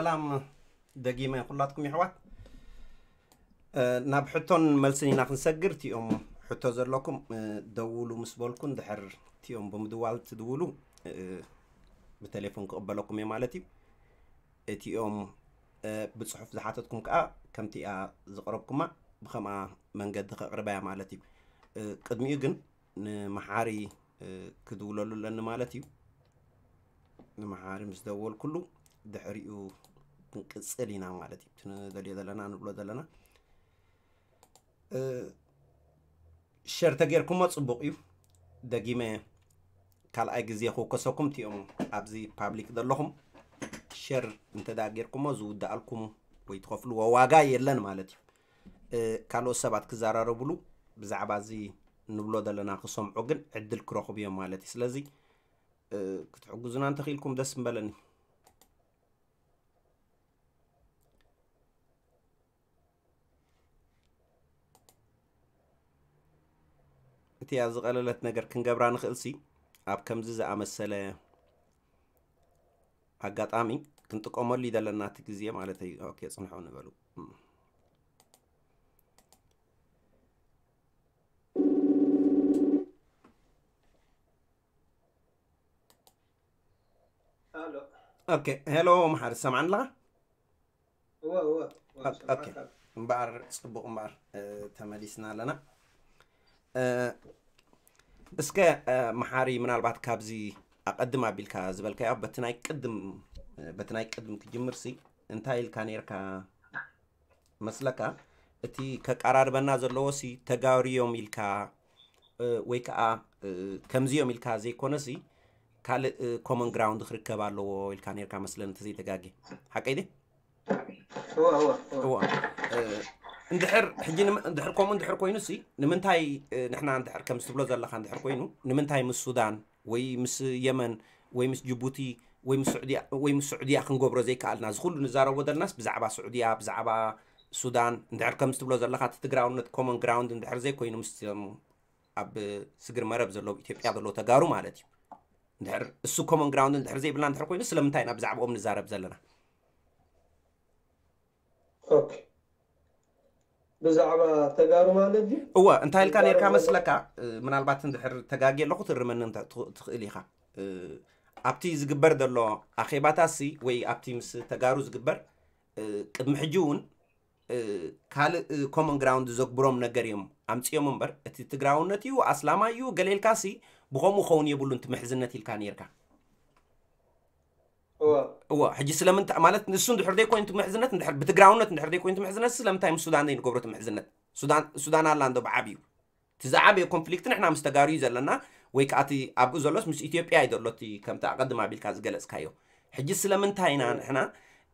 ሰላም ደጊመ ኩላትኩም ይሕዋት። እ፣ ናብ ሕቶን መልስን ኢና ክንሰግር። እቲኦም ሕቶ ዘለኩም፣ እ፣ ደውሉ ምስ በልኩ፣ እንድሕር እቲኦም ብምድዋል ትድውሉ፣ እ፣ ብቴሌፎን ክቕበለኩም እየ ማለት እዩ። እቲኦም፣ እ፣ ብጽሑፍ ዝሓተትኩም ከኣ ከምቲ እያ ዝቕረብኩማ ብኸምኣ መንገዲ ከቕርባ እያ ማለት እዩ። እ፣ ቅድሚኡ ግን ንመሓሪ፣ እ፣ ክድውለሉ ኣለኒ ማለት እዩ። ንመሓሪ ምስ ደወልኩሉ ድሕሪኡ ክንቅጽል ኢና ማለት እዩ። እቲ ንደልዮ ዘለና ንብሎ ዘለና፣ እ፣ ሸር ተጌርኩሞ ጽቡቕ እዩ። ደጊመ ካልኣይ ግዜ ክውከሰኩም፣ እቲኦም ኣብዚ ፓብሊክ ዘለኹም ሸር እንተ ደኣ ጌርኩሞ ዝውድኣልኩም ወይ ትኸፍልዎ ዋጋ የለን ማለት እዩ። እ፣ ካልኦት ሰባት ክዘራረቡሉ ብዛዕባ እዚ ንብሎ ዘለና ክሰምዑ ግን ዕድል ክረኽቡ እዮም ማለት እዩ። ስለዚ፣ እ፣ ክትሕግዙና እንተኽኢልኩም ደስ ምበለኒ። እቲኣ ዝቐለለት ነገር ክንገብራ ንኽእልሲ፣ ኣብ ከምዚ ዝኣመሰለ ኣጋጣሚ ክንጥቀመሉ ይደለና እቲ ግዜ ማለት እዩ። ኦኬ፣ ጽንሑ ንበሉ። እም። ኣሎ። ኦኬ፣ ሄሎ፣ መሓሪ፣ ትሰምዓኒ ኣለኻ? እወ፣ እወ፣ እወ፣ ኦኬ፣ ኦኬ። ይሰማዕካ ኣሎ። እምበኣር፣ ጽቡቕ እምበኣር፣ እ፣ ተመሊስና ኣለና። እ፣ እስከ፣ እ፣ መሓሪ፣ ምናልባት ካብዚ ኣቐድም ኣቢልካ ዝበልካዮ፣ በቲ ናይ ቅድም፣ እ፣ በቲ ናይ ቅድም ክጅምርሲ፣ እንታይ ኢልካ ነይርካ መስለካ? እቲ ከቀራርበና ዘለዎሲ ተጋሩ እዮም ኢልካ፣ እ፣ ወይ ከኣ፣ እ፣ ከምዚ እዮም ኢልካ ዘይኮነሲ፣ ካልእ፣ እ፣ ኮመን ግራውንድ ክርከብ ኣለዎ ኢልካ ነይርካ መስለኒ፣ እንተዘይተጋግየ። ሓቀይ ድየ? እወ፣ እወ፣ እወ። እወ። እ፣ እንድሕር፣ ሕጂ ንመ-፣ እንድሕር ከምኡ እንድሕር ኮይኑሲ፣ ንምንታይ፣ እ፣ ንሕና እንድሕር ከምዚ ትብሎ ዘለኻ እንድሕር ኮይኑ፣ ንምንታይ ምስ ሱዳን ወይ ምስ የመን ወይ ምስ ጅቡቲ ወይ ምስ ስዑድያ፣ ወይ ምስ ስዑድያ ክንገብሮ ዘይከኣልና? እዚ ኩሉ ንዛረቦ ዘለናስ ብዛዕባ ስዑድያ፣ ብዛዕባ ሱዳን፣ እንድሕር ከምዚ ትብሎ ዘለኻ እቲ ትግራውነት ኮመን ግራውንድ እንድሕር ዘይኮይኑ፣ ምስቶም ኣብ ስግር መረብ ዘለዉ፣ ኢትዮጵያ ዘለዉ ተጋሩ ማለት እዩ። እንድሕር እሱ ኮመን ግራውንድ እንድሕር ዘይብልና እንድሕር ኮይኑ፣ ስለምንታይ ኢና ብዛዕባኦም ንዛረብ ዘለና? ኦኬ። ብዛዕባ ተጋሩ ማለት ድዩ? እወ፣ እንታይ ኢልካ ነይርካ መስለካ? እ፣ ምናልባት እንድሕር ተጋግየ ኣለኹ ትእርመኒ እንተ-፣ ትኽ-፣ ትኽእል ኢኻ። እ፣ ኣብቲ ዝግበር ዘሎ ኣኼባታሲ ወይ ኣብቲ ምስ ተጋሩ ዝግበር፣ እ፣ ቅድሚ ሕጂ እውን፣ እ፣ ካልእ፣ እ፣ ኮመን ግራውንድ ዘግብሮም ነገር እዮም ኣምጺኦም እምበር፣ እቲ ትግራውነት እዩ፣ ኣስላማይ እዩ፣ ገለ ኢልካሲ ብኸምኡ ክኸውን የብሉን እቲ ምሕዝነት ኢልካ ነይርካ። እወ። እወ፣ ሕጂ ስለምንታይ ማለት ንሱ እንድሕር ዘይኮይኑ እቲ ምሕዝነት፣ እንድሕር ብትግራውነት እንድሕር ዘይኮይኑ እቲ ምሕዝነት፣ ስለምንታይ ምስ ሱዳን ዘይንገብሮ እቲ ምሕዝነት? ሱዳን፣ ሱዳን ኣላ እንዶ ብዓብዩ። እቲ ዝዓበየ ኮንፍሊክት ንሕና ምስ ተጋሩ እዩ ዘለና፣ ወይ ከኣ እቲ ኣብኡ ዘሎስ ምስ ኢትዮጵያ እዩ ዘሎ፣ እቲ ከምቲ ኣቐድም ኣቢልካ ዝገለጽካዮ። ሕጂ ስለምንታይ ኢና ንሕና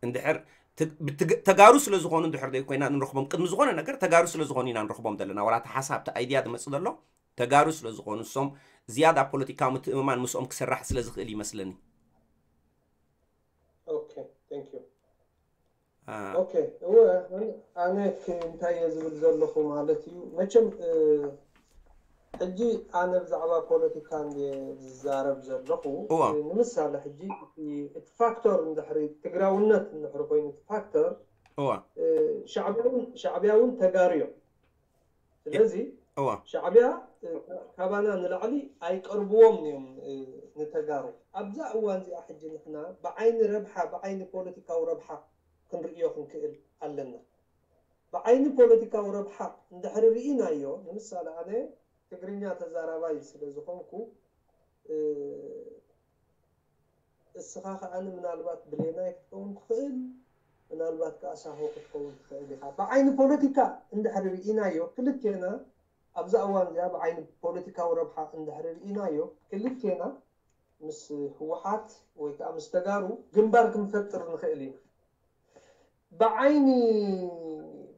እንድሕር ት-፣ ብትግ-፣ ተጋሩ ስለ ዝኾኑ እንድሕር ዘይኮይና ንረኽቦም፣ ቅድሚ ዝኾነ ነገር ተጋሩ ስለ ዝኾኑ ኢና ንረኽቦም ዘለና። ዋላ እቲ ሓሳብ፣ እቲ ኣይድያ ዝመጽእ ዘሎ ተጋሩ ስለ ዝኾኑ፣ እሶም ዝያዳ ፖለቲካዊ ምትእምማን ምስኦም ክስራሕ ስለ ዝኽእል ይመስለኒ። ኦኬ፣ thank you። አ፣ ኦኬ፣ እወ፣ ኣነ፣ ኣነ ክ-፣ እንታይ እየ ዝብል ዘለኹ ማለት እዩ። መቸም፣ እ፣ ሕጂ ኣነ ብዛዕባ ፖለቲካ እንድየ ዝዛረብ ዘለኹ። እዋ። እ፣ ንምሳሌ፣ ሕጂ እቲ፣ እቲ ፋክተር እንድሕሪ ትግራውነት እንድሕሪ ኮይኑ፣ እቲ ፋክተር፣ እዋ። እ፣ ሻዕቢያ እውን፣ ሻዕቢያ እውን ተጋሩ እዮም። ስለዚ እዋ። ሻዕቢያ፣ እ፣ ካባና ንላዕሊ ኣይቀርብዎም እዮም፣ እ፣ ንተጋሩ። ኣብዛ እዋን እዚኣ ሕጂ ንሕና ብዓይኒ ረብሓ፣ ብዓይኒ ፖለቲካዊ ረብሓ ክንርእዮ ክንክእል ኣለና። ብዓይኒ ፖለቲካዊ ረብሓ እንድሕሪ ርኢናዮ፣ ንምሳሌ ኣነ ትግርኛ ተዛራባይ ስለ ዝኾንኩ፣ እ፣ እስኻ ከኣ ምናልባት ብሌናይ ክትከውን ትኽእል፣ ምናልባት ከኣ ሳሆ ክትከውን ትኽእል ኢኻ። ብዓይኒ ፖለቲካ እንድሕሪ ርኢናዮ ክልቴና፣ ኣብዛ እዋን እዚኣ ብዓይኒ ፖለቲካዊ ረብሓ እንድሕሪ ርኢናዮ ክልቴና ምስ ህወሓት ወይ ከኣ ምስ ተጋሩ ግንባር ክንፈጥር ንኽእል ኢና። ብዓይኒ፣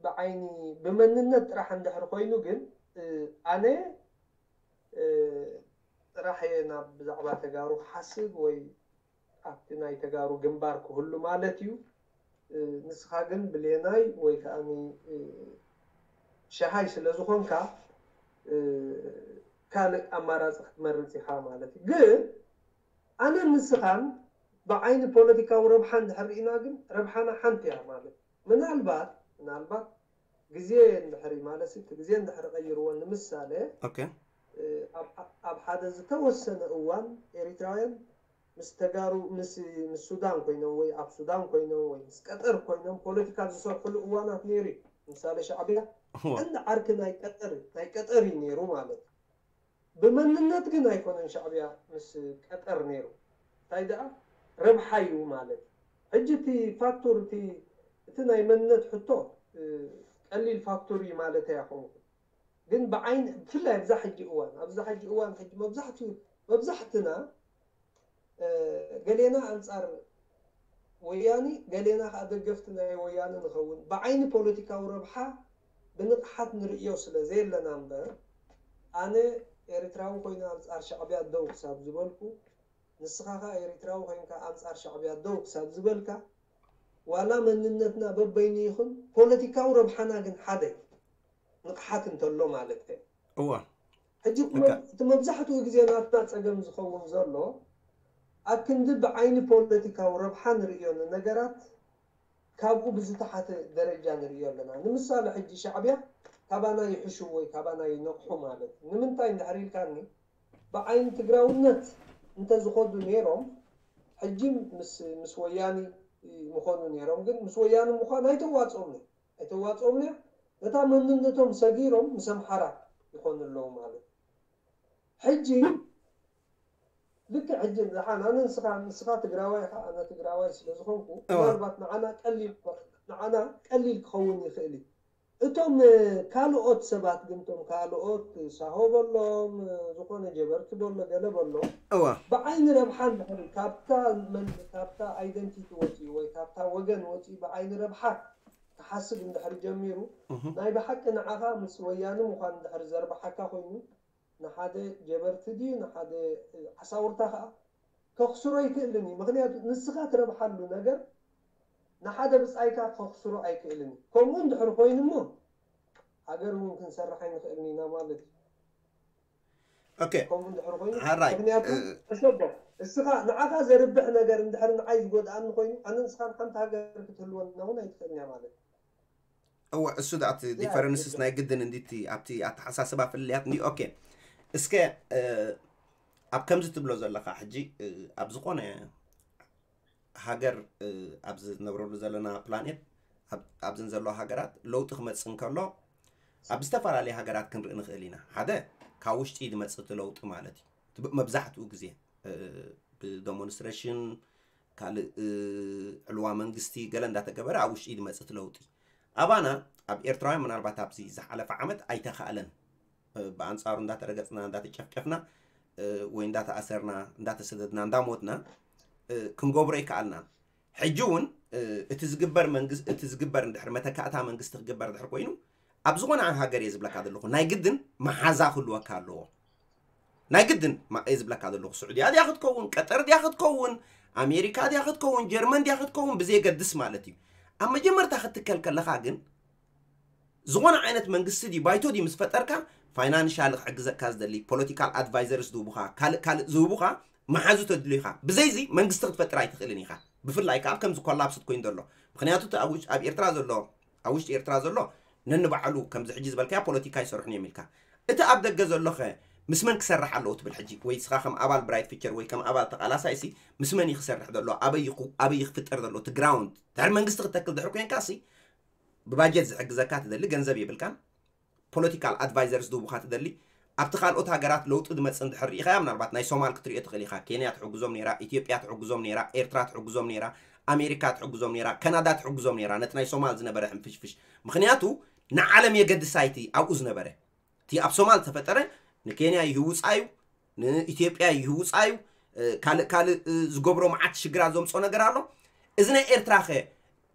ብዓይኒ ብመንነት ጥራሕ እንድሕሪ ኮይኑ ግን፣ እ፣ ኣነ፣ እ፣ ጥራሕ እየ ናብ ብዛዕባ ተጋሩ ክሓስብ ወይ ኣብቲ ናይ ተጋሩ ግንባር ክህሉ ማለት እዩ። እ፣ ንስኻ ግን ብሌናይ ወይ ከኣ፣ እ፣ ሸሃይ ስለ ዝኾንካ፣ እ፣ ካልእ ኣማራጺ ክትመርጽ ኢኻ ማለት እዩ። ግን ኣነ ንስኻን ብዓይኒ ፖለቲካዊ ረብሓ እንድሕር ርኢና ግን ረብሓና ሓንቲ እያ ማለት። ምናልባት ምናልባት ግዜ እንድሕር ማለት እቲ ግዜ እንድሕር ቀይርዎ ንምሳሌ ኦኬ ኣብ ሓደ ዝተወሰነ እዋን ኤሪትራውያን ምስ ተጋሩ ምስ ምስ ሱዳን ኮይኖም ወይ ኣብ ሱዳን ኮይኖም ወይ ምስ ቀጠር ኮይኖም ፖለቲካ ዝሰርሕሉ እዋናት ነይሩ እዩ። ምሳሌ ሻዕብያ ቀንዲ ዓርኪ ናይ ቀጠር ናይ ቀጠር እዩ ነይሩ ማለት እዩ። ብመንነት ግን ኣይኮነን ሻዕብያ ምስ ቀጠር ነይሩ። እንታይ ደኣ ረብሓ እዩ ማለት እዩ። ሕጂ እቲ ፋክቶር እቲ እቲ ናይ መንነት ሕቶ ቀሊል ፋክቶር እዩ ማለት ኣይኮንኩን። ግን ብዓይኒ ብፍላይ ኣብዛ ሕጂ እዋን ኣብዛ ሕጂ እዋን ሕጂ መብዛሕትኡ መብዛሕትና ገሌና ኣንጻር ወያኒ ገሌና ከዓ ደገፍቲ ናይ ወያኒ ንኸውን። ብዓይኒ ፖለቲካዊ ረብሓ ብንቕሓት ንርእዮ ስለ ዘየለና እምበር ኣነ ኤርትራዊ ኮይነ ኣንጻር ሻዕብያ ደው ክሳብ ዝበልኩ ንስኻ ከዓ ኤርትራዊ ኮይንካ ኣንጻር ሻዕብያ ደው ክሳብ ዝበልካ ዋላ መንነትና በበይኑ ይኹን ፖለቲካዊ ረብሓና ግን ሓደ እዩ። ንቕሓት እንተሎ ማለት እዩ። እዋ ሕጂ እቲ መብዛሕትኡ ግዜ ናትና ፀገም ዝኸውን ዘሎ ኣብ ክንዲ ብዓይኒ ፖለቲካዊ ረብሓ ንርእዮ ነገራት ካብኡ ብዝተሓተ ደረጃ ንርእዮ ኣለና። ንምሳሌ ሕጂ ሻዕብያ ካባና ይሕሹ ወይ ካባና ይነቕሑ ማለት እዩ። ንምንታይ እንድሕር ኢልካኒ ብዓይኒ ትግራውነት እንተዝኸዱ ነይሮም ሕጂ ምስ ምስ ወያኒ ምኾኑ ነይሮም። ግን ምስ ወያኒ ምዃን ኣይተዋፅኦም ነይሩ ኣይተዋፅኦም ነይሩ። ነታ መንነቶም ሰጊሮም ምስ ኣምሓራ ይኾኑ ኣለዉ ማለት እዩ። ሕጂ ልክዕ ሕጂ ንዓና ንስኻ ንስኻ ትግራዋይ ኢኻ ኣነ ትግራዋይ ስለ ዝኾንኩ እዋ። ምናልባት ንዓና ቀሊል ንዓና ቀሊል ክኸውን ይኽእል እዩ። እቶም ካልኦት ሰባት ግን እቶም ካልኦት ሳሆ በሎም ዝኾነ ጀበርቲ በሎ ገለ በሎ እዋ ብዓይኒ ረብሓ እንድሕር ካብታ መን ካብታ ኣይደንቲቲ ወፂኡ ወይ ካብታ ወገን ወፂኡ ብዓይኒ ረብሓ ክሓስብ እንድሕር ጀሚሩ እህ። ናይ ብሓቂ ንዓኻ ምስ ወያኒ ምዃን እንድሕር ዘርብሓካ ኮይኑ ንሓደ ጀበርቲ ድዩ ንሓደ ዓሳውርታ ከዓ ከኽስሮ ኣይክእልን እዩ። ምክንያቱ ንስኻ ትረብሓሉ ነገር ንሓደ ብፃይካ ከኽስሮ ኣይክእልን እዩ። ከምኡ እንድሕር ኮይኑ እሞ ሃገር እውን ክንሰርሕ ኣይንኽእልን ኢና ማለት እዩ። ኦኬ ከምኡ እንድሕር ኮይኑ ሓራይ ምክንያቱ እ፣ ተሸቦ እስኻ ንዓኻ ዘርብሕ ነገር እንድሕር ንዓይ ዝጎድኣኒ ኮይኑ ኣነ ንስኻን ሓንቲ ሃገር ክትህልወና እውን ኣይትኽእልን እያ ማለት እዩ። እወ እሱ ዳ እቲ እዚኣ ዲፈረንስስ ትብሎ ናይ ግድን እንዲቲ ኣብቲ ኣተሓሳስባ ፍልልያት እንዲ ኦኬ እስከ እ፣ ኣብ ከምዚ ትብሎ ዘለኻ ሕጂ እ፣ ኣብ ዝኾነ ሃገር እ፣ ኣብ ዝነብረሉ ዘለና ፕላኔት ኣብ- ኣብዘን ዘለዋ ሃገራት ለውጢ ክመፅእ እንከሎ ኣብ ዝተፈላለየ ሃገራት ክንርኢ ንኽእል ኢና ሓደ ካብ ውሽጢ ዝመፅእ እቲ ለውጢ ማለት እዩ እቲ ብ- መብዛሕትኡ ግዜ እ፣ ብደሞንስትሬሽን ካልእ እ፣ ዕልዋ መንግስቲ ገለ እንዳተገበረ ኣብ ውሽጢ ዝመፅእ እቲ ለውጢ ኣባና ኣብ ኤርትራውያን ምናልባት ኣብዚ ዝሓለፈ ዓመት ኣይተኻእለን እ፣ ብኣንፃሩ እንዳተረገፅና እንዳተጨፍጨፍና እ፣ ወይ እንዳተኣሰርና እንዳተሰደድና እንዳሞትና እ፣ ክንገብሮ ይከኣልና ሕጂ እውን እ፣ እቲ ዝግበር መንግስቲ እቲ ዝግበር እንድሕር መተካእታ መንግስቲ ክግበር ድሕር ኮይኑ ኣብ ዝኾነ ሃገር እየ ዝብለካ ዘለኹ ናይ ግድን መሓዛ ክህልወካ ኣለዎ ናይ ግድን ማ- እየ ዝብለካ ዘለኹ ስዑድያ ድያ ክትከውን ቀጠር ድያ ክትከውን ኣሜሪካ ድያ ክትከውን ጀርመን ድያ ክትከውን ብዘየገድስ ማለት እዩ ኣብ መጀመርታ ክትትከል ከለኻ ግን ዝኾነ ዓይነት መንግስቲ ድዩ ባይቶ ድዩ ምስ ፈጠርካ ፋይናንሻል ክሕግዘካ ዝደሊ ፖለቲካል ኣድቫይዘርስ ዝህቡኻ ካልእ ካልእ ዝህቡኻ መሓዙ ተድልዩኻ ብዘይዚ መንግስቲ ክትፈጥር ኣይትኽእልን ኢኻ ብፍላይ ከዓ ከምዚ ኮላፕስት ኮይኑ ዘሎ ምክንያቱ እቲ ኣብ ውሽ- ኣብ ኤርትራ ዘሎ ኣብ ውሽጢ ኤርትራ ዘሎ ነንባዕሉ ከምዚ ሕጂ ዝበልካያ ፖለቲካ ይሰርሑን እዮም ኢልካ እቲ ኣብ ደገ ዘሎኸ ምስ መን ክሰርሕ ኣለዎ ትብል ሕጂ ወይ ስኻ ከም ኣባል ብራይት ፊቸር ወይ ከም ኣባል ተቃላሳይ ሲ ምስ መን እዩ ክሰርሕ ዘሎ ኣበይ ይኹ- ኣበይ እዩ ክፍጠር ዘሎ እቲ ግራውንድ ድሕሪ መንግስቲ ክተክል ድሕሪ ኮንካ ሲ ብባጀት ዝሕግዘካ ትደሊ ገንዘብ የብልካን ፖለቲካል ኣድቫይዘርስ ዝህቡካ ትደሊ ኣብቲ ካልኦት ሃገራት ለውጢ ዝመፅእ እንድሕር ርኢኻያ ምናልባት ናይ ሶማል ክትሪኦ ትኽእል ኢኻ ኬንያ ትሕግዞም ነይራ ኢትዮጵያ ትሕግዞም ነይራ ኤርትራ ትሕግዞም ነይራ ኣሜሪካ ትሕግዞም ነይራ ካናዳ ትሕግዞም ነይራ ነቲ ናይ ሶማል ዝነበረ ሕንፍሽፍሽ ምክንያቱ ንዓለም የገድሳ እቲ ኣብኡ ዝነበረ እቲ ኣብ ሶማል ዝተፈጠረ ንኬንያ ይህውፃ እዩ ንኢትዮጵያ ይህውፃ እዩ ካልእ ካልእ ዝገብሮ መዓት ሽግራት ዘምፅኦ ነገር ኣሎ እዚ ናይ ኤርትራ ኸ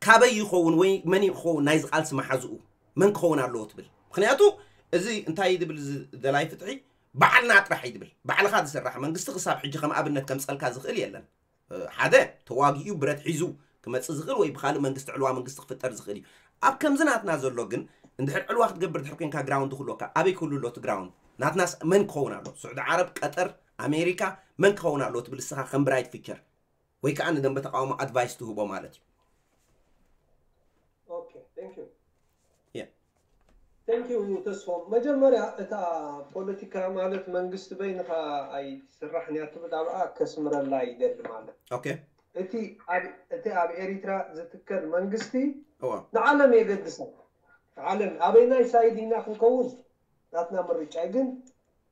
ካበይ ይኸውን ወይ መን ይኸውን ናይዚ ቃልሲ መሓዝኡ መን ክኸውን ኣለዎ ትብል ምክንያቱ እዚ እንታይ ዝብል ደላይ ፍትሒ ባዕልና ጥራሕ እዩ ዝብል ባዕልኻ ዝስራሕ መንግስቲ ክሳብ ሕጂ ከም ኣብነት ከምፀልካ ዝኽእል የለን ሓደ ተዋጊኡ ብረት ሒዙ ክመፅእ ዝኽእል ወይ ብካልእ መንግስቲ ዕልዋ መንግስቲ ክፍጠር ዝኽእል እዩ ኣብ ከምዚ ናትና ዘሎ ግን እንድሕር ዕልዋ ክትገብር ድሕር ኮንካ ግራውንድ ክህልወካ ኣበይ ክህሉ ኣሎ እቲ ግራውንድ ናትናስ መን ክኸውን ኣሎ ስዑዲ ዓረብ ቀጠር ኣሜሪካ መን ክኸውን ኣሎ ትብል እስኻ ከም ብራይት ፊቸር ወይ ከዓ ንደንበ ተቃውሞ ኣድቫይስ ትህቦ ማለት እዩ። Okay, thank you. Yeah. Thank you ተስፎም። መጀመርያ እታ ፖለቲካ ማለት መንግስቲ በይንኻ ኣይትስራሕን እያ ትብል ኣብኣ ከስምረላ ይደሊ ማለት okay እቲ ኣብ እቲ ኣብ ኤሪትራ ዝትከል መንግስቲ ንዓለም የገድሳ። ዓለም ኣበይናይ ሳይድ ኢና ክንከውን ናትና ምርጫ እዩ። ግን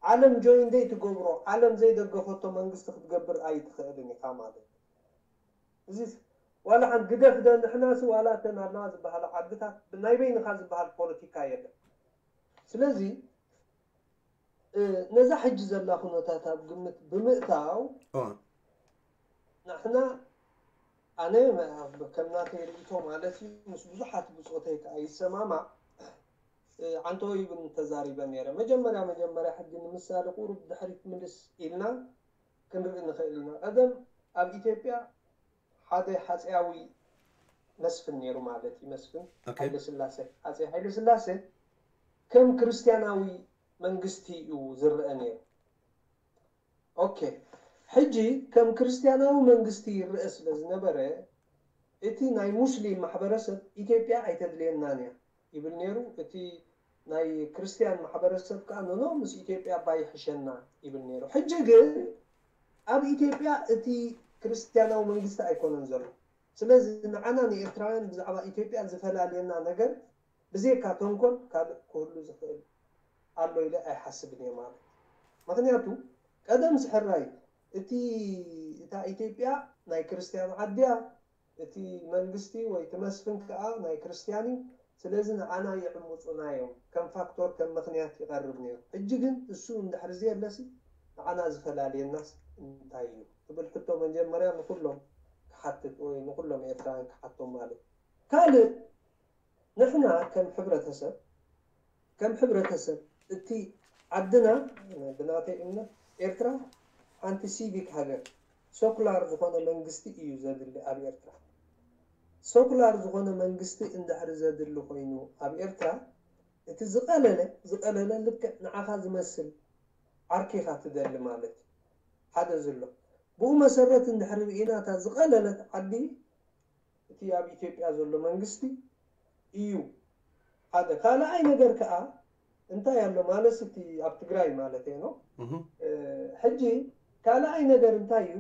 ዓለም ጆይን ዘይትገብሮ ዓለም ዘይደገፈቶ መንግስቲ ክትገብር ኣይትኽእልን ኢኻ ማለት እዩ። እዚ ዋላ ሓንቲ ግደፍ ደ ንሕናሲ ዋላ እተን ኣለዋ ዝበሃላ ዓድታት ናይ በይንኻ ዝበሃል ፖለቲካ የለን። ስለዚ ነዛ ሕጂ ዘላ ኩነታት ኣብ ግምት ብምእታው ንሕና ኣነ ከም ናተይ ርእቶ ማለት እዩ ምስ ብዙሓት ብፆተይ ከዓ ይሰማማዕ። ዓንተወ ይብን ተዛሪበ ነይረ። መጀመርያ መጀመርያ ሕጂ ንምሳሌ ቁሩብ ድሕሪት ምልስ ኢልና ክንርኢ ንኽእል ኢና። ቀደም ኣብ ኢትዮጵያ ሓደ ሃፀያዊ መስፍን ነይሩ ማለት እዩ። መስፍን Okay. ሃይለ ስላሴ፣ ሃፀይ ሃይለ ስላሴ ከም ክርስቲያናዊ መንግስቲ እዩ ዝረአ ነይሩ። ኦኬ፣ ሕጂ ከም ክርስቲያናዊ መንግስቲ ይረአ ስለ ዝነበረ እቲ ናይ ሙስሊም ማሕበረሰብ ኢትዮጵያ ኣይተድልየናን እያ ይብል ነይሩ። እቲ ናይ ክርስቲያን ማሕበረሰብ ከዓ ኖኖ ምስ ኢትዮጵያ እባ ይሕሸና ይብል ነይሩ። ሕጂ ግን ኣብ ኢትዮጵያ እቲ ክርስቲያናዊ መንግስቲ ኣይኮነን ዘሎ። ስለዚ ንዓና ንኤርትራውያን ብዛዕባ ኢትዮጵያ ዝፈላልየና ነገር ብዘይካ ተንኮል ካልእ ክህሉ ዝኽእል ኣሎ ኢለ ኣይሓስብን እየ ማለት። ምኽንያቱ ቀደም ስሕራይ እቲ እታ ኢትዮጵያ ናይ ክርስቲያን ዓዲ እያ፣ እቲ መንግስቲ ወይ እቲ መስፍን ከዓ ናይ ክርስቲያን እዩ። ስለዚ ንዓና ይዕምፁና እዮም፣ ከም ፋክቶር ከም ምኽንያት ይቐርብ ነይሩ። ሕጂ ግን እሱ እንድሕር ዘየለሲ ንዓና ዝፈላልየናስ እንታይ እዩ ትብል ሕቶ መጀመርያ ንኩሎም ክሓትት ወይ ንኩሎም ኤርትራውያን ክሓቶም ማለት እዩ። ካልእ ንሕና ከም ሕብረተሰብ ከም ሕብረተሰብ እቲ ዓድና ብናተይ እምነት ኤርትራ ሓንቲ ሲቪክ ሃገር ሶኩላር ዝኾነ መንግስቲ እዩ ዘድሊ ኣብ ኤርትራ። ሶኩላር ዝኾነ መንግስቲ እንድሕሪ ዘድሊ ኮይኑ ኣብ ኤርትራ እቲ ዝቐለለ ዝቐለለ ልክዕ ንዓኻ ዝመስል ዓርኪኻ ትደሊ ማለት እዩ። ሓደ ዝሎ ብኡ መሰረት እንድሕሪ ርኢና እታ ዝቐለለት ዓዲ እቲ ኣብ ኢትዮጵያ ዘሎ መንግስቲ እዩ ሓደ። ካልኣይ ነገር ከዓ እንታይ ኣሎ ማለት እቲ ኣብ ትግራይ ማለት እየ ነው። ሕጂ ካልኣይ ነገር እንታይ እዩ?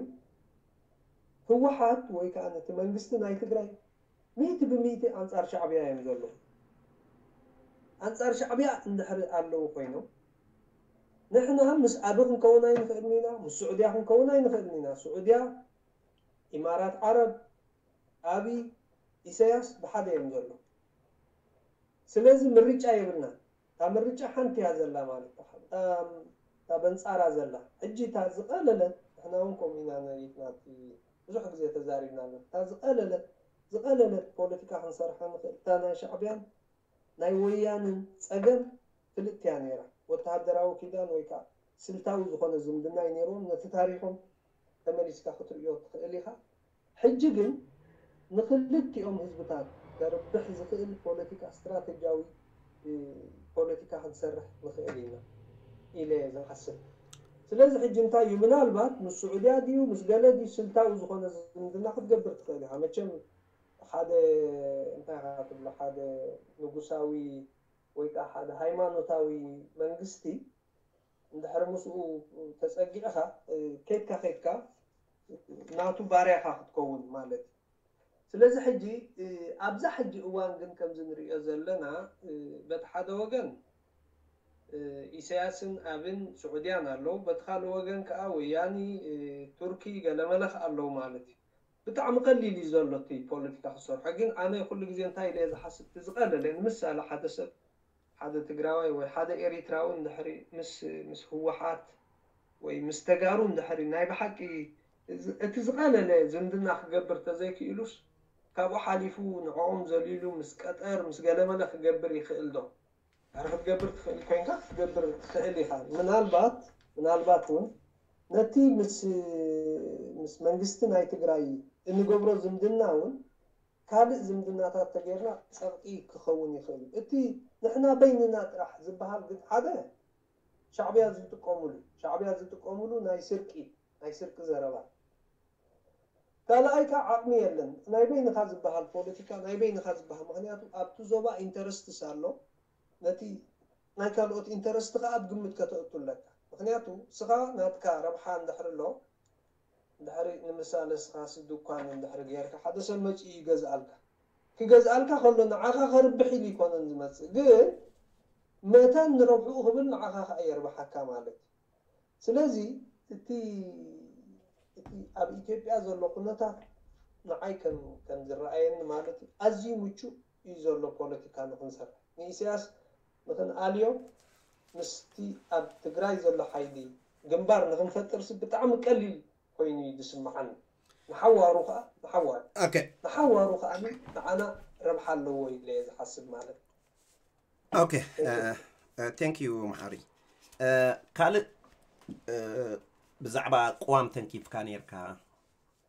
ህወሓት ወይ ከዓ ነቲ መንግስቲ ናይ ትግራይ ሚእቲ ብሚእቲ ኣንፃር ሻዕብያ እዮም ዘለዉ። ኣንፃር ሻዕብያ እንድሕሪ ኣለዉ ኮይኖም ንሕና ምስ ኣቢ ክንከውን ኣይንኽእልን ኢና፣ ምስ ስዑድያ ክንከውን ኣይንኽእልን ኢና። ስዑድያ፣ ኢማራት ዓረብ፣ ኣቢ፣ ኢሳያስ ብሓደ እዮም ዘለዉ። ስለዚ ምርጫ የብልና። እታ ምርጫ ሓንቲ እያ ዘላ ማለት እታ በንፃራ ዘላ። ሕጂ እታ ዝቐለለት ንሕና እውን ከምኡ ኢና ነሪትና ብዙሕ ግዜ ተዛሪብና ኣለና። እታ ዝቐለለት ዝቐለለት ፖለቲካ ክንሰርሓ ንኽእል እታ ናይ ሻዕብያን ናይ ወያንን ፀገም ፍልጥቲ እያ ነይራ። ወተሃደራዊ ኪዳን ወይ ከዓ ስልታዊ ዝኾነ ዝምድና እዩ ነይርዎም። ነቲ ታሪኾም ተመሊስካ ክትርእዮ ትኽእል ኢኻ። ሕጂ ግን ንክልቲኦም ህዝብታት ከርብሕ ዝኽእል ፖለቲካ ስትራተጂያዊ ፖለቲካ ክንሰርሕ ንኽእል ኢና ኢለ ዝሓስብ። ስለዚ ሕጂ እንታይ እዩ ምናልባት ምስ ስዑድያ ድዩ ምስ ገለ ድዩ ስልታዊ ዝኾነ ዝምድና ክትገብር ትኽእል ኢኻ። መቸም ሓደ እንታይ ኢኻ ትብሎ ሓደ ንጉሳዊ ወይ ከዓ ሓደ ሃይማኖታዊ መንግስቲ እንድሕር ምስኡ ተፀጊዕኻ ከይድካ ከይድካ ናቱ ባርያኻ ክትከውን ማለት እዩ። ስለዚ ሕጂ ኣብዛ ሕጂ እዋን ግን ከምዚ ንሪኦ ዘለና በቲ ሓደ ወገን ኢሳያስን ኣብን ስዑድያን ኣለዉ፣ በቲ ካልእ ወገን ከዓ ወያኒ ቱርኪ ገለመለ ከዓ ኣለዉ ማለት እዩ። ብጣዕሚ ቀሊል እዩ ዘሎ እቲ ፖለቲካ ክሰርሖ። ግን ኣነ ኩሉ ግዜ እንታይ ኢለ ዝሓስብ እቲ ዝቐለለ ንምሳሌ ሓደ ሰብ ሓደ ትግራዋይ ወይ ሓደ ኤሪትራዊ እንድሕሪ ምስ ምስ ህወሓት ወይ ምስ ተጋሩ እንድሕሪ ናይ ብሓቂ እቲ ዝቐለለ ዝምድና ክገብር ተዘይክኢሉስ ካብኡ ሓሊፉ ንዕኦም ዘሊሉ ምስ ቀጠር ምስ ገለመለ ክገብር ይኽእል ዶ? ኣረ ክትገብር ትኽእል ኮይንካ ክትገብር ትኽእል ኢኻ። ምናልባት ምናልባት እውን ነቲ ምስ ምስ መንግስቲ ናይ ትግራይ እንገብሮ ዝምድና እውን ካልእ ዝምድናታት ተገይርና ፀቕጢ ክኸውን ይኽእል እዩ። እቲ ንሕና በይንና ጥራሕ ዝበሃል ግን ሓደ ሻዕብያ ዝጥቀሙሉ ሻዕብያ ዝጥቀሙሉ ናይ ስርቂ ናይ ስርቂ ዘረባ ካልኣይ ከዓ ዓቕሚ የለን። ናይ በይንኻ ዝበሃል ፖለቲካ፣ ናይ በይንኻ ዝበሃል፣ ምኽንያቱ ኣብቲ ዞባ ኢንተረስትስ ኣሎ፣ ነቲ ናይ ካልኦት ኢንተረስት ከዓ ኣብ ግምት ከተእቱ ኣለካ። ምኽንያቱ ስኻ ናትካ ረብሓ እንድሕር ኣሎ፣ እንድሕሪ ንምሳሌ ስኻ ሲ ድኳን እንድሕሪ ገይርካ፣ ሓደ ሰብ መፂኡ ይገዝኣልካ። ክገዝኣልካ ከሎ ንዓኻ ከርብሕ ኢሉ ይኮነን ዝመፅእ፣ ግን መታን ንረብሕኡ ክብል ንዓኻ ከዓ የርብሓካ ማለት እዩ። ስለዚ እቲ እቲ ኣብ ኢትዮጵያ ዘሎ ኩነታት ንዓይ ከም ከም ዝረኣየኒ ማለት እዩ፣ ኣዝዩ ምቹእ እዩ ዘሎ ፖለቲካ ንክንሰርሕ። ንኢሳያስ ንክንኣልዮ ምስቲ ኣብ ትግራይ ዘሎ ሓይሊ ግንባር ንክንፈጥርሲ ብጣዕሚ ቀሊል ኮይኑ እዩ ዝስምዓኒ። ንሓዋሩ ከዓ ንሓዋሩ okay ንሓዋሩ ከዓ ንዓና ረብሓ ኣለዎ ኢለ እየ ዝሓስብ ማለት እዩ። okay thank you መሓሪ ካልእ ብዛዕባ ቅዋም ተንኪፍካ ነርካ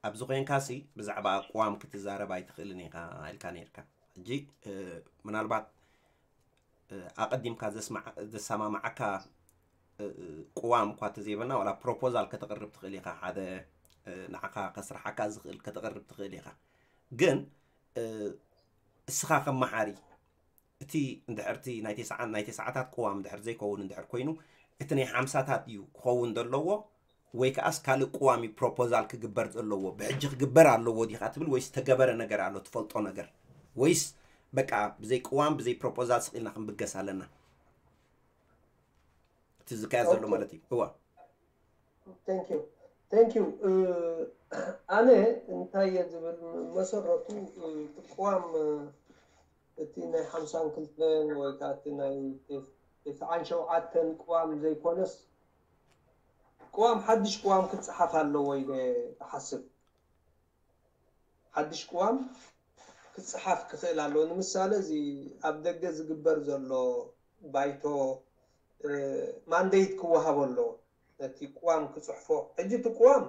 ኣብዚ ኮይንካ ሲ ብዛዕባ ቅዋም ክትዛረብ ኣይትኽእልን ኢኻ ኢልካ ነርካ ሕጂ ምናልባት ኣቐዲምካ ዘሰማማዓካ ቅዋም እኳ ተዘይበልና ዋላ ፕሮፖዛል ከተቕርብ ትኽእል ኢኻ ሓደ ንዓኻ ከስርሓካ ዝኽእል ከተቕርብ ትኽእል ኢኻ ግን እስኻ ከም መሓሪ እቲ እንድሕርቲ ናይ ተስዓን ናይ ተስዓታት ቅዋም እንድሕር ዘይከውን እንድሕር ኮይኑ እቲ ናይ ሓምሳታት እዩ ክኸውን ዘለዎ ወይ ከዓስ ካልእ ቅዋም እዩ ፕሮፖዛል ክግበር ዘለዎ ብሕጂ ክግበር ኣለዎ ዲኻ ትብል ወይስ ተገበረ ነገር ኣሎ ትፈልጦ ነገር ወይስ በቃ ብዘይ ቅዋም ብዘይ ፕሮፖዛል ስቕ ኢልና ክንብገስ ኣለና እቲ ዝካየድ ዘሎ ማለት እዩ እዋ thank you thank you ኣነ እንታይ እየ ዝብል መሰረቱ ትቋም እቲ ናይ ሓምሳን ክልተን ወይ ከዓ እቲ ናይ ተስዓን ሸውዓተን ቅዋም ዘይኮነስ ቅዋም ሓድሽ ቅዋም ክፀሓፍ ኣለዎ ኢለ እሓስብ ሓድሽ ቅዋም ክፀሓፍ ክኽእል ኣለዎ ንምሳሌ እዚ ኣብ ደገ ዝግበር ዘሎ ባይቶ ማንዴት ክወሃቦ ኣለዎ ነቲ ቅዋም ክፅሕፎ ሕጂ እቲ ቅዋም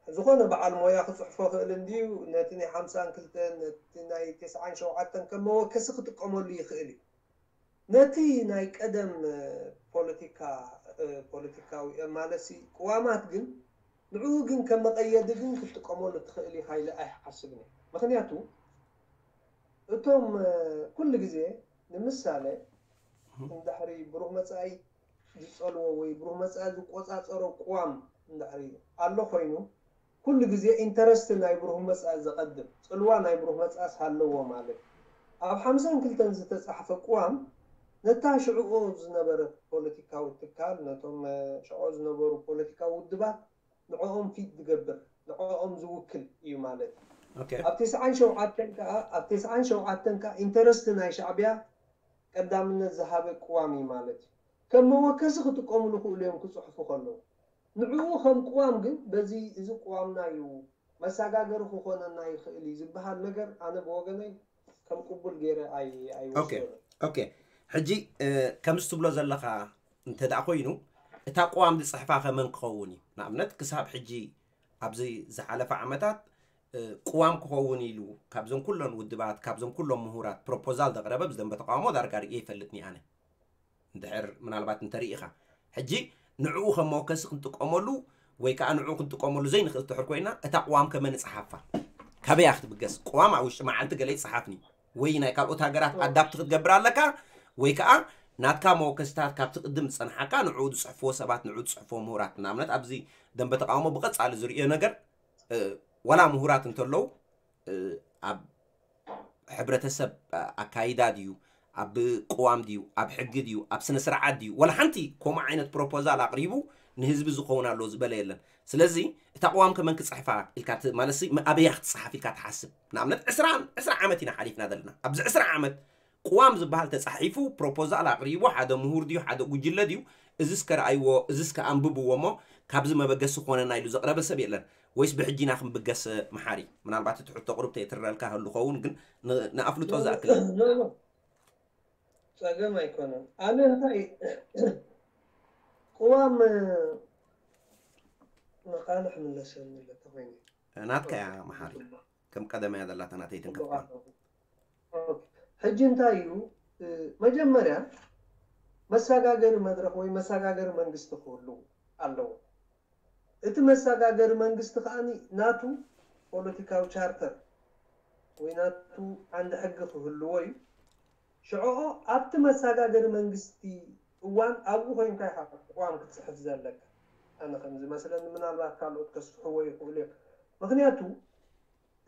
ዝኾነ በዓል ሞያ ክፅሕፎ ክእል እንድዩ ነቲ ናይ ሓምሳን ክልተን ነቲ ናይ ተስዓን ሸውዓተን ከም መወከሲ ክጥቀመሉ ይኽእል እዩ ነቲ ናይ ቀደም ፖለቲካ ፖለቲካዊ ማለትሲ ቅዋማት ግን ንዕኡ ግን ከም መቐየዲ ግን ክትጥቀመሉ ትኽእል ኢኻ ኢለ ኣይሓስብን እየ ምኽንያቱ እቶም ኩሉ ግዜ ንምሳሌ እንድሕሪ ብሩህ መፃኢ ዝፀልዎ ወይ ብሩህ መፃኢ ዝቆፃፀሮ ቅዋም እንድሕሪ ኣሎ ኮይኑ ኩሉ ግዜ ኢንተረስት ናይ ብሩህ መፃኢ ዘቐድም ፅልዋ ናይ ብሩህ መፃእስ ሃለዎ ማለት ኣብ ሓምሳን ክልተን ዝተፃሕፈ ቅዋም ነታ ሽዕኡ ዝነበረት ፖለቲካዊ ትካል ነቶም ሽዑ ዝነበሩ ፖለቲካዊ ውድባት ንዕኦም ፊት ዝገብር ንዕኦም ዝውክል እዩ ማለት እዩ። ኣብ ተስዓን ሸውዓተን ከዓ ኣብ ተስዓን ሸውዓተን ከዓ ኢንተረስት ናይ ሻዕቢያ ቀዳምነት ዝሃበ ቅዋም እዩ ማለት እዩ። ከም መወከሲ ክጥቀሙሉ ክእሉ እዮም ክፅሕፉ ከለዉ። ንዕኡ ከም ቅዋም ግን በዚ እዚ ቅዋምና እዩ መሰጋገሪ ክኾነና ይኽእል እዩ ዝበሃል ነገር ኣነ ብወገነይ ከም ቅቡል ገይረ ኣይ ኣይወስዶን። ኦኬ ሕጂ ከምዚ ትብሎ ዘለኻ እንተ ደኣ ኮይኑ እታ ቅዋም ዝፅሕፋ ከመን ክኸውን እዩ ንኣብነት ክሳብ ሕጂ ኣብዚ ዝሓለፈ ዓመታት ቅዋም ክኸውን ኢሉ ካብዞም ኩሎም ውድባት ካብዞም ኩሎም ምሁራት ፕሮፖዛል ዘቕረበ ብዝደንበ ተቃውሞ ዳርጋ ርእየ ይፈልጥኒ ኣነ እንድሕር ምናልባት እንተርኢኻ ሕጂ ንዕኡ ከም መወከሲ ክንጥቀመሉ ወይ ከዓ ንዕኡ ክንጥቀመሉ ዘይንኽእል ትሕር ኮይና እታ ቅዋም ከመ ንፅሓፋ ካበያ ክትብገስ ቅዋም ኣብ ውሽጢ መዓልቲ ገለ ይፅሓፍኒ ወይ ናይ ካልኦት ሃገራት ኣዳፕት ክትገብር ኣለካ ወይ ከዓ ናትካ መወከስታት ካብቲ ቅድም ዝፀንሓካ ንዕኡ ዝፅሕፍዎ ሰባት ንዕኡ ዝፅሕፍዎ ምሁራት ንኣብነት ኣብዚ ደንበ ተቃውሞ ብቐፃሊ ዝርእዮ ነገር ዋላ ምሁራት እንተለዉ ኣብ ሕብረተሰብ ኣካይዳ ድዩ ኣብ ቅዋም ድዩ ኣብ ሕጊ ድዩ ኣብ ስነ ስርዓት ድዩ ወላ ሓንቲ ከምኡ ዓይነት ፕሮፖዛል ኣቕሪቡ ንህዝቢ ዝኸውን ኣሎ ዝበለ የለን ስለዚ እታ ቅዋም ከመን ክፅሕፋ ኢልካ ማለት ኣበያ ክትፅሓፍ ኢልካ ትሓስብ ንኣብነት ዕስራ ዕስራ ዓመት ኢና ሓሊፍና ዘለና ኣብዚ ዕስራ ዓመት ቅዋም ዝበሃል ተፃሒፉ ፕሮፖዛል ኣቕሪቡ ሓደ ምሁር ድዩ ሓደ ጉጅለ ድዩ እዝስ ከረኣይዎ እዝስ ከኣንብብዎ እሞ ካብዚ መበገሲ ክኾነና ኢሉ ዘቕረበ ሰብ የለን ወይስ ብሕጂ ኢና ክንብገስ መሓሪ ምናልባት እቲ ሕቶ ቁሩብ ተየትረልካ ህሉ ኸውን ግን ንኣፍልጦ ዝኣክል ጸገም ኣይኮነን ኣነ እንታይ ቅዋም መቃልሕ ምለሰኒ ኣለካ ኮይነ ናትካ እያ መሓሪ ከም ቀደም እያ ዘላታ ናተይ ትንከፍካ ሕጂ እንታይ እዩ መጀመርያ መሰጋገሪ መድረክ ወይ መሰጋገሪ መንግስቲ ክህሉ ኣለዎ እቲ መሰጋገሪ መንግስቲ ከዓኒ ናቱ ፖለቲካዊ ቻርተር ወይ ናቱ ዓንዲ ሕጊ ክህልዎ እዩ። ሽዕኦ ኣብቲ መሰጋገሪ መንግስቲ እዋን ኣብኡ ኮይንካ ኢኻ ቅዋም ክትፅሕፍ ዘለካ። ኣነ ከም ዝመስለኒ፣ ምናልባት ካልኦት ከስፍሕዎ ይኽእሉ እዮም። ምክንያቱ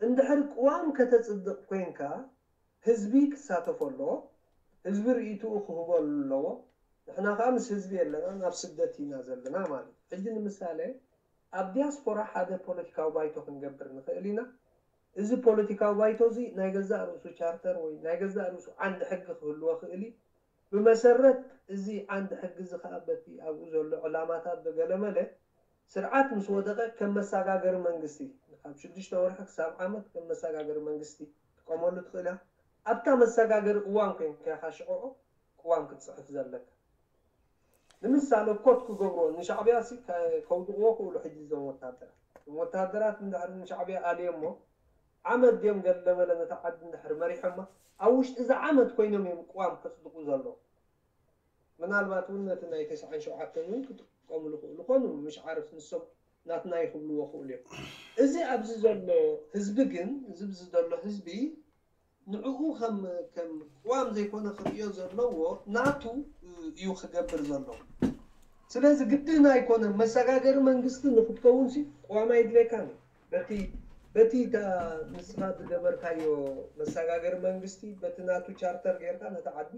እንድሕር ቅዋም ከተፅድቕ ኮይንካ ህዝቢ ክሳተፎ ኣለዎ፣ ህዝቢ ርእይትኡ ክህቦ ኣለዎ። ንሕና ከዓ ምስ ህዝቢ የለና፣ ናብ ስደት ኢና ዘለና ማለት እዩ። ሕጂ ንምሳሌ ኣብ ዲያስፖራ ሓደ ፖለቲካዊ ባይቶ ክንገብር ንኽእል ኢና። እዚ ፖለቲካዊ ባይቶ እዚ ናይ ገዛእ ርእሱ ቻርተር ወይ ናይ ገዛእ ርእሱ ዓንዲ ሕጊ ክህልዎ ክእል እዩ። ብመሰረት እዚ ዓንዲ ሕጊ እዚ ከዓ በቲ ኣብኡ ዘሎ ዕላማታት ብገለመለ ስርዓት ምስ ወደቐ ከም መሰጋገሪ መንግስቲ ካብ ሽዱሽተ ወርሒ ክሳብ ዓመት ከም መሰጋገሪ መንግስቲ ትጥቀመሉ ትኽእል እያ። ኣብታ መሰጋገሪ እዋን ኮይንካ ኢኻ ሽዕኦ ቅዋም ክትፅሕፍ ዘለካ። ንምሳሌ ኮት ክገብርዎ ንሻዕብያ ሲ ከ- ከውድቕዎ ክእሉ ሕጂ እዞም ወታደራት እዞም ወታደራት እንድሕር ንሻዕብያ ኣልዮሞ ዓመት ድዮም ገለመለ ነታ ዓዲ እንድሕር መሪሖማ ኣብ ውሽጢ እዚ ዓመት ኮይኖም እዮም ቅዋም ከፅድቁ ዘለዉ። ምናልባት እውን ነቲ ናይ ተስዓን ሸውዓተን እውን ክጥቀምሉ ክእሉ ኮኑ ምሽ ዓርፍ ንሶም ናትና ይኽብልዎ ክእሉ እዮም። እዚ ኣብዚ ዘሎ ህዝቢ ግን እዚ ኣብዚ ዘሎ ህዝቢ ንዕኡ ከም ከም ቅዋም ዘይኮነ ክርእዮ ዘለዎ ናቱ እዩ ክገብር ዘለዎ። ስለዚ ግድን ኣይኮነን መሰጋገሪ መንግስቲ ንክትከውን ሲ ቅዋም ኣይድለየካን እዩ። በቲ በቲ እታ ንስኻ ዝገበርካዮ መሰጋገሪ መንግስቲ በቲ ናቱ ቻርተር ጌርካ ነቲ ዓዲ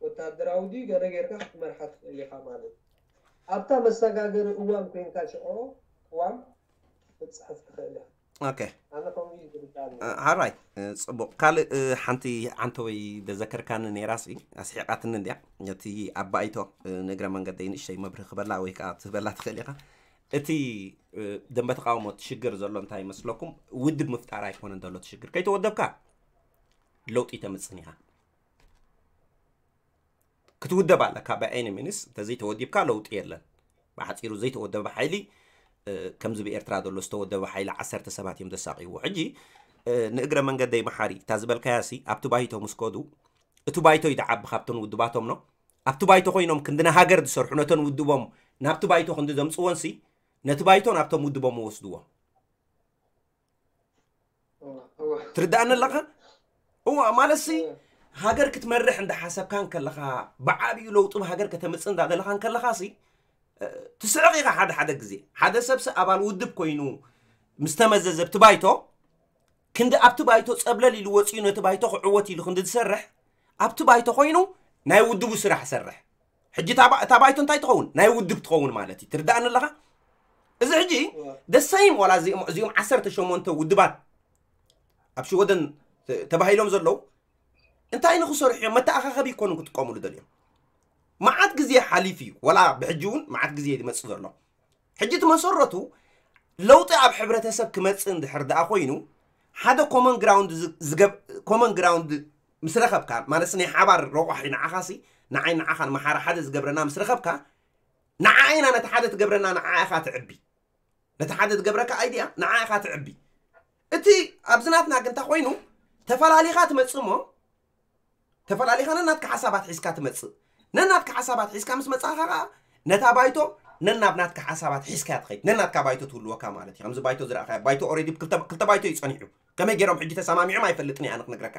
ወታደራዊ ድዩ ገለ ጌርካ ክትመርሓ ትኽእል ኢኻ ማለት እዩ። ኣብታ መሰጋገሪ እዋን ኮይንካ ሽዖ ቅዋም ክትፅሕፍ ትኽእል ኢኻ። ኦኬ ኣነ ከምኡ እዩ ዝርዳኒ። ሓራይ ጽቡቕ። ካልእ ሓንቲ ዓንተወይ ዘዘከርካኒ ነይራሲ ኣስሒቓትኒ እንድያ። እቲ ኣባይቶ ንእግረ መንገደይ ንእሽተይ መብርህ ክበላ ወይ ከዓ ትህበላ ትኽእል ኢኻ። እቲ ደንበ ተቃውሞ እቲ ሽግር ዘሎ እንታይ ይመስለኩም? ውድብ ምፍጣር ኣይኮነን ዘሎ እቲ ሽግር። ከይተወደብካ ለውጢ ተምፅን ኢኻ። ክትውደብ ኣለካ። ብኣይኒ ሚኒስ እንተዘይተወዲብካ ለውጢ የለን። ብሓፂሩ ዘይተወደበ ሓይሊ ከምዚ ብኤርትራ ዘሎ ዝተወደበ ሓይሊ ዓሰርተ ሰባት እዮም ዘሳቅይዎ። ሕጂ ንእግረ መንገደይ መሓሪ እታ ዝበልካያ ሲ ኣብቲ ባይቶ ምስ ከዱ እቲ ባይቶ ይድዓቢ ካብተን ውድባቶም ነው ኣብቲ ባይቶ ኮይኖም ክንዲ ንሃገር ዝሰርሑ ነተን ውድቦም ናብቲ ባይቶ ክንዲ ዘምፅወን ሲ ነቲ ባይቶ ናብቶም ውድቦም ወስድዎም። ትርዳእኒ ኣለኻ? እዋ ማለት ሲ ሃገር ክትመርሕ እንዳሓሰብካ እንከለኻ ብዓብዩ ለውጢ ሃገር ከተምፅእ እንዳደለኻ እንከለኻ ሲ ትስዕቕ ኢኻ። ሓደ ሓደ ግዜ ሓደ ሰብሲ ኣባል ውድብ ኮይኑ ምስ ተመዘዘ ኣብቲ ባይቶ ክንዲ ኣብቲ ባይቶ ፀብለል ኢሉ ወፂኡ ነቲ ባይቶ ክዕወት ኢሉ ክንዲ ዝሰርሕ ኣብቲ ባይቶ ኮይኑ ናይ ውድቡ ስራሕ ሰርሕ። ሕጂ እታ ባይቶ እንታይ ትኸውን? ናይ ውድብ ትኸውን ማለት እዩ። ትርዳእኒ ኣለኻ? እዚ ሕጂ ደሰይም ዋላ እዚኦም ዓሰርተ ሸሞንተ ውድባት ኣብ ሽወደን ተባሂሎም ዘለዉ እንታይ ንክሰርሑ እዮም? መተኣኻኸቢ ይኮኑ ክጥቀሙሉ ደልዮም። መዓት ግዜ ሓሊፍ እዩ። ዋላ ብሕጂ እውን መዓት ግዜ ይመፅእ ዘሎ። ሕጂ እቲ መሰረቱ ለውጢ ኣብ ሕብረተሰብ ክመፅእ እንድሕር ደኣ ኮይኑ ሓደ ኮመን ግራውንድ ኮመን ግራውንድ ምስ ረኸብካ ማለት ናይ ሓባር ረቋሒ ንዓኻሲ ንዓይ ንዓኻ ንመሓራ ሓደ ዝገብረና ምስ ረኸብካ ንዓ ኢና ነቲ ሓደ ትገብረና ንዓ ኢኻ ትዕቢ ነቲ ሓደ ትገብረካ ኣይድያ ንዓ ኢኻ ትዕቢ። እቲ ኣብዚ ናትና ግን እንታይ ኮይኑ ተፈላሊኻ ትመፅእ እሞ ተፈላሊኻ ነናትካ ሓሳባት ሒዝካ ትመፅእ። ነናትካ ሓሳባት ሒዝካ ምስ መፃኻ ከዓ ነታ ባይቶ ነናብ ናትካ ሓሳባት ሒዝካ ትኸይድ ነናትካ ባይቶ ትህልወካ ማለት እዩ። ከምዚ ባይቶ ዝረእካ ባይቶ ኦሬዲ ክልተ ባይቶ እዩ ፀኒሑ። ከመይ ገይሮም ሕጂ ተሰማሚዖም ኣይፈልጥን እየ ኣነ ክነግረካ።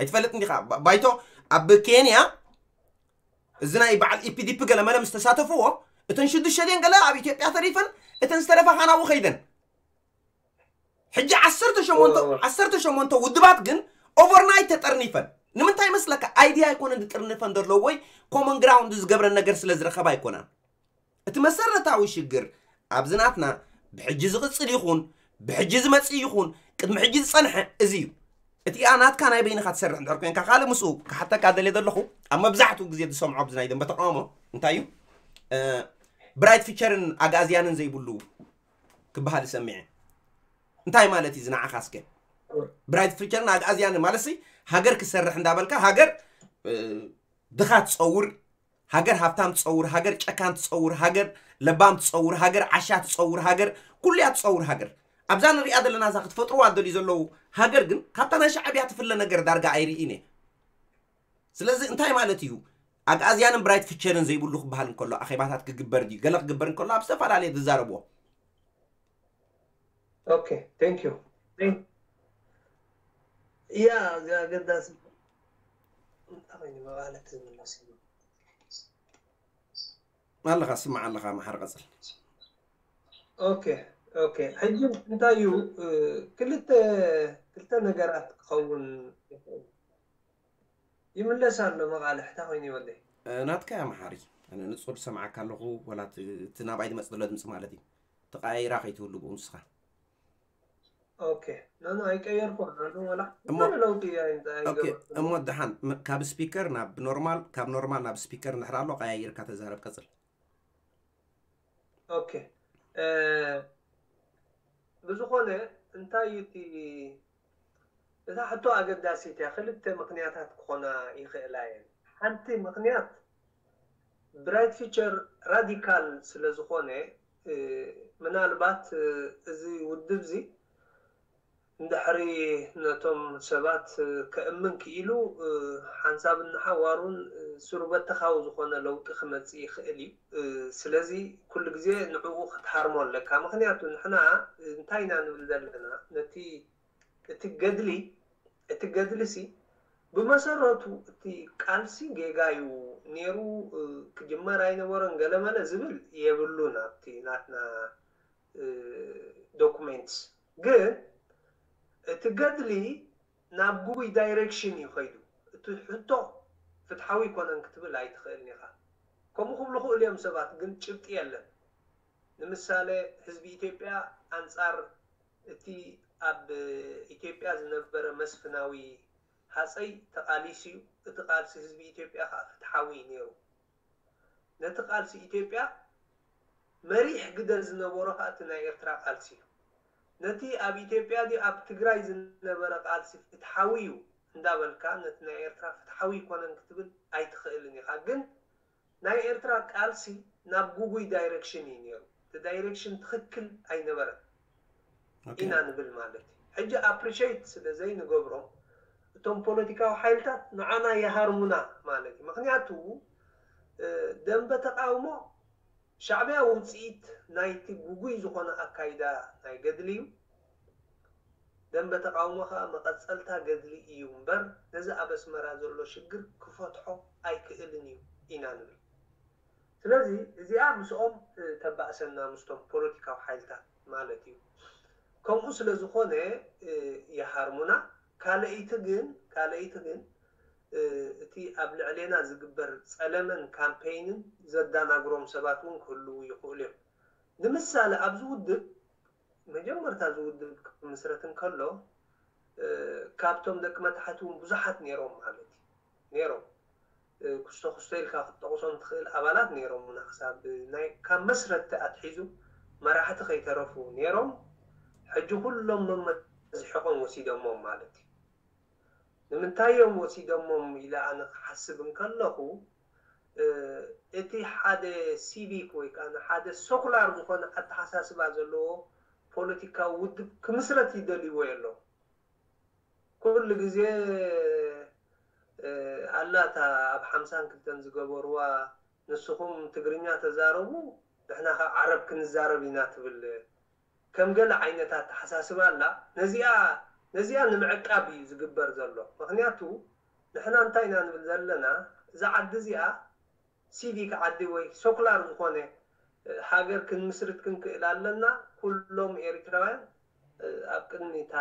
ኣይትፈልጥ እንዲኻ ባይቶ ኣብ ኬንያ እዚ ናይ በዓል ኢፒዲፒ ገለ መለ ምስ ተሳተፍዎ እተን ሽዱሽተ ድን ገለ ኣብ ኢትዮጵያ ተሪፈን እተን ዝተረፋ ካናብኡ ከይደን ሕጂ ዓሰርተ ሸሞንተ ውድባት ግን ኦቨርናይት ተጠርኒፈን ንምንታይ መስለካ? ኣይድያ ኣይኮነን ዝጥርንፈን ዘሎ ወይ ኮመን ግራውንድ ዝገብረን ነገር ስለ ዝረኸባ ኣይኮናን። እቲ መሰረታዊ ሽግር ኣብዚ ናትና ብሕጂ ዝቕፅል ይኹን ብሕጂ ዝመፅእ ይኹን ቅድሚ ሕጂ ዝፀንሐ እዚ እዩ። እቲኣ ናትካ ናይ በይንኻ ትሰርሕ እንድሕር ኮንካ ካልእ ምስኡ ክሓተካ ደልየ ዘለኹ ኣብ መብዛሕትኡ ግዜ ዝሰምዖ ኣብዚ ናይ ደንበ ተቃውሞ እንታይ እዩ ብራይት ፊቸርን ኣግኣዝያንን ዘይብሉ ክበሃል ይሰሚዐ። እንታይ ማለት እዩ ዝንዓኻ እስከ ብራይት ፊቸርን ኣግኣዝያንን ማለት ሃገር ክሰርሕ እንዳበልካ ሃገር ድኻ ትፀውር ሃገር ሃብታም ትፀውር ሃገር ጨካን ትፀውር ሃገር ለባም ትፀውር ሃገር ዓሻ ትፀውር ሃገር ኩሉያ ትፀውር ሃገር ኣብዛ ንሪኣ ዘለና እዛ ክትፈጥርዋ ደልዩ ዘለዉ ሃገር ግን ካብታ ናይ ሻዕብያ ትፍለ ነገር ዳርጋ ኣይርኢን እየ። ስለዚ እንታይ ማለት እዩ ኣግኣዝያንን ብራይት ፊቸርን ዘይብሉ ክበሃል እንከሎ ኣኼባታት ክግበር ድዩ ገለ ክግበር እንከሎ ኣብ ዝተፈላለየ ዝዛረብዎ Okay, thank you. Thank- ያ፣ እዚ ኣገዳሲ እንታይ ኮይኑ መቓለት ዝምለስ እዩ። ኣለኻ፣ ስማዕ ኣለኻ፣ መሓር ቀጽል። ኦኬ፣ ኦኬ። ሕጂ እንታይ እዩ፣ እ፣ ክልተ፣ ክልተ ነገራት ክኸውን ይኽእል። ይምለስ ኣሎ መቓልሕ፣ እንታይ ኮይኑ ይወደይ? እ፣ ናትካ እያ መሓሪ። ኣነ ንጹር ዝሰምዓካ ኣለኹ፣ ወላ እቲ፣ እቲ ናባይ ዝመጽእ ዘሎ ድምጺ ማለት እዩ። ተቐያይራ ከይትህሉ ብኡ ንስኻ። ኦኬ። ኖ፣ ኖ፣ ኣይቀየርኩን። ኣነ ወላ እሞ፣ ዝኾነ ለውጢ ኣይ-፣ ኦኬ፣ ኣይገበርኩን። እሞ ደሓን፣ ም-፣ ካብ ስፒከር ናብ ኖርማል፣ ካብ ኖርማል ናብ ስፒከር እንድሕር ኣሎ፣ ቀያይርካ ተዛረብ፣ ቀጽል። ኦኬ። እ፣ ብዝኾነ፣ እንታይ እዩ እቲ፣ እታ ሕቶ ኣገዳሲት እያ። ክልተ ምኽንያታት ክኾና ይኽእላ እየን። ሓንቲ ምኽንያት፣ ብራይት ፊቸር ራዲካል ስለ ዝኾነ፣ እ፣ ምናልባት፣ እ፣ እዚ ውድብ እዚ እንድሕሪ ነቶም ሰባት፣ እ፣ ከእምን ክኢሉ፣ እ፣ ሓንሳብ እናሓዋሩን፣ እ፣ ስሩበተኻዊ ዝኾነ ለውጢ ክመጽእ ይኽእል እዩ። እ፣ ስለዚ ኩሉ ግዜ ንዕኡ ክትሃርሞ ኣለካ። ምኽንያቱ ንሕና እንታይ ኢና ንብል ዘለና? ነቲ፣ እቲ ገድሊ፣ እቲ ገድሊ ሲ ብመሰረቱ እቲ ቃልሲ ጌጋ እዩ ነይሩ፣ እ፣ ክጅመር ኣይነበሮን ገለመለ ዝብል የብሉን ኣብቲ ናትና፣ እ፣ ዶኩሜንትስ። ግን እቲ ገድሊ ናብ ጉጉይ ዳይሬክሽን እዩ ከይዱ። እቲ ሕቶ ፍትሓዊ ኣይኮነን ክትብል ኣይትኽእልን ኢኻ። ከምኡ ክብሉ ክእሉ እዮም ሰባት፣ ግን ጭብጢ የለን። ንምሳሌ ህዝቢ ኢትዮጵያ ኣንጻር እቲ ኣብ ኢትዮጵያ ዝነበረ መስፍናዊ ሃጸይ ተቓሊሱ እዩ። እቲ ቃልሲ ህዝቢ ኢትዮጵያ ከዓ ፍትሓዊ እዩ ነይሩ። ነቲ ቃልሲ ኢትዮጵያ መሪሕ ግደ ዝነበሮ ከዓ እቲ ናይ ኤርትራ ቃልሲ እዩ። ነቲ ኣብ ኢትዮጵያ ድዩ ኣብ ትግራይ ዝነበረ ቃልሲ ፍትሓዊ እዩ እንዳበልካ ነቲ ናይ ኤርትራ ፍትሓዊ ኣይኮነን ክትብል ኣይትኽእልን ኢኻ። ግን ናይ ኤርትራ ቃልሲ ናብ ጉጉይ ዳይሬክሽን እዩ ነይሩ። እቲ ዳይሬክሽን ትኽክል ኣይነበረን ኢና ንብል ማለት እዩ። ሕጂ ኣፕሪሼት ስለ ዘይንገብሮም እቶም ፖለቲካዊ ሓይልታት ንዓና ይሃርሙና ማለት እዩ። ምኽንያቱ፣ እ፣ ደንበ ተቃውሞ ሻዕብያ ውፅኢት ናይቲ ጉጉይ ዝኾነ ኣካይዳ ናይ ገድሊ እዩ። ደንበ ተቃውሞ ከዓ መቐፀልታ ገድሊ እዩ እምበር ነዚ ኣብ ኣስመራ ዘሎ ሽግር ክፈትሖ ኣይክእልን እዩ ኢና ንብል። ስለዚ እዚኣ ምስኦም፣ እ፣ ተባእሰና ምስቶም ፖለቲካዊ ሓይልታት ማለት እዩ። ከምኡ ስለ ዝኾነ፣ እ፣ ይሃርሙና። ካልኣይቲ ግን፣ ካልኣይቲ ግን፣ እ፣ እቲ ኣብ ልዕሌና ዝግበር ጸለመን ካምፔይንን ዘዳናግሮም ሰባት እውን ክህልዉ ይኽእሉ እዮም። ንምሳሌ ኣብዚ ውድብ፣ መጀመርታ እዚ ውድብ ክምስረት እንከሎ፣ እ፣ ካብቶም ደቂ መታሕቲ እውን ብዙሓት ነይሮም ማለት እዩ። ነይሮም። እ፣ ኩስቶ ኩስቶ ኢልካ ክትጠቕሶም ትኽእል ኣባላት ነይሮም። ክሳብ ናይ፣ ካብ መስረትቲ ኣትሒዙ መራሕቲ ከይተረፉ ነይሮም። ሕጂ ኩሎም መመዝሒቖም ወሲዶሞም ማለት እዩ። ንምንታይ እዮም ወሲዶሞም ኢለ ኣነ ክሓስብ እንከለኹ፣ እ፣ እቲ ሓደ ሲቪክ ወይ ከዓ ሓደ ሰኩላር ዝኾነ ኣተሓሳስባ ዘለዎ ፖለቲካዊ ውድብ ክምስረት ይደልይዎ የለዉ። ኩሉ ግዜ፣ እ፣ ኣላ እታ ኣብ ሓምሳን ክልተን ዝገበርዋ፣ ንስኹም ትግርኛ ተዛረቡ፣ ንሕና ኸ ዓረብ ክንዛረብ ኢና ትብል ከም ገለ ዓይነት ኣተሓሳስባ ኣላ። ነዚኣ፣ ነዚኣ ንምዕቃብ እዩ ዝግበር ዘሎ። ምኽንያቱ ንሕና እንታይ ኢና ንብል ዘለና? እዛ ዓዲ እዚኣ ሲቪክ ዓዲ ወይ ሰኩላር ዝኾነ፣ እ፣ ሃገር ክንምስርት ክንክእል ኣለና። ኩሎም ኤሪትራውያን፣ እ፣ ኣብ ቅድሚ እታ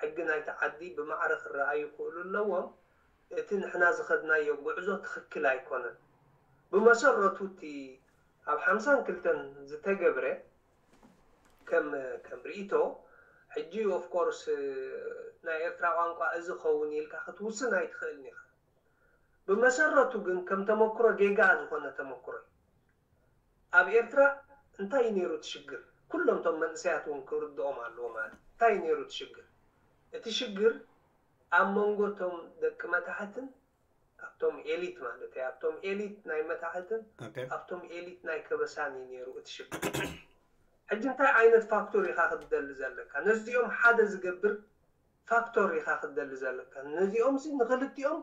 ሕጊ ናይቲ ዓዲ ብማዕረ ክረኣዩ ክኽእሉ ኣለዎም። እቲ ንሕና ዝኸድናዮ ጉዕዞ ትኽክል ኣይኮነን። ብመሰረቱ እቲ ኣብ ሓምሳን ክልተን ዝተገብረ ከም፣ ከም ርእይቶ፣ ሕጂ ኦፍ ኮርስ ናይ ኤርትራ ቋንቋ እዚ ኸውን ኢልካ ክትውስን ኣይትኽእልን ኢኻ። ብመሰረቱ ግን ከም ተመክሮ ጌጋ ዝኾነ ተመክሮ እዩ። ኣብ ኤርትራ እንታይ እዩ ነይሩ እቲ ሽግር? ኩሎም እቶም መንእሰያት እውን ክርድኦም ኣለዎ ማለት እዩ። እንታይ እዩ ነይሩ እቲ ሽግር? እቲ ሽግር ኣብ መንጎ እቶም ደቂ መታሕትን ኣብቶም ኤሊት ማለት እዩ፣ ኣብቶም ኤሊት ናይ መታሕትን ኦኬ። ኣብቶም ኤሊት ናይ ከበሳን እዩ ነይሩ እቲ ሽግር። ሕጂ እንታይ ዓይነት ፋክቶር ኢኻ ክትደሊ ዘለካ? ነዚኦም ሓደ ዝገብር ፋክቶር ኢኻ ክትደሊ ዘለካ። ነዚኦም ሲ ንኽልቲኦም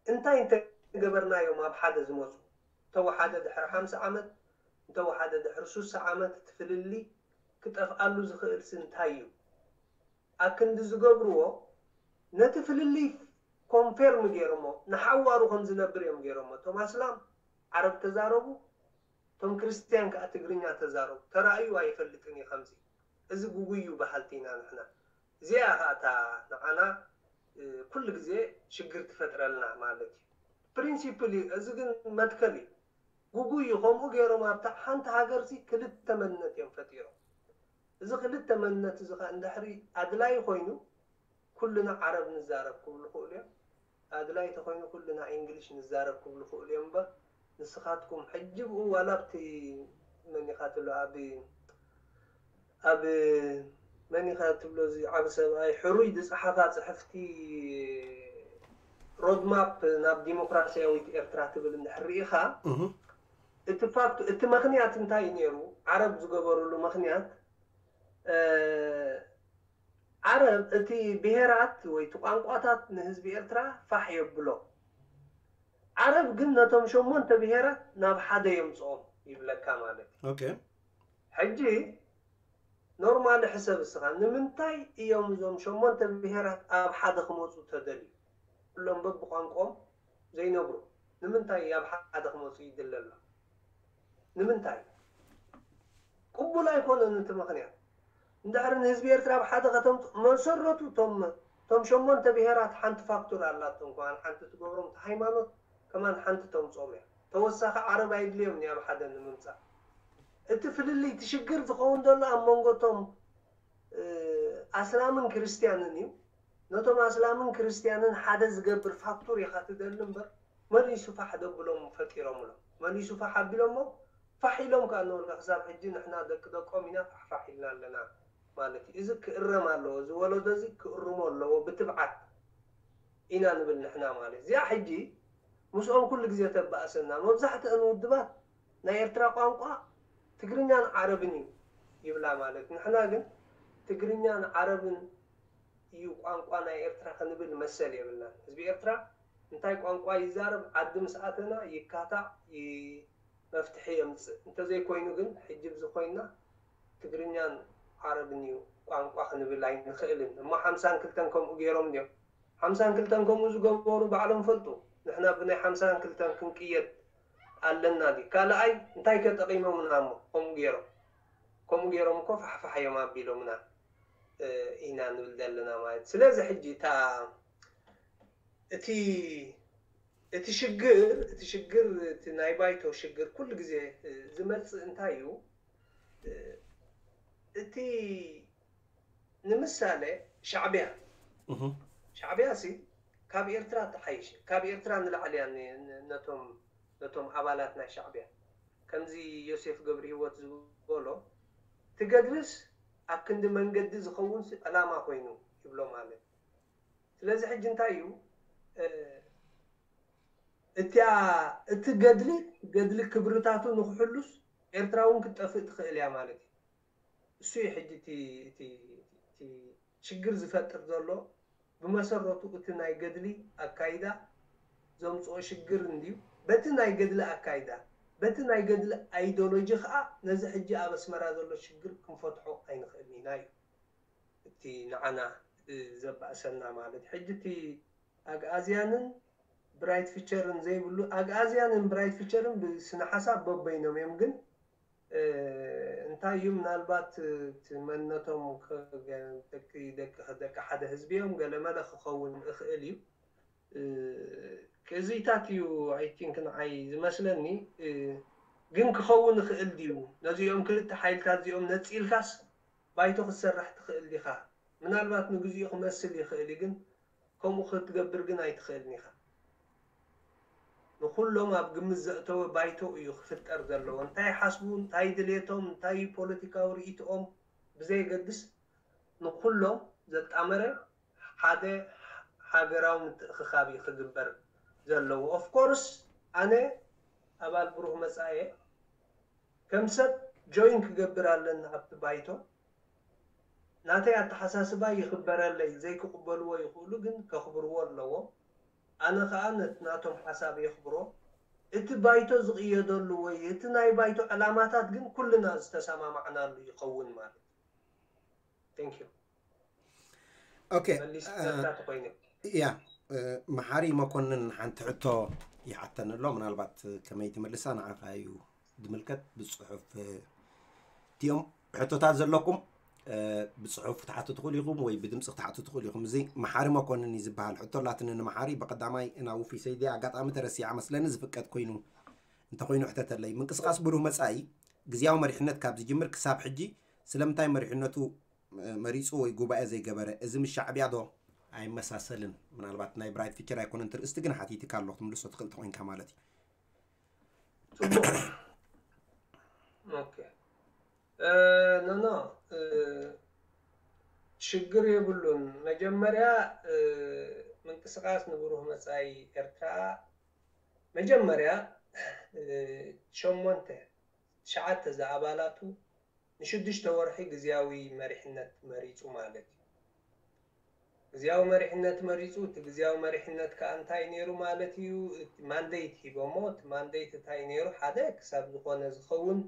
እንታይ እንተገበርናዮም ኣብ ሓደ ዝመፁ? እንተወሓደ ድሕሪ ሓምሳ ዓመት፣ እንተወሓደ ድሕሪ ሱሳ ዓመት እቲ ፍልልይ ክጠፍኣሉ ዝኽእል ሲ እንታይ እዩ? ኣክንዲ ዝገብርዎ ነቲ ፍልልይ ኮንፌርም ገይሮሞ ንሓዋሩ ከም ዝነብር እዮም ገይሮሞ። እቶም ኣስላም ዓረብ ተዛረቡ፣ እቶም ክርስትያን ከዓ ትግርኛ ተዛረቡ። ተራእዩ ኣይፈልጥን እዩ ከምዚ። እዚ ጉጉይ እዩ በሃልቲ ኢና ንሕና። እዚኣ ከዓ እታ ንዓና ኩሉ ግዜ ሽግር ትፈጥረልና ማለት እዩ። ፕሪንሲፕል እዩ። እዚ ግን መትከል እዩ። ጉጉይ እዩ። ከምኡ ገይሮም ኣብታ ሓንቲ ሃገር ሲ ክልተ መንነት እዮም ፈጢሮም። እዚ ክልተ መንነት እዚ ከዓ እንድሕሪ ኣድላይ ኮይኑ ኩልና ዓረብ ንዛረብ ክብሉ ክእሉ እዮም። ኣድላይ ተኮይኑ ኩልና ኢንግሊሽ ንዛረብ ክብሉ ክእሉ እዮም እምበር ንስኻትኩም ሕጂ ብኡ ዋላ ኣብቲ መን ኢኻ ትብሎ ኣብ ኣብ መን ኢኻ ትብሎ እዚ ዓቢ ሰብኣይ ሕሩይ ዝጸሓፋ ጽሕፍቲ ሮድማፕ ናብ ዲሞክራሲያዊት ኤርትራ ትብል እንድሕር ርኢኻ እቲ ፋክት እቲ ምኽንያት እንታይ እዩ ነይሩ? ዓረብ ዝገበሩሉ ምኽንያት ዓረብ እቲ ብሄራት ወይ እቲ ቋንቋታት ንህዝቢ ኤርትራ ፋሕ የብሎ። ዓረብ ግን ነቶም ሸሞንተ ብሄራት ናብ ሓደ የምፅኦም ይብለካ ማለት እዩ። Okay. ሕጂ ኖርማሊ ሕሰብ እስኻ ንምንታይ እዮም እዞም ሸሞንተ ብሄራት ኣብ ሓደ ክመፁ ተደልዩ? ኩሎም በብቋንቆም ዘይነብሩ ንምንታይ ኣብ ሓደ ክመፁ ይድለ ኣሎ? ንምንታይ? ቅቡል ኣይኮነን እቲ ምኽንያት። እንድሕር ንህዝቢ ኤርትራ ኣብ ሓደ ከተምፅ መሰረቱ ቶም ቶም ሸሞንተ ብሄራት ሓንቲ ፋክቶር ኣላቶም። ከማን ሓንቲ ትገብሮም፣ እቲ ሃይማኖት ከማን ሓንቲ ተምፅኦም እያ። ተወሳኺ ዓረብ ኣይድልዮም እያ ኣብ ሓደ ንምምፃእ። እቲ ፍልልይ እቲ ሽግር ዝኸውን ዘሎ ኣብ መንጎ ቶም ኣስላምን ክርስትያንን እዩ። ነቶም ኣስላምን ክርስትያንን ሓደ ዝገብር ፋክቶር ኢኻ ትደሊ እምበር መሊሱ ፋሕ ደብሎም ፈጢሮምሎም። መሊሱ ፋሕ ኣቢሎሞ ፋሕ ኢሎም ከኣ ንወልካ ክሳብ ሕጂ ንሕና ደቂ ደቆም ኢና ፋሕፋሕ ኢልና ኣለና ማለት እዩ። እዚ ክእረም ኣለዎ። እዚ ወለዶ እዚ ክእርሞ ኣለዎ ብትብዓት ኢና ንብል ንሕና ማለት እዩ። እዚኣ ሕጂ ምስኦም ኩሉ ግዜ ተባእሰና። መብዛሕትአን ውድባት ናይ ኤርትራ ቋንቋ ትግርኛን ዓረብን እዩ ይብላ ማለት። ንሕና ግን ትግርኛን ዓረብን እዩ ቋንቋ ናይ ኤርትራ ክንብል መሰል የብልናን። ህዝቢ ኤርትራ እንታይ ቋንቋ ይዛረብ ዓዲ ምስ ኣተና ይካታዕ ይ- መፍትሒ የምፅእ። እንተዘይኮይኑ ግን ሕጂ ብዚ ኮይንና ትግርኛን ዓረብን እዩ ቋንቋ ክንብል ኣይንኽእልን እሞ ሓምሳን ክልተን ከምኡ ገይሮም ድዮም? ሓምሳን ክልተን ከምኡ ዝገበሩ ባዕሎም ፈልጡ። ንሕና ብናይ ሓምሳን ክልተን ክንቅየድ ኣለና ድዩ? ካልኣይ እንታይ ከ ጠቒሞምና እሞ ከምኡ ገይሮም? ከምኡ ገይሮም እኮ ፋሕፋሕ እዮም ኣቢሎምና ኢና ንብል ዘለና ማለት። ስለዚ ሕጂ እታ እቲ እቲ ሽግር እቲ ሽግር እቲ ናይ ባይቶ ሽግር ኩሉ ግዜ ዝመፅእ እንታይ እዩ? እቲ ንምሳሌ ሻዕቢያ ሻዕቢያ ሲ ካብ ኤርትራ ትሓይሽ ካብ ኤርትራ ንላዕሊ እያ ነቶም ነቶም ኣባላት ናይ ሻዕቢያ ከምዚ ዮሴፍ ገብረ ህይወት ዝበሎ ትገድልስ ኣብ ክንዲ መንገዲ ዝኸውን ዕላማ ኮይኑ ይብሎ ማለት ስለዚ ሕጂ እንታይ እዩ እቲያ እቲ ገድሊ ገድሊ ክብርታቱ ንክሕሉስ ኤርትራ እውን ክትጠፍእ ትኽእል እያ ማለት እዩ። እሱ እዩ ሕጂ እቲ እቲ እቲ ሽግር ዝፈጥር ዘሎ ብመሰረቱ እቲ ናይ ገድሊ ኣካይዳ ዘምፅኦ ሽግር እንድዩ። በቲ ናይ ገድሊ ኣካይዳ በቲ ናይ ገድሊ ኣይዶሎጂ ከዓ ነዚ ሕጂ ኣብ ኣስመራ ዘሎ ሽግር ክንፈትሖ ኣይንኽእልን ኢና እዩ። እቲ ንዓና ዘባእሰና ማለት ሕጂ እቲ ኣግኣዝያንን ብራይት ፊቸርን ዘይብሉ ኣግኣዝያንን ብራይት ፊቸርን ብስነ ሓሳብ በበይኖም እዮም ግን እንታይ እዩ ምናልባት እቲ መንነቶም ደቂ ሓደ ህዝቢ እዮም ገለመለ ክኸውን እኽእል እዩ ክእዚታት እዩ I think ንዓይ ዝመስለኒ ግን ክኸውን ይኽእል ድዩ ነዚኦም ክልተ ሓይልታት እዚኦም ነፂልካስ ባይቶ ክትሰርሕ ትኽእል ዲኻ ምናልባት ንግዚኡ ክመስል ይኽእል እዩ ግን ከምኡ ክትገብር ግን ኣይትኽእልን ኢኻ ንኹሎም ኣብ ግምት ዘእተወ ባይቶ እዩ ክፍጠር ዘለዎ እንታይ ሓስቡ እንታይ ድሌቶም እንታይ ፖለቲካዊ ርእይትኦም ብዘየገድስ ንኹሎም ዘጣመረ ሓደ ሃገራዊ ምትእኽኻብ እዩ ክግበር ዘለዎ of course ኣነ ኣባል ብሩህ መፃኢ ከም ሰብ join ክገብር ኣለኒ ኣብቲ ባይቶ ናተይ ኣተሓሳስባ ይኽበረለይ ዘይክቕበልዎ ይኽእሉ ግን ከኽብርዎ ኣለዎም ኣነ ከዓ ነቲ ናቶም ሓሳብ የኽብሮ እቲ ባይቶ ዝቕየደሉ ወይ እቲ ናይ ባይቶ ዕላማታት ግን ኩልና ዝተሰማማዕናሉ ይኸውን ማለት thank you ኦኬ፣ መሊስ እ፣ ዘርታ ተኮይኑ። ያ፣ እ፣ መሓሪ መኮንን ሓንቲ ሕቶ ይሓተኒ ኣሎ። ምናልባት ከመይ ትመልሳ ንዓኻ እዩ ዝምልከት። ብፅሑፍ፣ እ፣ እቲኦም ሕቶታት ዘለኩም፣ እ፣ ብፅሑፍ ክትሓቱ ትኽእሉ ኢኹም ወይ ብድምፂ ክትሓቱ ትኽእሉ ኢኹም። እዚ መሓሪ መኮንን እዩ ዝበሃል። ሕቶ ኣላትኒ ንመሓሪ። ብቐዳማይ ናብ ውፊ ሰይዲ ኣጋጣሚ ተረሲዓ መስለኒ። ዝፍቀድ ኮይኑ እንተኾይኑ ሕተተለይ። ምንቅስቃስ ብሩህ መጻኢ ግዝያዊ መሪሕነት ካብ ዝጅምር ክሳብ ሕጂ ስለምንታይ መሪሕነቱ፣ እ፣ መሪጹ ወይ ጉባኤ ዘይገበረ? እዚ ምስ ሻዕብያ ዶ ኣይመሳሰልን? ምናልባት ናይ ብራይት ፊቸር ኣይኮነን ትርእስቲ፣ ግን ሓቲትካ ኣለኹ፣ ትምልሶ ትኽእል ተኾይንካ ማለት እዩ። ጽቡቅ። ኦኬ። እ፣ ኖ፣ ኖ፣ እ፣ ሽግር የብሉን። መጀመርያ፣ እ፣ ምንቅስቃስ ንብሩህ መጻኢ ኤርትራ፣ መጀመርያ፣ እ፣ ሸሞንተ፣ ትሽዓተ ዝኣባላቱ ንሽዱሽተ ወርሒ ግዝያዊ መሪሕነት መሪጹ ማለት እዩ። ግዝያዊ መሪሕነት መሪጹ፣ እቲ ግዝያዊ መሪሕነት ከኣ እንታይ ነይሩ ማለት እዩ? እቲ ማንዴት ሂቦሞ፣ እቲ ማንዴት እንታይ ነይሩ? ሓደ ክሳብ ዝኾነ ዝኸውን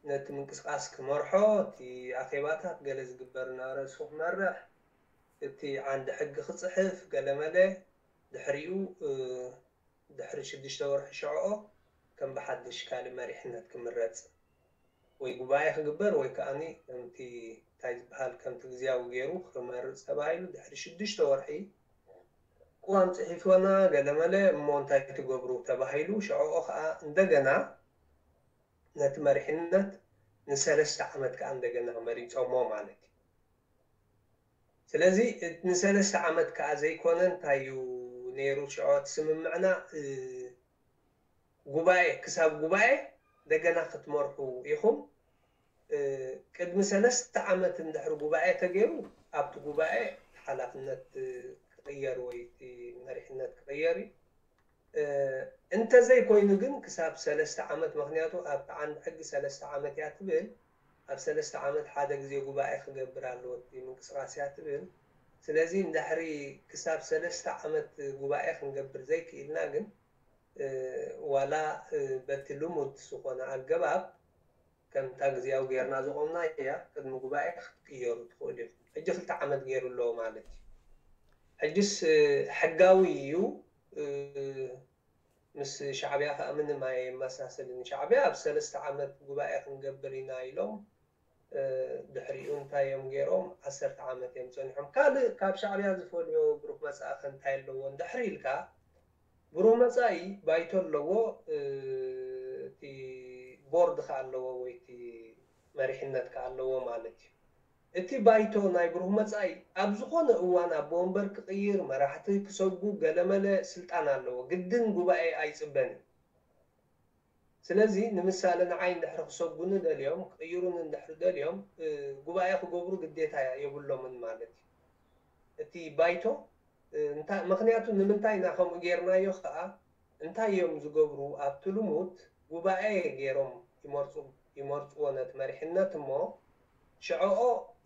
ነቲ ምንቅስቃስ ክመርሖ፣ እቲ ኣኼባታት ገለ ዝግበር እናረሱ ክመርሕ፣ እቲ ዓንዲ ሕጊ ክጽሕፍ፣ ገለመለ፣ ድሕሪኡ፣ እ፣ ድሕሪ ሽዱሽተ ወርሒ ሽዕኦ ከም ብሓድሽ ካልእ መሪሕነት ክምረጽ ወይ ጉባኤ ክግበር ወይ ከኣኒ ከምቲ እንታይ ዝበሃል ከምቲ ግዝያዊ ገይሩ ክመርጽ ተባሂሉ ድሕሪ ሽዱሽተ ወርሒ ቅዋም ጽሒፎና ገለመለ እሞ እንታይ ትገብሩ ተባሂሉ ሽዕኦ ከኣ እንደገና ነቲ መሪሕነት ንሰለስተ ዓመት ከኣ እንደገና መሪጾሞ ማለት እዩ። ስለዚ ንሰለስተ ዓመት ከኣ ዘይኮነ እንታይ እዩ ነይሩ ሽዑ እቲ ስምምዕና፣ እ፣ ጉባኤ ክሳብ ጉባኤ እንደገና ክትመርሑ ኢኹም። እ፣ ቅድሚ ሰለስተ ዓመት እንድሕሪ ጉባኤ ተገይሩ ኣብቲ ጉባኤ ሓላፍነት፣ እ፣ ክቕየር ወይ እቲ መሪሕነት ክቕየር እዩ። እ፣ እንተዘይኮይኑ ግን ክሳብ ሰለስተ ዓመት፣ ምኽንያቱ ኣብቲ ዓንዲ ሕጊ ሰለስተ ዓመት እያ ትብል፣ ኣብ ሰለስተ ዓመት ሓደ ግዜ ጉባኤ ክገብር ኣለዎ እቲ ምንቅስቃስ እያ ትብል። ስለዚ እንድሕሪ ክሳብ ሰለስተ ዓመት ጉባኤ ክንገብር ዘይክኢልና ግን፣ እ፣ ዋላ፣ እ፣ በቲ ልሙድ ዝኾነ ኣገባብ ከምታ ግዜያዊ ጌርና ዘቆምና እያ፣ ቅድሚ ጉባኤ ክትቅየሩ ትኽእሉ ኢኹም። ሕጂ ክልተ ዓመት ገይሩ ኣለዎ ማለት እዩ። ሕጅስ፣ እ፣ ሕጋዊ እዩ። እ፣ ምስ ሻዕብያ ከኣ ምንም ኣየመሳሰልን። ሻዕብያ ኣብ ሰለስተ ዓመት ጉባኤ ክንገብር ኢና ኢሎም፣ እ፣ ድሕሪኡ እንታይ እዮም ገይሮም? ዓሰርተ ዓመት እዮም ጸኒሖም። ካልእ ካብ ሻዕብያ ዝፈልዮ ብሩህ መጻኢ ከ እንታይ ኣለዎ እንድሕር ኢልካ፣ ብሩህ መጻኢ ባይቶ ኣለዎ፣ እ፣ እቲ ቦርድ ከኣ ኣለዎ ወይ እቲ መሪሕነት ከኣ ኣለዎ ማለት እዩ። እቲ ባይቶ ናይ ብሩህ መጻኢ ኣብ ዝኾነ እዋን ኣቦ ወንበር ክቕይር፣ መራሕቲ ክሰጉ፣ ገለመለ ስልጣን ኣለዎ። ግድን ጉባኤ ኣይጽበን እዩ። ስለዚ ንምሳሌ ንዓይ እንድሕሪ ክሰጉኒ ደልዮም፣ ክቕይሩኒ እንድሕሪ ደልዮም፣ እ፣ ጉባኤ ክገብሩ ግዴታ የብሎምን ማለት እዩ። እቲ ባይቶ፣ እ፣ እንታ-፣ ምኽንያቱ ንምንታይ ኢና ከምኡ ጌርናዮ ከኣ፣ እንታይ እዮም ዝገብሩ? ኣብቲ ልሙድ ጉባኤ ገይሮም ይመርጹ፣ ይመርጽዎ ነቲ መሪሕነት እሞ፣ ሽዕኦ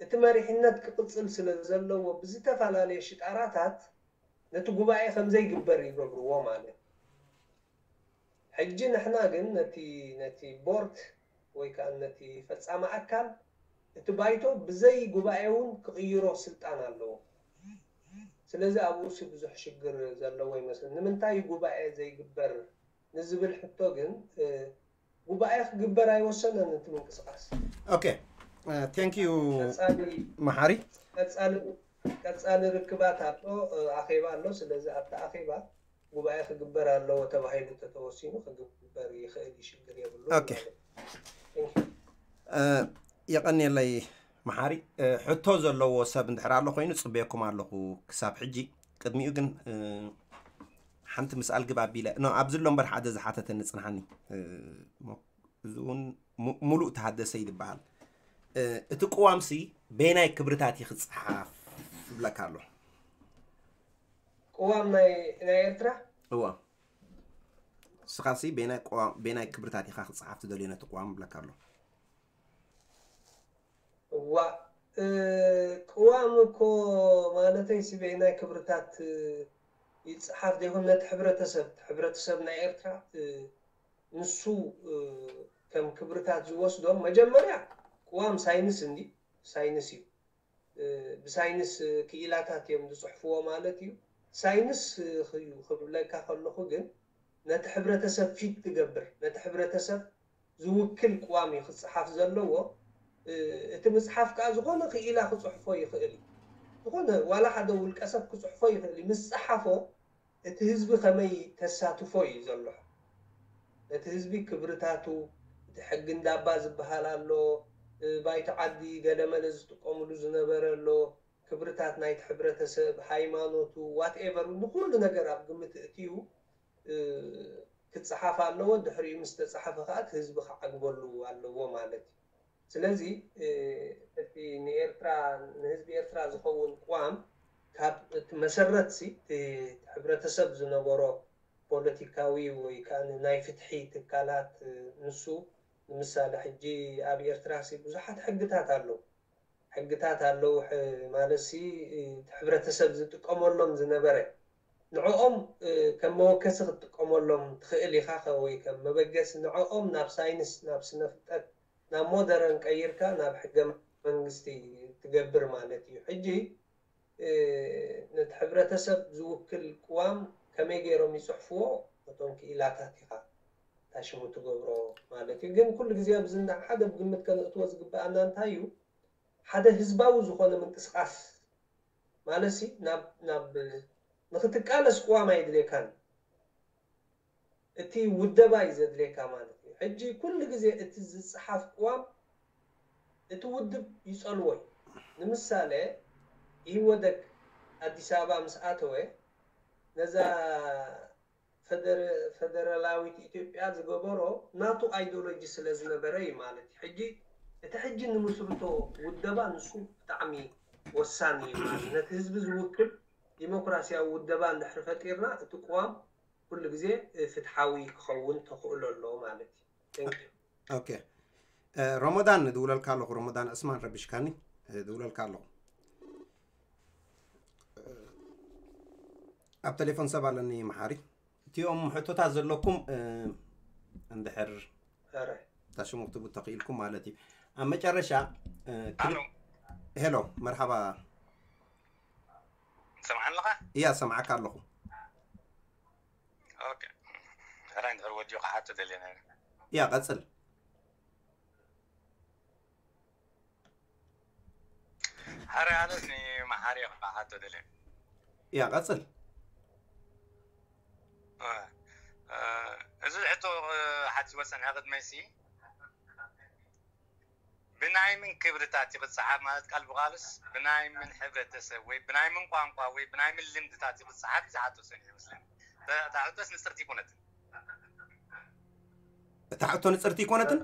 እቲ መሪሕነት ክቕጽል ስለ ዘለዎ ብዝተፈላለየ ሽጣራታት ነቲ ጉባኤ ከም ዘይግበር ይገብርዎ ማለት እዩ። ሕጂ ንሕና ግን ነቲ፣ ነቲ ቦርድ ወይ ከኣ ነቲ ፈጻሚ ኣካል እቲ ባይቶ ብዘይ ጉባኤ እውን ክቕይሮ ስልጣን ኣለዎ። ስለዚ ኣብኡ ሲ ብዙሕ ሽግር ዘለዎ ይመስል። ንምንታይ ጉባኤ ዘይግበር ንዝብል ሕቶ ግን፣ እ፣ ጉባኤ ክግበር ኣይወሰነን እቲ ምንቅስቃስ። ኦኬ፣ ቴንክ ዩ ቀጻሊ መሓሪ። ቀጻሊ ቀጻሊ ርክባት ኣሎ፣ እ፣ ኣኼባ ኣሎ። ስለዚ ኣብቲ ኣኼባ ጉባኤ ክግበር ኣለዎ ተባሂሉ እንተተወሲኑ ክግበር ይኽእል እዩ፣ ሽግር የብሉን ኦኬ። ማለት እዩ። Thank you። እ፣ የቐንየለይ መሓሪ። እ፣ ሕቶ ዘለዎ ሰብ እንድሕር ኣሎ ኮይኑ ጽበየኩም ኣለኹ ክሳብ ሕጂ። ቅድሚኡ ግን፣ እ፣ ሓንቲ ምስኣል ግብ ኣቢለ ኖ ኣብዚ ኣሎ እምበር ሓደ ዝሓተተኒ ጽንሓኒ። እ፣ ሞ-፣ እዚ እውን ሙ-፣ ሙሉእ ተሃደሰ ይድበሃል። እ፣ እቲ ቅዋምሲ በየናይ ክብርታት እዩ ክጽሓፍ ይብለካ ኣሎ። ቅዋም ናይ፣ ናይ ኤርትራ እዋ፣ ንስኻሲ በየናይ ቅዋም፣ በየናይ ክብርታት ኢኻ ክጽሓፍ ትደልዮ ነቲ ቅዋም ይብለካ ኣሎ። እዋ፣ እ፣ ቅዋም እኮ ማለተይ ሲ በየናይ ክብርታት፣ እ፣ ይጽሓፍ ዘይኮን ነቲ ሕብረተሰብ፣ ሕብረተሰብ ናይ ኤርትራ፣ እ፣ ንሱ፣ እ፣ ከም ክብርታት ዝወስዶ መጀመርያ ቅዋም ሳይንስ እንዲ፣ ሳይንስ እዩ። ብሳይንስ ክኢላታት እዮም ዝፅሕፍዎ ማለት እዩ። ሳይንስ እዩ ክብለካ ከለኹ ግን ነቲ ሕብረተሰብ ፊት ትገብር፣ ነቲ ሕብረተሰብ ዝውክል ቅዋም እዩ ክፅሓፍ ዘለዎ። እቲ ምፅሓፍ ከዓ ዝኾነ ክኢላ ክፅሕፎ ይኽእል እዩ። ዝኾነ ዋላ ሓደ ውልቀ ሰብ ክፅሕፎ ይኽእል እዩ። ምስ ፀሓፎ እቲ ህዝቢ ከመይ ተሳትፎ እዩ ዘሎ። ነቲ ህዝቢ ክብርታቱ፣ እቲ ሕጊ እንዳባ ዝበሃል ኣሎ፣ ባይቶ ዓዲ ገለመለ ዝጥቀምሉ ዝነበረ ኣሎ፣ ክብርታት ናይቲ ሕብረተሰብ፣ ሃይማኖቱ፣ ዋትኤቨር ንኩሉ ነገር ኣብ ግምት እትዩ ክፀሓፍ ኣለዎ። ድሕሪኡ ምስ ተፀሓፈ ከዓ እቲ ህዝቢ ክዓግበሉ ኣለዎ ማለት እዩ። ስለዚ እቲ ንኤርትራ ንህዝቢ ኤርትራ ዝኸውን ቅዋም ካብ እቲ መሰረት ሲ እቲ ሕብረተሰብ ዝነበሮ ፖለቲካዊ ወይ ከዓ ናይ ፍትሒ ትካላት ንሱ ንምሳሌ ሕጂ ኣብ ኤርትራ ሲ ብዙሓት ሕግታት ኣለዉ። ሕግታት ኣለዉ ማለት ሲ እቲ ሕብረተሰብ ዝጥቀመሎም ዝነበረ ንዕኦም ከም መወከሲ ክትጥቀመሎም ትኽእል ኢኻ ወይ ከም መበገሲ ንዕኦም ናብ ሳይንስ ናብ ስነ ፍልጠት ናብ ሞደረን ቀይርካ ናብ ሕገ መንግስቲ ትገብር ማለት እዩ። ሕጂ ነቲ ሕብረተሰብ ዝውክል ቅዋም ከመይ ገይሮም ይፅሕፍዎ ነቶም ክኢላታት ኢኻ ታሽሙ ትገብሮ ማለት እዩ። ግን ኩሉ ግዜ ኣብዚ ሓደ ግምት ከነእትዎ ዝግበኣና እንታይ እዩ ሓደ ህዝባዊ ዝኾነ ምንቅስቃስ ማለት ሲ ናብ ናብ ንክትቃለስ ቅዋም ኣይድልየካን እቲ ውደባ እዩ ዘድልየካ ማለት እዩ። ሕጂ ኩሉ ግዜ እቲ ዝፀሓፍ ቅዋም እቲ ውድብ ይፀልዎ እዩ። ንምሳሌ ኢህወደግ ኣዲስ ኣበባ ምስ ኣተወ ነዛ ፈደራላዊት ኢትዮጵያ ዝገበሮ ናቱ ኣይዲዮሎጂ ስለ ዝነበረ እዩ ማለት እዩ። ሕጂ እቲ ሕጂ ንምስርቶ ውደባ ንሱ ብጣዕሚ ወሳኒ እዩ ማለት ነቲ ህዝቢ ዝውክል ዲሞክራሲያዊ ውደባ እንድሕር ፈጢርና እቲ ቅዋም ኩሉ ግዜ ፍትሓዊ ክኸውን ተኽእሎ ኣሎ ማለት እዩ። ኦኬ ረመዳን ድውለልካ ኣለኹ። ረመዳን ዕስማን ረቢሽካኒ ድውለልካ ኣለኹ። ኣብ ቴሌፎን ሰብ ኣለኒ መሓሪ። እቲኦም ሕቶታት ዘለኩም እንድሕር ታሽሙ ክትቡ ተኽኢልኩም ማለት እዩ። ኣብ መጨረሻ ሄሎ መርሓባ ሰምዓን ኣለኻ? እያ ሰምዓካ ኣለኹ። ኦኬ ሕራይ እንድሕር ወዲኡ ክሓቶ ደልየ ነይረ። እያ ቀጽል። ሕራይ ኣነስ ንመሓሪ ክሓቶ ደልየ። እያ ቀጽል። እዚ ሕቶ ሓቲወ ጸኒሐ ቅድመይሲ ብናይ ምን ክብርታት እዩ ክፀሓፍ ማለት ቃል ብቃልስ ብናይ ምን ሕብረተሰብ ወይ ብናይ ምን ቋንቋ ወይ ብናይ ምን ልምድታት እዩ ክፀሓፍ እዩ ዝሓቶ ሰኒሑ ይመስለኒ። እታ ሕቶስ ንፅርቲ ይኮነትን። እታ ሕቶ ንፅርቲ ይኮነትን።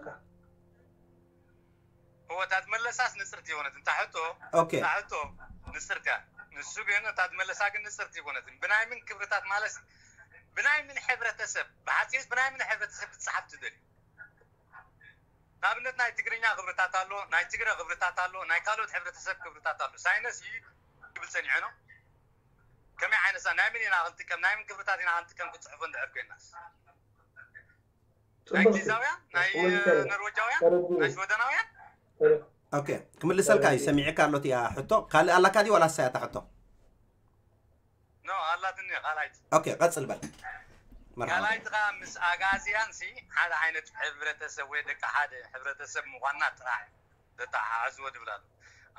እወ እታ ዝመለሳስ ንፅርቲ ይኮነትን። እታ ሕቶ ኦኬ። እታ ሕቶ ንፅርቲ እያ። ንሱ ግን እታ ዝመለሳ ግን ንፅርቲ ይኮነትን። ብናይ ምን ክብርታት ማለት ብናይ ምን ሕብረተሰብ ብሓፂርስ ብናይ ምን ሕብረተሰብ ክትፀሓፍ ትደልዩ? ንኣብነት ናይ ትግርኛ ክብርታት ኣሎ፣ ናይ ትግረ ክብርታት ኣሎ፣ ናይ ካልኦት ሕብረተሰብ ክብርታት ኣሎ። ሳይነስ እዩ ክብል ጸኒሑ ነው። ከመይ ዓይነት ሳ ናይ ምን ኢና ክንጥቀም ናይ ምን ክብርታት ኢና ክንጥቀም ክጽሕፎ እንድሕር ኮይናስ ናይ እንግሊዛውያን ናይ ኖርወጃውያን ናይ ሽወደናውያን ኦኬ ክምልሰልካ እዩ ሰሚዕካ ኣሎ እቲኣ ሕቶ ካልእ ኣላካ ድዩ ዋላ ሳያታ ሕቶ ኖ ኣላትኒ ካልኣይቲ ኦኬ ቀጽል በል መርሓባ ካልኣይቲ ከዓ ምስ ኣጋዝያን ሲ ሓደ ዓይነት ሕብረተሰብ ወይ ደቂ ሓደ ሕብረተሰብ ምኳንና ጥራሕ ተተሓሓዝዎ ድብል ኣሎ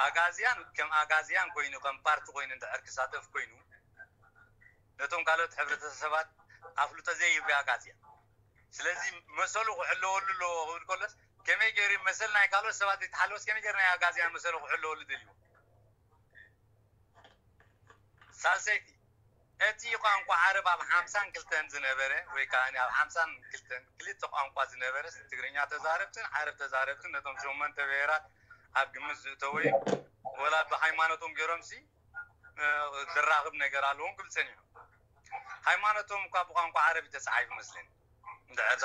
ኣጋዝያን ከም ኣጋዝያን ኮይኑ ከም ፓርቲ ኮይኑ እንድሕር ክሳተፍ ኮይኑ ነቶም ካልኦት ሕብረተሰባት ኣፍልጦ ዘይህብ ኣጋዝያን ስለዚ መሰሉ ክሕለወሉ ኣለዎ ክብል ከሎስ ከመይ ገይሩ መሰል ናይ ካልኦት ሰባት ዘይተሓለወስ ከመይ ገይሩ ናይ ኣጋዝያን መሰሉ ክሕለወሉ ደልዎ ሳልሰይቲ እቲ ቋንቋ ዓረብ ኣብ ሓምሳን ክልተን ዝነበረ ወይ ከዓ ኣብ ሓምሳን ክልተን ክልተ ቋንቋ ዝነበረ ትግርኛ ተዛረብትን ዓረብ ተዛረብትን ነቶም ሸሞንተ ብሄራት ኣብ ግምት ዝእተወ እዩ። ወላ ብሃይማኖቶም ገይሮም ሲ ዘራኽብ ነገር ኣለዎም ክብል ፀኒሑ። ሃይማኖቶም እኳ ብቋንቋ ዓረብ እዩ ተፃሒፉ መስለኒ። እንድሕር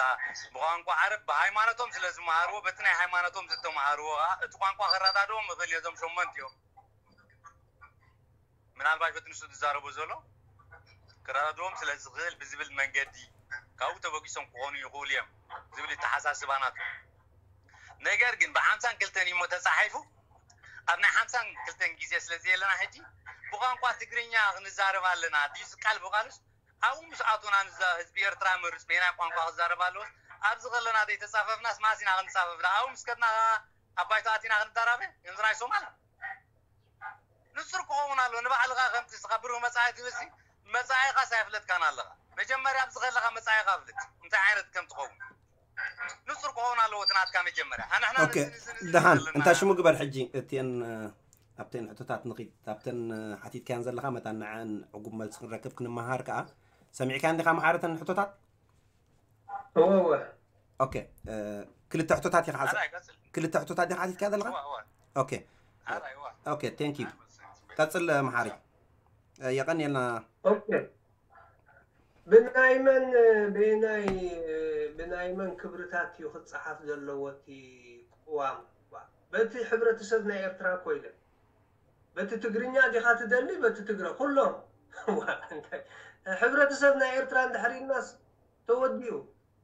ብቋንቋ ዓረብ ብሃይማኖቶም ስለ ዝመሃርዎ በቲ ናይ ሃይማኖቶም ዝተመሃርዎ ከዓ እቲ ቋንቋ ከረዳድዎም ይኽእል እዮ እዞም ሸሞንተ እዮም። ምናልባሽ በቲ ንሱ ዝዛረቦ ዘሎ ክረዳድዎም ስለ ዝኽእል ብዝብል መንገዲ ካብኡ ተበጊሶም ክኾኑ ይኽእሉ እዮም ዝብል ይተሓሳስባ ናቱ። ነገር ግን ብሓምሳን ክልተን እሞ ተፃሒፉ ኣብ ናይ ሓምሳን ክልተን ግዜ ስለ ዘለና ሕጂ ብቋንቋ ትግርኛ ክንዛረብ ኣለና ድዩ ቃል ብቃልስ ኣብኡ ምስ ኣቶና ንዛ ህዝቢ ኤርትራ መርጽ በይናይ ቋንቋ ክዛረብ ኣለዎስ ኣብዚ ከለና ዘይተጻፈፍናስ ማሲና ክንጻፈፍ ዳ ኣብኡ ምስ ከድና ኣብ ባይቶ ኣቲና ክንዳራበ ከምዚ ናይ ሶማል ንጹር ክኸውን ኣሎ ንባዕልኻ ከምቲ ስኻ ብሩህ መጻኢ ትብልሲ መጻኢኻስ ኣይፍለጥካን ኣለኻ መጀመርያ ኣብዚ ከለኻ መጻኢኻ ፍልጥ እንታይ ዓይነት ከም ትኸውን ንጹር ክኸውን ኣለዎ እቲ ናትካ መጀመርያ ኣንሕና ኦኬ ደሓን እንታይ ሽሙ ግበር ሕጂ እቲን ኣብተን ሕቶታት ንኺድ ኣብተን ሓቲትካያን ዘለኻ መታን ንዐን ዕጉብ መልሲ ክንረክብ ክንመሃር ከኣ ሰሚዕካ እንዲኻ መሓረተን ሕቶታት እወ እወ ኦኬ ክልተ ሕቶታት ኢኻ ክልተ ሕቶታት ኢኻ ሓቲትካ ዘለኻ ኦኬ ኦኬ thank you ቀጽል መሓሪ የቐንየልና ኦኬ ብናይ መን ብናይ ብናይ መን ክብርታት እዩ ክፀሓፍ ዘለዎ እቲ ቅዋም በቲ ሕብረተሰብ ናይ ኤርትራ ኮይነ በቲ ትግርኛ ዲኻ ትደሊ በቲ ትግረ ኩሎም ሕብረተሰብ ናይ ኤርትራ እንድሕር ኢልናስ ተወዲኡ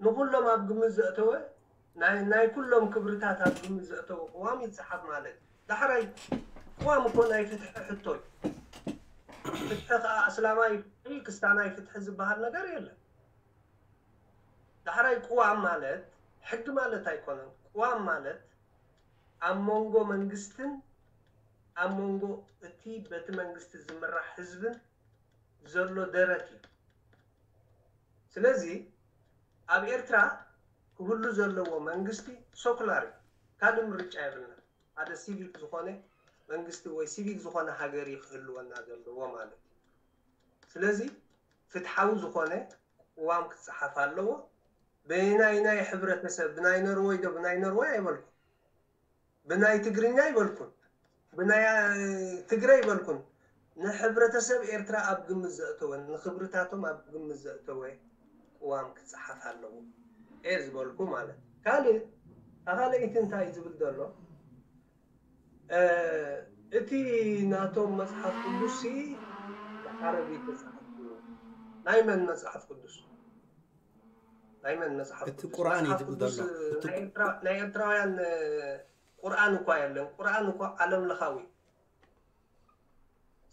ንኩሎም ኣብ ግምት ዘእተወ ናይ ኩሎም ክብርታት ኣብ ግምት ዘእተወ ቅዋም ይፀሓፍ ማለት እዩ ዳሕራይ ቅዋም እኮ ናይ ፍትሒ ሕቶ እዩ ፍትሒ ከዓ ኣስላማይ ፍትሒ ክስታናይ ፍትሒ ዝበሃል ነገር የለን ዳሕራይ ቅዋም ማለት ሕጊ ማለት ኣይኮነን ቅዋም ማለት ኣብ መንጎ መንግስትን ኣብ መንጎ እቲ በቲ መንግስቲ ዝምራሕ ህዝብን ዘሎ ደረት እዩ ስለዚ ኣብ ኤርትራ ክህሉ ዘለዎ መንግስቲ ሶኩላር እዩ ካልእ ምርጫ የብልና ሓደ ሲቪክ ዝኾነ መንግስቲ ወይ ሲቪክ ዝኾነ ሃገር ክህልወና ዘለዎ ማለት እዩ ስለዚ ፍትሓዊ ዝኾነ ቅዋም ክፀሓፍ ኣለዎ ብናይ ናይ ሕብረተሰብ ብናይ ኖርወይ ዶ ብናይ ኖርወይ ኣይበልኩ ብናይ ትግርኛ ይበልኩን ብናይ ትግረ ይበልኩን ንሕብረተሰብ ኤርትራ ኣብ ግምት ዘእተወ ንክብርታቶም ኣብ ግምት ዘእተወ ቅዋም ክፀሓፍ ኣለዎ እየ ዝበልኩ ማለት ካልእ ኣኻለይቲ እንታይ ዝብል ዘሎ እቲ ናቶም መፅሓፍ ቅዱስ ዓረቢ ተፃሓፍ ናይ መን መፅሓፍ ቅዱስ ናይ መን መፅሓፍ እቲ ቁርኣን እዩ ዝብል ዘሎ ናይ ኤርትራውያን ቁርኣን እኳ የለን ቁርኣን እኳ ዓለም ለኻዊ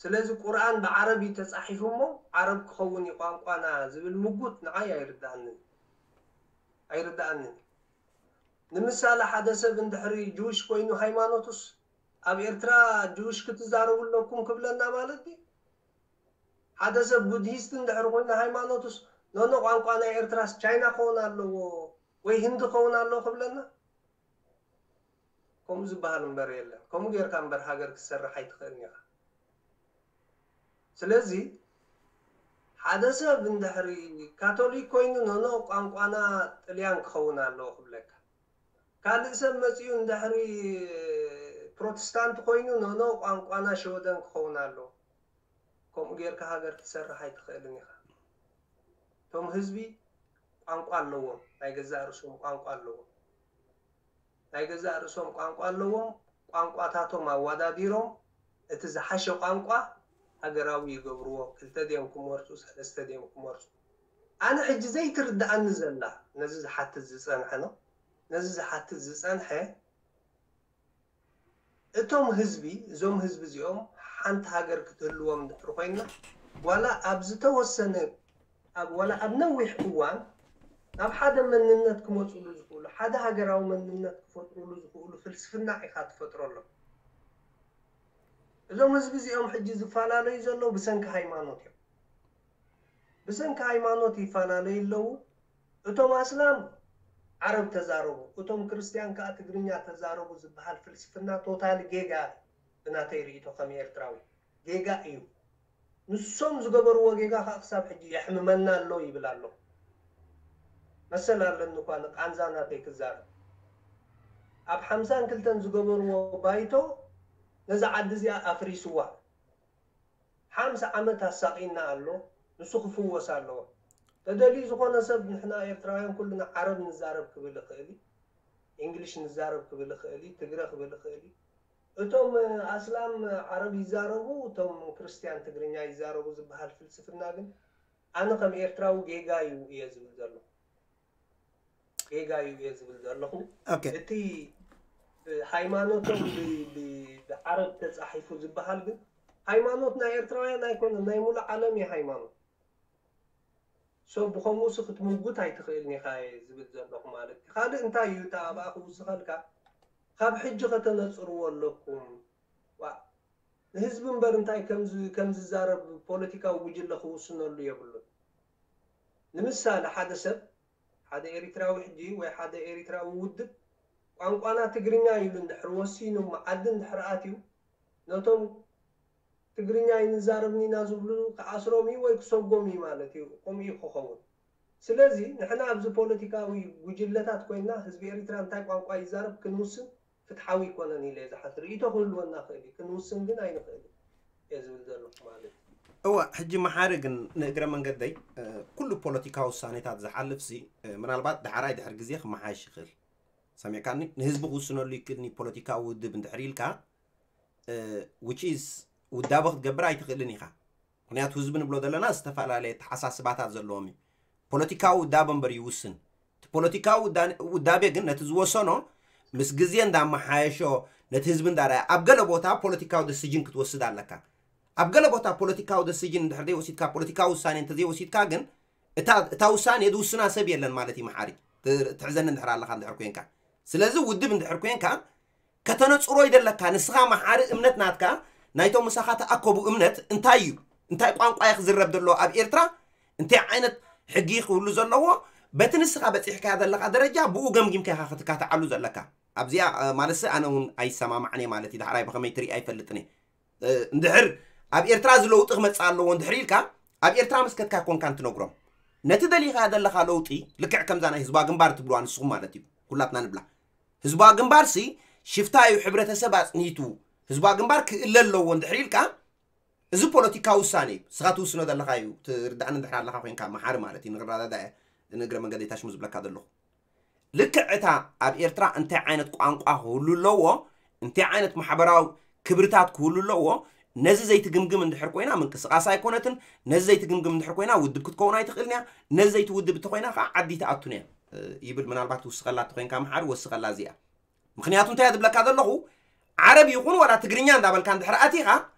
ስለዚ ቁርኣን ብዓረብ እዩ ተፃሒፉ እሞ ዓረብ ክኸውን እዩ ቋንቋና ዝብል ምጉት ንዓይ ኣይርዳኣንን ኣይርዳኣንን ንምሳሌ ሓደ ሰብ እንድሕሪ ጅውሽ ኮይኑ ሃይማኖቱስ ኣብ ኤርትራ ጅውሽ ክትዛረቡ ኣለኩም ክብለና ማለት እዩ ሓደ ሰብ ቡድሂስት እንድሕር ኮይኑ ሃይማኖቱስ ኖኖ ቋንቋ ናይ ኤርትራስ ቻይና ክኸውን ኣለዎ ወይ ህንዲ ክኸውን ኣለዎ ክብለና ከምኡ ዝበሃል እምበር የለን ከምኡ ጌርካ እምበር ሃገር ክትሰርሕ ኣይትኽእልን ኢኻ ስለዚ ሓደ ሰብ እንድሕሪ ካቶሊክ ኮይኑ ኖኖ ቋንቋና ጥልያን ክኸውን ኣለዎ ክብለካ ካልእ ሰብ መፂኡ እንድሕሪ ፕሮቴስታንት ኮይኑ ኖኖ ቋንቋና ሸወደን ክኸውን ኣለዎ ከምኡ ጌርካ ሃገር ክትሰርሕ ኣይትኽእልን ኢኻ እቶም ህዝቢ ቋንቋ ኣለዎም ናይ ገዛእ ርእሶም ቋንቋ ኣለዎም ናይ ገዛእ ርእሶም ቋንቋ ኣለዎም ቋንቋታቶም ኣዋዳዲሮም እቲ ዝሓሸ ቋንቋ ሃገራዊ ይገብርዎ ክልተ ድዮም ክመርፁ ሰለስተ ድዮም ክመርፁ ኣነ ሕጂ ዘይትርድኣኒ ዘላ ነዚ ዝሓትት ዝፀንሐ ነው ነዚ ዝሓትት ዝፀንሐ እቶም ህዝቢ እዞም ህዝቢ እዚኦም ሓንቲ ሃገር ክትህልዎም እንድሕር ኮይና ዋላ ኣብ ዝተወሰነ ኣብ ዋላ ኣብ ነዊሕ እዋን ናብ ሓደ መንነት ክመፅሉ ዝኽእሉ ሓደ ሃገራዊ መንነት ክፈጥሩሉ ዝኽእሉ ፍልስፍና ኢኻ ትፈጥረሎም እዞም ህዝቢ እዚኦም ሕጂ ዝፈላለዩ ዘለዉ ብሰንኪ ሃይማኖት እዮም ብሰንኪ ሃይማኖት ይፈላለዩ ኣለዉ እቶም ኣስላም ዓረብ ተዛረቡ እቶም ክርስትያን ከዓ ትግርኛ ተዛረቡ ዝበሃል ፍልስፍና ቶታሊ ጌጋ ብናተይ ርእይቶ ከም ኤርትራዊ ጌጋ እዩ ንሶም ዝገበርዎ ጌጋ ከዓ ክሳብ ሕጂ የሕምመና ኣሎ ይብል ኣሎ መሰል ኣለኒ እኳ ንቃንዛ ናተይ ክዛረብ ኣብ ሓምሳን ክልተን ዝገበርዎ ባይቶ ነዛ ዓዲ እዚኣ ኣፍሪስዋ ሓምሳ ዓመት ኣሳቒና ኣሎ ንሱ ክፍወስ ኣለዎ ተደልዩ ዝኾነ ሰብ ንሕና ኤርትራውያን ኩልና ዓረብ ንዛረብ ክብል ይኽእል እዩ እንግሊሽ ንዛረብ ክብል ይኽእል እዩ ትግረ ክብል ይኽእል እዩ እቶም ኣስላም ዓረብ ይዛረቡ እቶም ክርስትያን ትግርኛ ይዛረቡ ዝበሃል ፍልስፍና ግን ኣነ ከም ኤርትራዊ ጌጋ እዩ እየ ዝብል ዘለኹ ጌጋ እዩ እየ ዝብል ዘለኹ እቲ ሃይማኖቶም ብ- ብ- ብዓረብ ተፃሒፉ ዝበሃል ግን ሃይማኖት ናይ ኤርትራውያን ኣይኮነን፣ ናይ ሙሉእ ዓለም እዩ ሃይማኖት። ሶ ብኸምኡስ ክትምጉት ኣይትኽእልን ኢኻ እየ ዝብል ዘለኹ ማለት እዩ። ካልእ እንታይ እዩ እታ ኣብኣ ክውስኸልካ፣ ካብ ሕጂ ከተነፅርዎ ኣለኩም። ዋ፣ ንህዝቢ እምበር እንታይ ከም ዝ- ከም ዝዛረብ ፖለቲካዊ ጉጅለ ክውስነሉ የብሉን። ንምሳሌ ሓደ ሰብ ሓደ ኤሪትራዊ ሕጂ ወይ ሓደ ኤሪትራዊ ውድብ ቋንቋና ትግርኛ ኢሉ እንድሕር ወሲኑ መዓዲ እንድሕር ኣትዩ ነቶም ትግርኛ ኣይንዛረብን ኢና ዝብሉ ክኣስሮም እዩ ወይ ክሰጎም እዩ ማለት እዩ። ከምኡ እዩ ክኸውን። ስለዚ ንሕና ኣብዚ ፖለቲካዊ ጉጅለታት ኮይና ህዝቢ ኤሪትራ እንታይ ቋንቋ ይዛረብ ክንውስን ፍትሓዊ ይኮነን ኢለ እየ ዝሓስብ። ርእይቶ ክህልወና ክእል እዩ፣ ክንውስን ግን ኣይንኽእል እየ ዝብል ዘለኹ ማለት እዩ። እወ፣ ሕጂ መሓሪ ግን ንእግረ መንገደይ ኩሉ ፖለቲካዊ ውሳኔታት ዝሓልፍ ሲ ምናልባት ዳሕራይ ድሕር ግዜ ክመሓየሽ ይኽእል። ሰሚዕካኒ? ንህዝቢ ክውስነሉ ይክእልኒ ፖለቲካዊ ውድብ እንድሕር ኢልካ፣ which is ውዳበ ክትገብር ኣይትኽእልን ኢኻ። ምክንያቱ ህዝቢ ንብሎ ዘለና ዝተፈላለየ ተሓሳስባታት ዘለዎም እዩ። ፖለቲካዊ ውዳበ እምበር ይውስን። እቲ ፖለቲካዊ ውዳቤ ግን ነቲ ዝወሰኖ ምስ ግዜ እንዳመሓየሾ ነቲ ህዝቢ እንዳረኣየ ኣብ ገለ ቦታ ፖለቲካዊ ደሲጅን ክትወስድ ኣለካ። ኣብ ገለ ቦታ ፖለቲካዊ ደሲጅን እንድሕር ዘይወሲድካ፣ ፖለቲካዊ ውሳኔ እንተዘይወሲድካ ግን እታ ውሳኔ ዝውስና ሰብ የለን ማለት እዩ። መሓሪ ትሕዘኒ እንድሕር ኣለካ እንድሕር ኮንካ፣ ስለዚ ውድብ እንድሕር ኮንካ ከተነፅሮ ይደለካ። ንስኻ መሓሪ እምነት ናትካ ናይቶም ምሳኻ ተኣከቡ እምነት እንታይ እዩ? እንታይ ቋንቋ እዩ ክዝረብ ዘለዎ ኣብ ኤርትራ? እንታይ ዓይነት ሕጊ ክህሉ ዘለዎ? በቲ ንስኻ በፂሕካዮ ዘለካ ደረጃ ብኡ ገምጊምካ ኢኻ ክትካትዓሉ ዘለካ። ኣብዚኣ ማለት ኣነ እውን ኣይሰማማዕን እየ ማለት እዩ። ዳሕራይ ብኸመይ ትርኢ ኣይፈልጥን እየ። እንድሕር ኣብ ኤርትራ እዚ ለውጢ ክመፅእ ኣለዎ እንድሕር ኢልካ ኣብ ኤርትራ ምስ ከድካ ኮንካ እንትነግሮም ነቲ ደሊኻ ዘለኻ ለውጢ ልክዕ ከምዛ ናይ ህዝባዊ ግንባር ትብልዋ ንስኹም ማለት እዩ። ኩላትና ንብላ ህዝባዊ ግንባር ሲ ሽፍታ እዩ ሕብረተሰብ ኣፅኒቱ ህዝባዊ ግንባር ክእለ ኣለዎ እንድሕር ኢልካ እዚ ፖለቲካዊ ውሳኔ እዩ። ስኻ ትውስኖ ዘለኻ እዩ ትርዳእኒ እንድሕር ኣለኻ ኮንካ መሓሪ ማለት እዩ። ንክረዳዳ ንእግረ መንገደይ ታሽሙ ዝብለካ ዘለኹ ልክዕ እታ ኣብ ኤርትራ እንታይ ዓይነት ቋንቋ ክህሉ ኣለዎ፣ እንታይ ዓይነት ማሕበራዊ ክብርታት ክህሉ ኣለዎ፣ ነዚ ዘይትግምግም እንድሕር ኮይና ምንቅስቃስ ኣይኮነትን። ነዚ ዘይትግምግም እንድሕር ኮይና ውድብ ክትከውን ኣይትኽእልን እያ። ነዚ ዘይትውድብ እንተኮይና ከዓ ዓዲ ትኣቱን እያ ይብል። ምናልባት ትውስኸላ እንተኮይንካ መሓሪ ወስኸላ እዚኣ። ምክንያቱ እንታይ እያ ዝብለካ ዘለኹ፣ ዓረብ ይኹን ዋላ ትግርኛ እንዳበልካ እንድሕር ኣቲኻ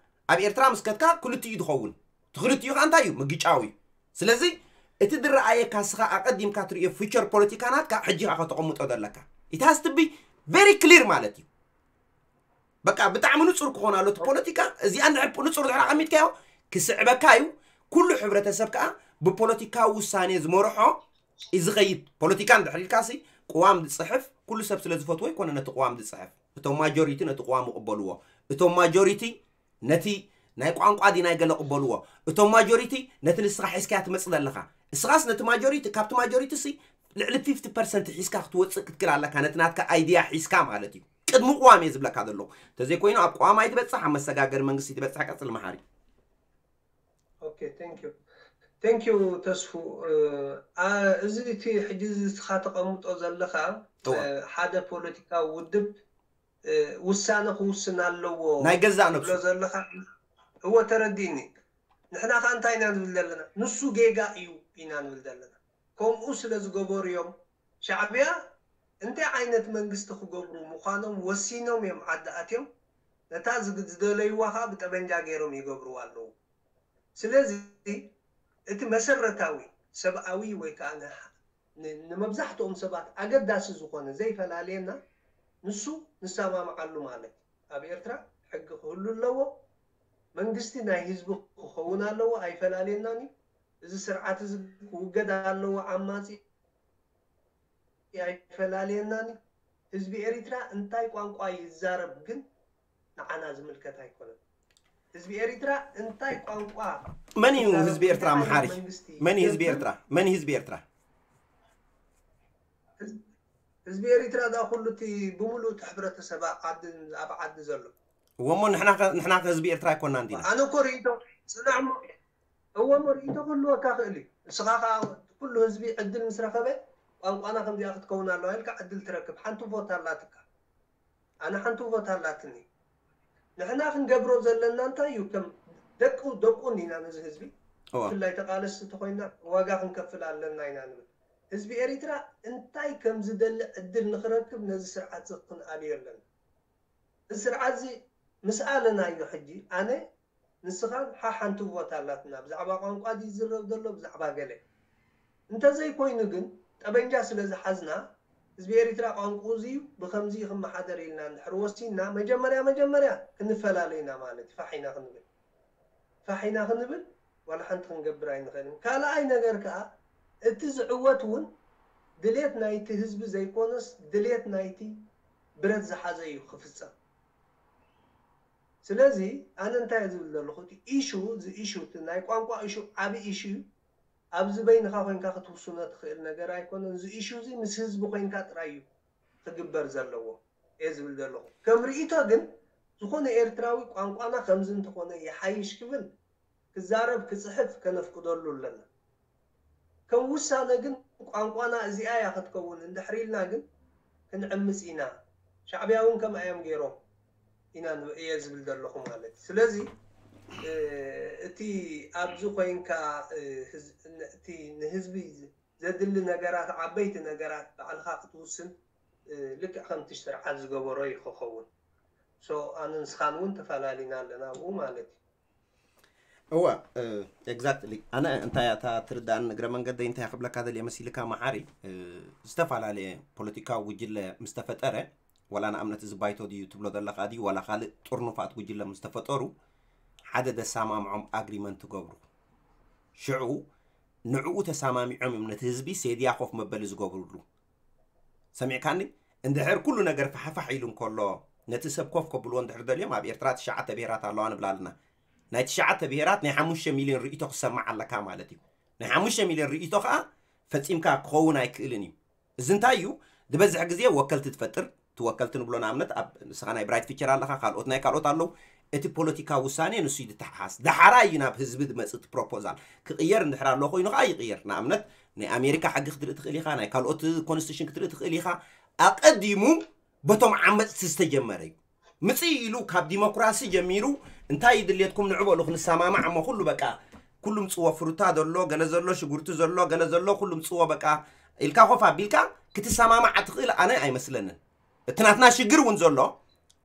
ኣብ ኤርትራ ምስ ከድካ ክልቲኡ ዝኸውን። እቲ ክልቲኡ ከዓ እንታይ እዩ? ምግጫው እዩ። ስለዚ እቲ ዝረኣየካ ስኻ ኣቐዲምካ ትርእዮ ፊቸር ፖለቲካ ናትካ ሕጂ ከዓ ከተቐምጦ ዘለካ። It has to be very clear ማለት እዩ። በቃ ብጣዕሚ ንጹር ክኾን ኣሎ እቲ ፖለቲካ። እዚኣ እንድሕር ንጹር ድሕር ኣቐሚጥካዮ ክስዕበካ እዩ። ኩሉ ሕብረተሰብ ከዓ ብፖለቲካዊ ውሳኔ ዝመርሖ እዩ ዝኸይድ። ፖለቲካ እንድሕር ኢልካ ሲ ቅዋም ዝጽሕፍ ኩሉ ሰብ ስለ ዝፈትዎ ይኮነ ነቲ ቅዋም ዝጽሕፍ። እቶም ማጆሪቲ ነቲ ቅዋም ይቕበልዎ። እቶም ማጆሪቲ ነቲ ናይ ቋንቋ ዲ ናይ ገለ ቅበልዎ። እቶም ማጆሪቲ ነቲ ንስኻ ሒዝካያ ትመጽእ ዘለኻ። እስኻስ ነቲ ማጆሪቲ ካብቲ ማጆሪቲ ሲ ልዕሊ ፊፍቲ ፐርሰንት ሒዝካ ክትወጽእ ክትክል ኣለካ። ነቲ ናትካ ኣይድያ ሒዝካ ማለት እዩ። ቅድሚ ቅዋም እየ ዝብለካ ዘለኹ። እንተዘይኮይኑ ኣብ ቅዋም ኣይትበጽሕ፣ ኣብ መሰጋገሪ መንግስቲ ትበጽሕ። ቀጽል መሓሪ። ኦኬ፣ thank you። Thank you ተስፉ። እዚ እቲ ሕጂ እዚ እስኻ ተቐምጦ ዘለኻ ሓደ ፖለቲካዊ ውድብ ውሳነ ክውስን ኣለዎ ናይ ገዛእ ነብሱ ዘለኻ። እወ፣ ተረዲእኒ። ንሕና ከ እንታይ ኢና ንብል ዘለና? ንሱ ጌጋ እዩ ኢና ንብል ዘለና። ከምኡ ስለ ዝገበሩ እዮም ሻዕብያ እንታይ ዓይነት መንግስቲ ክገብሩ ምዃኖም ወሲኖም እዮም ዓዲ ኣትዮም። ነታ ዝደለይዋ ከዓ ብጠበንጃ ገይሮም ይገብርዋ ኣለዉ። ስለዚ እቲ መሰረታዊ ሰብኣዊ ወይ ከዓ ንመብዛሕትኦም ሰባት ኣገዳሲ ዝኾነ ዘይፈላልየና ንሱ ንሰማምዓሉ ማለት እዩ። ኣብ ኤርትራ ሕጊ ክህሉ ኣለዎ። መንግስቲ ናይ ህዝቢ ክኸውን ኣለዎ፣ ኣይፈላልየናን እዩ። እዚ ስርዓት እዚ ክውገድ ኣለዎ። ዓማጺ ኣይፈላልየናን እዩ። ህዝቢ ኤሪትራ እንታይ ቋንቋ ይዛረብ ግን ንዓና ዝምልከት ኣይኮነን። ህዝቢ ኤሪትራ እንታይ ቋንቋ መን እዩ ህዝቢ ኤርትራ መሓሪ? መን እዩ ህዝቢ ኤርትራ? መን እዩ ህዝቢ ኤርትራ? ህዝቢ ኤሪትራ ዳ ኩሉ እቲ ብምሉእ እቲ ሕብረተሰብ ኣብ ዓዲ ዘሎ እወ እሞ ንሕና ከ ህዝቢ ኤርትራ ኣይኮናን ዲና? ኣነ እኮ ርእይቶ ጽናዕ እሞ እወ እሞ ርእይቶ ክህልወካ ክእል እዩ። ንስኻ ከዓ ኩሉ ህዝቢ ዕድል ምስ ረኸበ ቋንቋና ከምዚኣ ክትከውን ኣለዋ ኢልካ ዕድል ትረክብ። ሓንቲ ቮት ኣላትካ። ኣነ ሓንቲ ቮት ኣላትኒ። ንሕና ክንገብሮ ዘለና እንታይ እዩ? ከም ደቁ ደቁ እንዲና ነዚ ህዝቢ እወ። ብፍላይ ተቃለስቲ ተኮይና ዋጋ ክንከፍል ኣለና ኢና ንብል። ህዝቢ ኤሪትራ እንታይ ከም ዝደሊ ዕድል ንክረክብ ነዚ ስርዓት እዚ ክንኣልዮ ኣለና። እዚ ስርዓት እዚ ምስ ኣለናዮ ሕጂ ኣነ ንስኻን ሓሓንቲ ቮት ኣላትና። ብዛዕባ ቋንቋ ድዩ ዝዝረብ ዘሎ፣ ብዛዕባ ገለ? እንተዘይኮይኑ ግን ጠበንጃ ስለ ዝሓዝና ህዝቢ ኤሪትራ ቋንቋኡ እዚ እዩ፣ ብኸምዚ ክመሓደር ኢልና እንድሕር ወሲንና መጀመርያ መጀመርያ ክንፈላለ ኢና ማለት እዩ። ፋሕ ኢና ክንብል ፋሕ ኢና ክንብል ዋላ ሓንቲ ክንገብር ኣይንኽእልን። ካልኣይ ነገር ከኣ እቲ ዝዕወት እውን ድሌት ናይቲ ህዝቢ ዘይኮነስ ድሌት ናይቲ ብረት ዝሓዘ እዩ ክፍጸም። ስለዚ ኣነ እንታይ እየ ዝብል ዘለኹ፣ እቲ ኢሹ እዚ ኢሹ እቲ ናይ ቋንቋ ኢሹ ዓቢ ኢሹ እዩ። ኣብዚ በይንኻ ኮይንካ ክትውስኖ ትኽእል ነገር ኣይኮነን። እዚ ኢሹ እዚ ምስ ህዝቢ ኮይንካ ጥራይ እዩ ክግበር ዘለዎ እየ ዝብል ዘለኹ። ከም ርእይቶ ግን ዝኾነ ኤርትራዊ ቋንቋና ከምዚ እንተኾነ ይሓይሽ ክብል ክዛረብ ክጽሕፍ ከነፍቅደሉ ኣለና። ከም ውሳነ ግን ቋንቋና እዚኣ እያ ክትከውን እንድሕር ኢልና ግን ክንዕምጽ ኢና። ሻዕብያ እውን ከምኣ እዮም ገይሮም ኢና ንብ- እየ ዝብል ዘለኹ ማለት እዩ። ስለዚ እ፣ እቲ ኣብዚ ኮይንካ እ፣ ህዝ- ን- እቲ ንህዝቢ ዘድሊ ነገራት ዓበይቲ ነገራት ባዕልኻ ክትውስን እ፣ ልክዕ ከምቲ ስርዓት ዝገበሮ እዩ ክኸውን። ሶ ኣነ ንስኻን እውን ተፈላሊና ኣለና ኣብኡ ማለት እዩ። እወ exactly። ኣነ እንታይ እታ ትርዳእን እግረ መንገደይ እንታይ ክብለካ ደልየ መሲልካ መሓሪ እ፣ ዝተፈላለየ ፖለቲካዊ ጉጅለ ምስ ተፈጠረ ወላ ንኣብነት እዚ ባይቶ ድዩ ትብሎ ዘለካ ድዩ ዋላ ካልእ ጥርኑፋት ጉጅለ ምስ ተፈጠሩ ሓደ ደሳማምዖም ኣግሪመንት ትገብሩ ሽዑ ንዕኡ ተሳማሚዖም እዮም ነቲ ህዝቢ ሴድያ ኮፍ መበሊ ዝገብሩሉ ሰሚዕካኒ እንድሕር ኩሉ ነገር ፋሕፋሕ ኢሉ እንከሎ ነቲ ሰብ ኮፍ ከብልዎ እንድሕር ደልዮም ኣብ ኤርትራ ትሽዓተ ብሄራት ኣለዋ ንብላ ኣለና ናይ ትሽዓተ ብሄራት ናይ ሓሙሽተ ሚልዮን ርእቶ ክሰማዕ ኣለካ ማለት እዩ ናይ ሓሙሽተ ሚልዮን ርእቶ ከዓ ፈጺምካ ክኸውን ኣይክእልን እዩ እዚ እንታይ እዩ ዝበዝሕ ግዜ ወከልቲ ትፈጥር እቲ ወከልቲ ንብሎ ንኣብነት ኣብ ንስኻ ናይ ብራይት ፊቸር ኣለኻ ካልኦት ናይ ካልኦት ኣለዉ እቲ ፖለቲካዊ ውሳኔ ንሱ እዩ ዝተሓሓስ ዳሓራ እዩ ናብ ህዝቢ ዝመፅእ እቲ ፕሮፖዛል ክቕየር እንድሕር ኣሎ ኮይኑ ከዓ ይቕየር ንኣብነት ናይ ኣሜሪካ ሕጊ ክትርኢ ትኽእል ኢኻ ናይ ካልኦት ኮንስቲቱሽን ክትርኢ ትኽእል ኢኻ ኣቐዲሙ በቶም ዓመፅቲ ዝተጀመረ እዩ ምፅእ ኢሉ ካብ ዲሞክራሲ ጀሚሩ እንታይ ድሌትኩም ንዕበሉ ክንሰማማዕ እሞ ኩሉ በቃ ኩሉ ምፅዎ ፍሩታ ዘሎ ገለ ዘሎ ሽጉርቲ ዘሎ ገለ ዘሎ ኩሉ ምፅዎ በቃ ኢልካ ኮፍ ኣቢልካ ክትሰማማዕ ትኽእል ኣነ ኣይመስለንን እቲ ናትና ሽግር እውን ዘሎ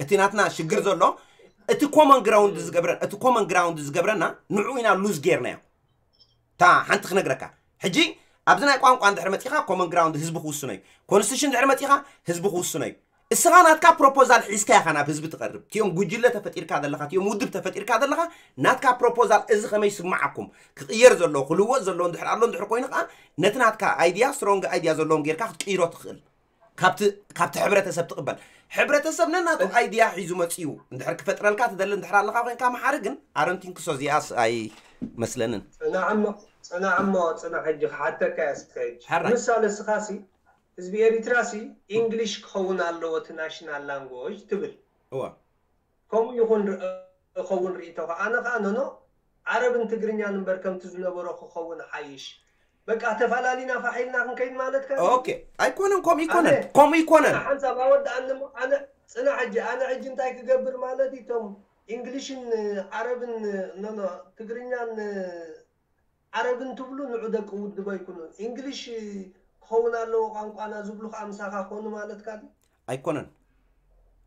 እቲ ናትና ሽግር ዘሎ እቲ common ground ዝገብረ እቲ common ground ዝገብረና ንዑ ኢና ሉዝ ጌርናዮ ታ ሓንቲ ክነግረካ ሕጂ ኣብዚ ናይ ቋንቋ እንድሕር መፂኻ common ground ህዝቢ ክውስኖ እዩ ኮንስቲቱሽን እንድሕር መፂኻ ህዝቢ ክውስኖ እዩ እስኻ ናትካ ፕሮፖዛል ሒዝካ ኢኻ ናብ ህዝቢ ትቐርብ እቲኦም ጉጅለ ተፈጢርካ ዘለኻ እቲኦም ውድብ ተፈጢርካ ዘለኻ ናትካ ፕሮፖዛል እዚ ከመይ ይስምዓኩም ክቕየር ዘለዎ ክልወጥ ዘለዎ እንድሕር ኣሎ እንድሕር ኮይኑ ከዓ ነቲ ናትካ ኣይድያ ስትሮንግ ኣይድያ ዘለዎም ጌርካ ክትቅይሮ ትኽእል ካብቲ ካብቲ ሕብረተሰብ ትቕበል ሕብረተሰብ ነናቱ ኣይድያ ሒዙ መፅዩ እንድሕር ክፈጥረልካ ትደሊ እንድሕር ኣለካ ኮይንካ መሓሪ ግን ኣረንቲንክሶ እዚኣስ ኣይመስለንን ጽናዕ እሞ ጽናዕ እሞ ጽናሕ ሕጂ ክሓተካ እየ እስከ ሕጂ ሕራይ። ምሳሌ እስኻ ሲ ህዝቢ ኤሪትራ ሲ ኢንግሊሽ ክኸውን ኣለዎ እቲ ናሽናል ላንጉጅ ትብል እዋ ከምኡ ይኹን ር- ክኸውን ርእይቶኻ ኣነ ኸዓ ኖኖ ዓረብን ትግርኛን እምበር ከምቲ ዝነበሮ ክኸውን ሓይሽ በቃ ተፈላሊና ፋሕ ኢልና ክንከይድ ማለትካ ድዩ? ኦኬ ኣይኮነን ከምኡ ይኮነን ኣነ- ከምኡ ይኮነን ሓንሳብ ኣወድኣኒ እሞ ኣነ ጽናሕ ሕጂ ኣነ ሕጂ እንታይ ክገብር ማለት እዩ እቶም ኢንግሊሽን ዓረብን ኖኖ ትግርኛን ዓረብን ትብሉ ንዑ ደቂ ውድብ ኣይኩኑን ኢንግሊሽ ክኸውን ኣለዎ ቋንቋና ዝብሉ ከዓ ምሳኻ ኮኑ ማለትካ ድዩ? ኣይኮነን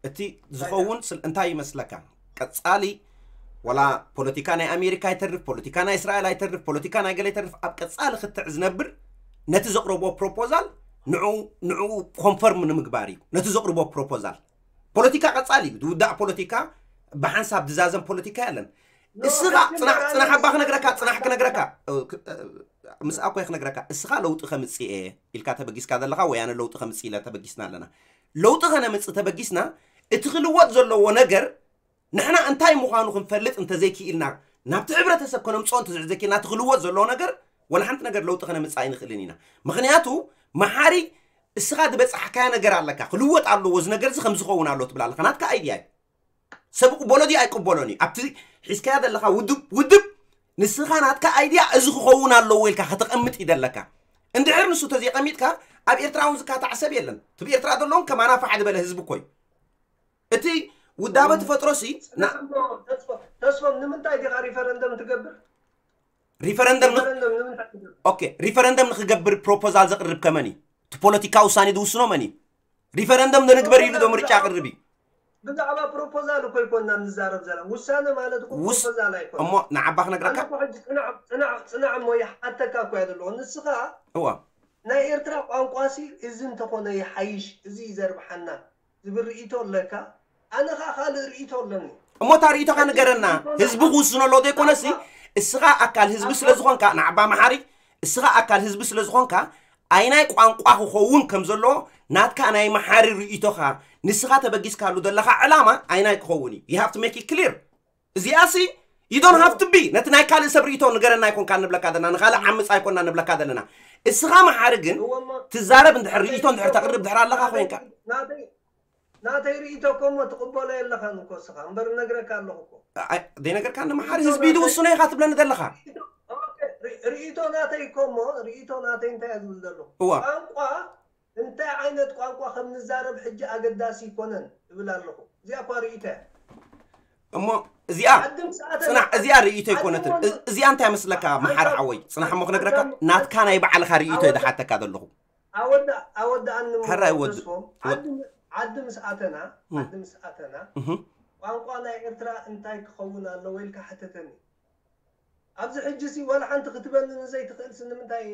እቲ ዝኸውን ስል እንታይ ይመስለካ ቀጻሊ ወላ ፖለቲካ ናይ ኣሜሪካ ይተርፍ ፖለቲካ ናይ እስራኤል ኣይተርፍ ፖለቲካ ናይ ገለ ይተርፍ ኣብ ቀጻሊ ክትዕ ዝነብር ነቲ ዘቕረቦ ፕሮፖዛል ንዑ ንዑ ኮንፈርም ንምግባር እዩ ነቲ ዘቕርቦ ፕሮፖዛል ፖለቲካ ቀጻሊ እዩ ዝውዳእ ፖለቲካ ብሓንሳብ ዝዛዘም ፖለቲካ የለን እስኻ ጽናሕ ጽናሕ ኣባ ክነግረካ ጽናሕ ክነግረካ እ፣ ክ- እ፣ ምስ ኣኮይ ክነግረካ እስኻ ለውጢ ከምጽእ እየ ኢልካ ተበጊስካ ዘለኻ ወያነ ለውጢ ከምጽእ ኢለ ተበጊስና ኣለና ለውጢ ከነምጽእ ተበጊስና እቲ ክልወጥ ዘለዎ ነገር ንሕና እንታይ ምዃኑ ክንፈልጥ እንተዘይክኢልና ናብቲ ሕብረተሰብ ከነምፅኦ እንተዘይክኢልና እቲ ክልወጥ ዘለዎ ነገር ወላ ሓንቲ ነገር ለውጢ ከነምፅእ ኣይንኽእልን ኢና ምኽንያቱ መሓሪ እስኻ ዝበፃሕካዮ ነገር ኣለካ ክልወጥ ኣለዎ እዚ ነገር እዚ ከም ዝኸውን ኣሎ ትብል ኣለካ ናትካ ኣይድያ እዩ ሰብ ቅበሎ ድዩ ኣይቅበሎን እዩ ኣብቲ ሒዝካዮ ዘለካ ውድብ ውድብ ንስኻ ናትካ ኣይድያ እዚ ክኸውን ኣለዎ ኢልካ ከተቐምጥ እዩ ዘለካ እንድሕር ንሱ ተዘይቀሚጥካ ኣብ ኤርትራ እውን ዝካታዕ ሰብ የለን ትብ ኤርትራ ዘለውን ከማና ፋሕ ዝበለ ህዝቢ እኮ እዩ እቲ ውዳበ ትፈጥሮ ሲ ተስፎም ንምንታይ ዲኻ ሪፈረንደም ትገብር ሪፈረንደም ሪፈረንደም ንምንታይ ትገብር ኦኬ ሪፈረንደም ንክገብር ፕሮፖዛል ዘቅርብ ከመን እዩ እቲ ፖለቲካ ውሳኔ ዝውስኖ መን እዩ ሪፈረንደም ንግበር ኢሉ ዶ ምርጫ ቅርብ እዩ ብዛዕባ ፕሮፖዛል እኮ ይኮንና ንዛረብ ዘለና። ውሳነ ማለት እኮ ውስ- ፕሮፖዛል ኣይኮነ። እሞ ንዓባ ክነግረካ? ኣነ እኮ ሕጂ ጽናዕ፣ ጽናዕ፣ ጽናዕ እሞ ይሓተካ እኮ እያ ዘለኹ። ንስኻ እዋ። ናይ ኤርትራ ቋንቋሲ እዚ እንተኾነ ይሓይሽ፣ እዚ እዩ ዘርብሓና ዝብል ርእይቶ ኣለካ? ኣነ ኸኣ ካልእ ርእይቶ ኣለኒ። እሞ እታ ርእይቶኻ ሕጂ ንገረና። ርእይቶና ህዝቢ ክውስኖ ኣለዎ ዘይኮነሲ፣ ቋንቋ። እስኻ ኣካል ህዝቢ ኣንፈት ስለ ዝኾንካ፣ ንዓባ መሓሪ፣ እስኻ ኣካል ህዝቢ ስለ ዝኾንካ፣ ኣይናይ ቋንቋ ክኸውን ከም ዘለዎ ናትካ ናይ መሓሪ ርእይቶኻ፣ ንስኻ ተበጊስካሉ ዘለኻ ዕላማ ኣይናይ ክኸውን እዩ። You have to make it clear። እዚኣሲ you don't have to be፣ ነቲ ናይ ካልእ ሰብ ርእይቶ ንገረና ኣይኮንካ ንብለካ ዘለና፣ ንኻልእ ዓምጽ ኣይኮንና ንብለካ ዘለና። እስኻ መሓሪ ግን እወ፣ እሞ ትዛረብ እንድሕር ርእይቶ እንድሕር ተቕርብ ድሕር ኣለኻ ናተይ ኮይንካ። ናተይ ናተይ ርእይቶ እኮ እሞ ትቕበሎ የለኻን እኮ እስኻ እምበር እነግረካ ኣለኹ እኮ። ኣይ፣ ዘይነገርካኒ መሓሪ ህዝቢ ዝውስኖ ኢኻ ትብለኒ ዘለኻ። ኦኬ፣ ሪ-፣ ርእይቶ ናተይ እኮ እሞ ርእይቶ ናተይ እንታይ እየ ዝብል ዘለኹ? እዋ። ቋንቋ እንታይ ዓይነት ቋንቋ ከም ንዛረብ ሕጂ ኣገዳሲ ኣይኮነን እብል ኣለኹ። እዚኣ እኳ ርእይቶ እያ። እሞ እዚኣ ዓዲ ምስ ኣተና ጽናሕ፣ እዚኣ ርእይቶ ዓዲ ኣይኮነትን። እሞ እዝ-፣ እዚኣ እንታይ መስለካ መሓሪ ሓወይ? ጽናሕ እሞ ክነግረካ፣ ዓዲ ናትካ ናይ ባዕልኻ ርእይቶ እየ ዓዲ ዝሓተካ ዘለኹ። ኣወዳ-፣ ኣወዳኣኒ እሞ ሕራይ ወድ-፣ ተስፎም፣ ወድ-፣ ዓዲ ም-፣ ዓዲ ምስ ኣተና፣ እም። ዓዲ ምስ ኣተና፣ እህ። ቋንቋ ናይ ኤርትራ እንታይ ክኸውን ኣለዎ ኢልካ ሕተተኒ። ኣብዚ ሕጂ ሲ ዋላ ሓንቲ ክትበኒ ንዘይትኽእል ሲ ንምንታይ፣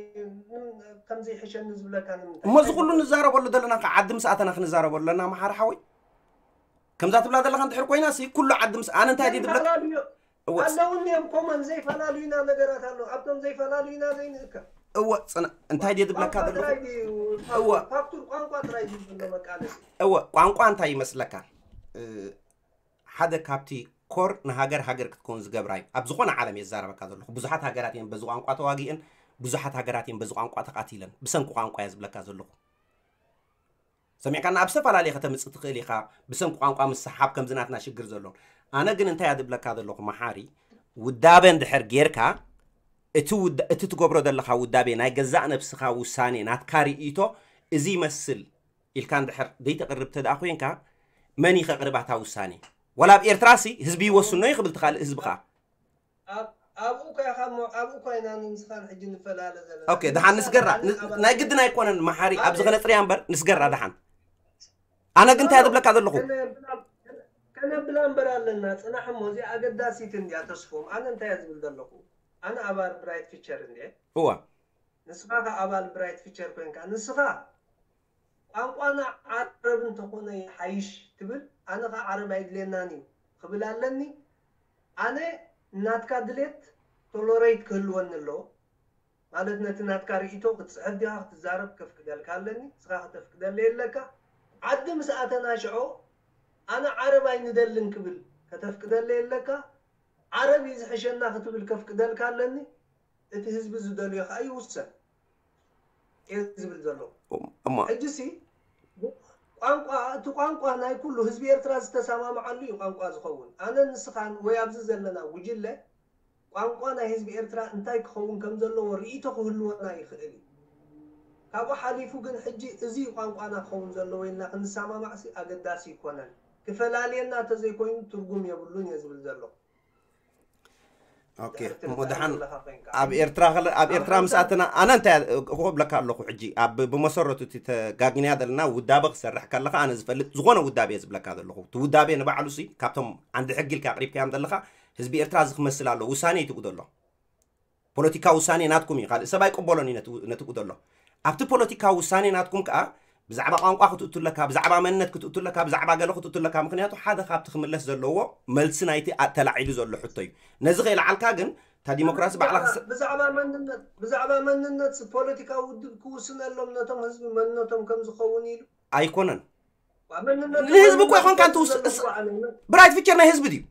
ንም-፣ ከም ዘይሕሸኒ ዝብለካ ንምንታይ? እሞ እዚ እንታይ ኩሉ ይበል? ንዛረበሉ ዘለና ከ ዓዲ ምስ ኣተና ክንዛረበሉ ኣለና መሓሪ ሓወይ። ከምዛ ትብላ ዘለኻ እንድሕር ኮይና ሲ ኩሉ ዓዲ ምስ ኣነ እንታይ ድየ ዝብለካ? ዘይፈላለዩ እወ፣ ጽ-፣ ኣለውኒ እዮም ኮመን ዘይፈላለዩና ነገራት ኣለዉ። ኣብቶም ዘይፈላለዩና ዘይንእከብ። እወ፣ ጽና-፣ እንታይ ድየ ዝብለካ ቋንቋ ዘለኹ? ጥራይ ድዩ? እወ። ፋክቱር ቋንቋ ጥራይ ድዩ ዘሎ መቃለሲ? እወ፣ ቋንቋ እንታይ ይመስለካ? እ፣ ሓደ ካብቲ ኮር ንሃገር ሃገር ክትከውን ዝገብራ እዩ። ኣብ ዝኾነ ዓለም እየ ዝዛረበካ ዘለኹ። ብዙሓት ሃገራት እየን በዚ ቋንቋ ተዋጊአን፣ ብዙሓት ሃገራት እየን በዚ ቋንቋ ተቓቲለን። ብሰንኪ ቋንቋ እየ ዝብለካ ዘለኹ። ሰሚዕካና ኣብ ዝተፈላለየ ከተምጽእ ትኽእል ኢኻ። ብሰንኪ ቋንቋ ምስሓብ ከምዚ ናትና ሽግር ዘሎን። ኣነ ግን እንታይ እየ ዝብለካ ዘለኹ መሓሪ፣ ውዳበ እንድሕር ጌርካ፣ እቲ ውዳ-፣ እቲ ትገብሮ ዘለኻ ውዳቤ ናይ ገዛእ ነብስኻ ውሳኔ፣ ናትካ ርእይቶ፣ እዚ ይመስል ኢልካ እንድሕር ዘይተቕርብ ተደኣ ኮይንካ፣ መን እዩ ከቕርብ ኣታ ውሳኔ? ዋላ ኣብ ኤርትራሲ ህዝቢ ይወስኖ እዩ ክብል ትኻልእ ህዝቢ ኸኣ። ኣብ-፣ ኣብኡ እኳ ኢኻ እሞ፣ ኣብኡ እኳ ኢና ንስኻን ሕጂ ንፈላለ ዘለና። ኦኬ፣ ደሓን ንስጋራ፣ ኣነ ን-፣ ኣባል ናይ ግድን ኣይኮነን መሓሪ፣ ኣብዚ ኣነ ከነጽርያ እምበር፣ ንስገራ ደሓን። ኣነ ግን እንታይ እየ ዝብለካ ዘለኹ? ከነብላ፣ ከነብላ እምበር ኣለና፣ ጽናሕ እሞ፣ እዚኣ ኣገዳሲት እንድያ ተስፎም። ኣነ እንታይ እየ ዝብል ዘለኹ? ኣነ ኣባል ብራይት ፊቸር እንድየ። እዋ። ንስኻ ከ ኣባል ብራይት ፊቸር ኮይንካ፣ ንስኻ ቋንቋና ዓረብ እንተኾነ ይሓይሽ ትብል፣ ኣነ ከ ዓረብ ኣይድልየናን እዩ ክብል ኣለኒ። ኣነ ናትካ ድሌት ቶሎሬት ክህልወኒ ኣለዎ። ማለት ነቲ ናትካ ርእይቶ ክትጽሕፍ ዲኻ ክትዛረብ ከፍቅደልካ ኣለኒ፣ ንስኻ ከተፍቅደለይ ኣለካ። ዓዲ ምስ ኣተና ሽዑ ኣነ ዓረብ ኣይንደልን ክብል ከተፍቅደለይ ኣለካ። ዓረብ እዩ ዝሕሸና ክትብል ከፍቅደልካ ኣለኒ። እቲ ህዝቢ ዝደልዮ ከኣ ይውሰን እየ ዝብል ዘሎ። እሞ ሕጂ ሲ ቋንቋ፣ እቲ ቋንቋ ናይ ኩሉ ህዝቢ ኤርትራ ዝተሰማምዓሉ እዩ ቋንቋ ዝኸውን። ኣነ ንስኻን ወይ ኣብዚ ዘለና ጉጅለ ቋንቋ ናይ ህዝቢ ኤርትራ እንታይ ክኸውን ከም ዘለዎ ርእይቶ ክህልወና ይኽእል እዩ። ካብኡ ሓሊፉ ግን ሕጂ እዚ ቋንቋና ክኸውን ዘለዎ ኢልና ክንሰማማዕ ሲ ኣገዳሲ ይኮነን። ክፈላልየና ተዘይኮይኑ ትርጉም የብሉን እየ ዝብል ዘለኹ። ኦኬ፣ ድሕሪ እሞ ደሓን ዘለኻ ኮይንካ። ኣብ ኤርትራ ከለ-፣ ኣብ ኤርትራ ምስ ኣተና፣ ኣነ እንታይ ክብለካ ኣለኹ ሕጂ፣ ኣብ ብመሰረቱ እቲ ተጋጊንያ ዘለና ውዳበ ክሰርሕ ከለኻ፣ ኣነ ዝፈልጥ ዝኾነ ውዳበ እየ ዝብለካ ዘለኹ። እቲ ውዳበ ንባዕሉ ሲ፣ ካብቶም ዓንዲ ሕጊ ኢልካ ኣቕሪብካዮም ዘለኻ፣ ህዝቢ ኤርትራ እዚ ክመስል ኣሎ፣ ውሳኔ እዩ ትብኡ ዘሎ። ፖለቲካዊ ውሳኔ ናትኩም እዩ፣ ካልእ ሰብ ኣይቅበሎን እዩ ነቲ፣ ነቲ ትብኡ ዘሎ። ኣብቲ ፖለቲካዊ ውሳኔ ናትኩም ከኣ፣ ብዛዕባ ቋንቋ ክትእቱ ኣለካ፣ ብዛዕባ መንነት ክትእቱ ኣለካ፣ ብዛዕባ ገለ ክትእቱ ኣለካ። ምኽንያቱ ሓደ ካብቲ ክምለስ ዘለዎ መልሲ ናይቲ ኣ-፣ ተላዒሉ ዘሎ ሕቶ እዩ። ነዚ ከይለዓልካ ግን፣ እታ ዲሞክራሲ ባዕላ ብዛዕባ፣ ክስ- ብዛዕባ መንነት፣ ብዛዕባ መንነት ፖለቲካዊ ውድብ ክውስነሎም ነቶም ህዝቢ መንነቶም ከም ዝኸውን ኢሉ። ኣይኮነን። ዋ፣ መንነት ንህዝቢ እኮ መንነት ይኾንካ እንተ ውስ-፣ ዘለዎ እስ-፣ ዓለም። ብራይት ፊቸር ናይ ህዝቢ ድዩ?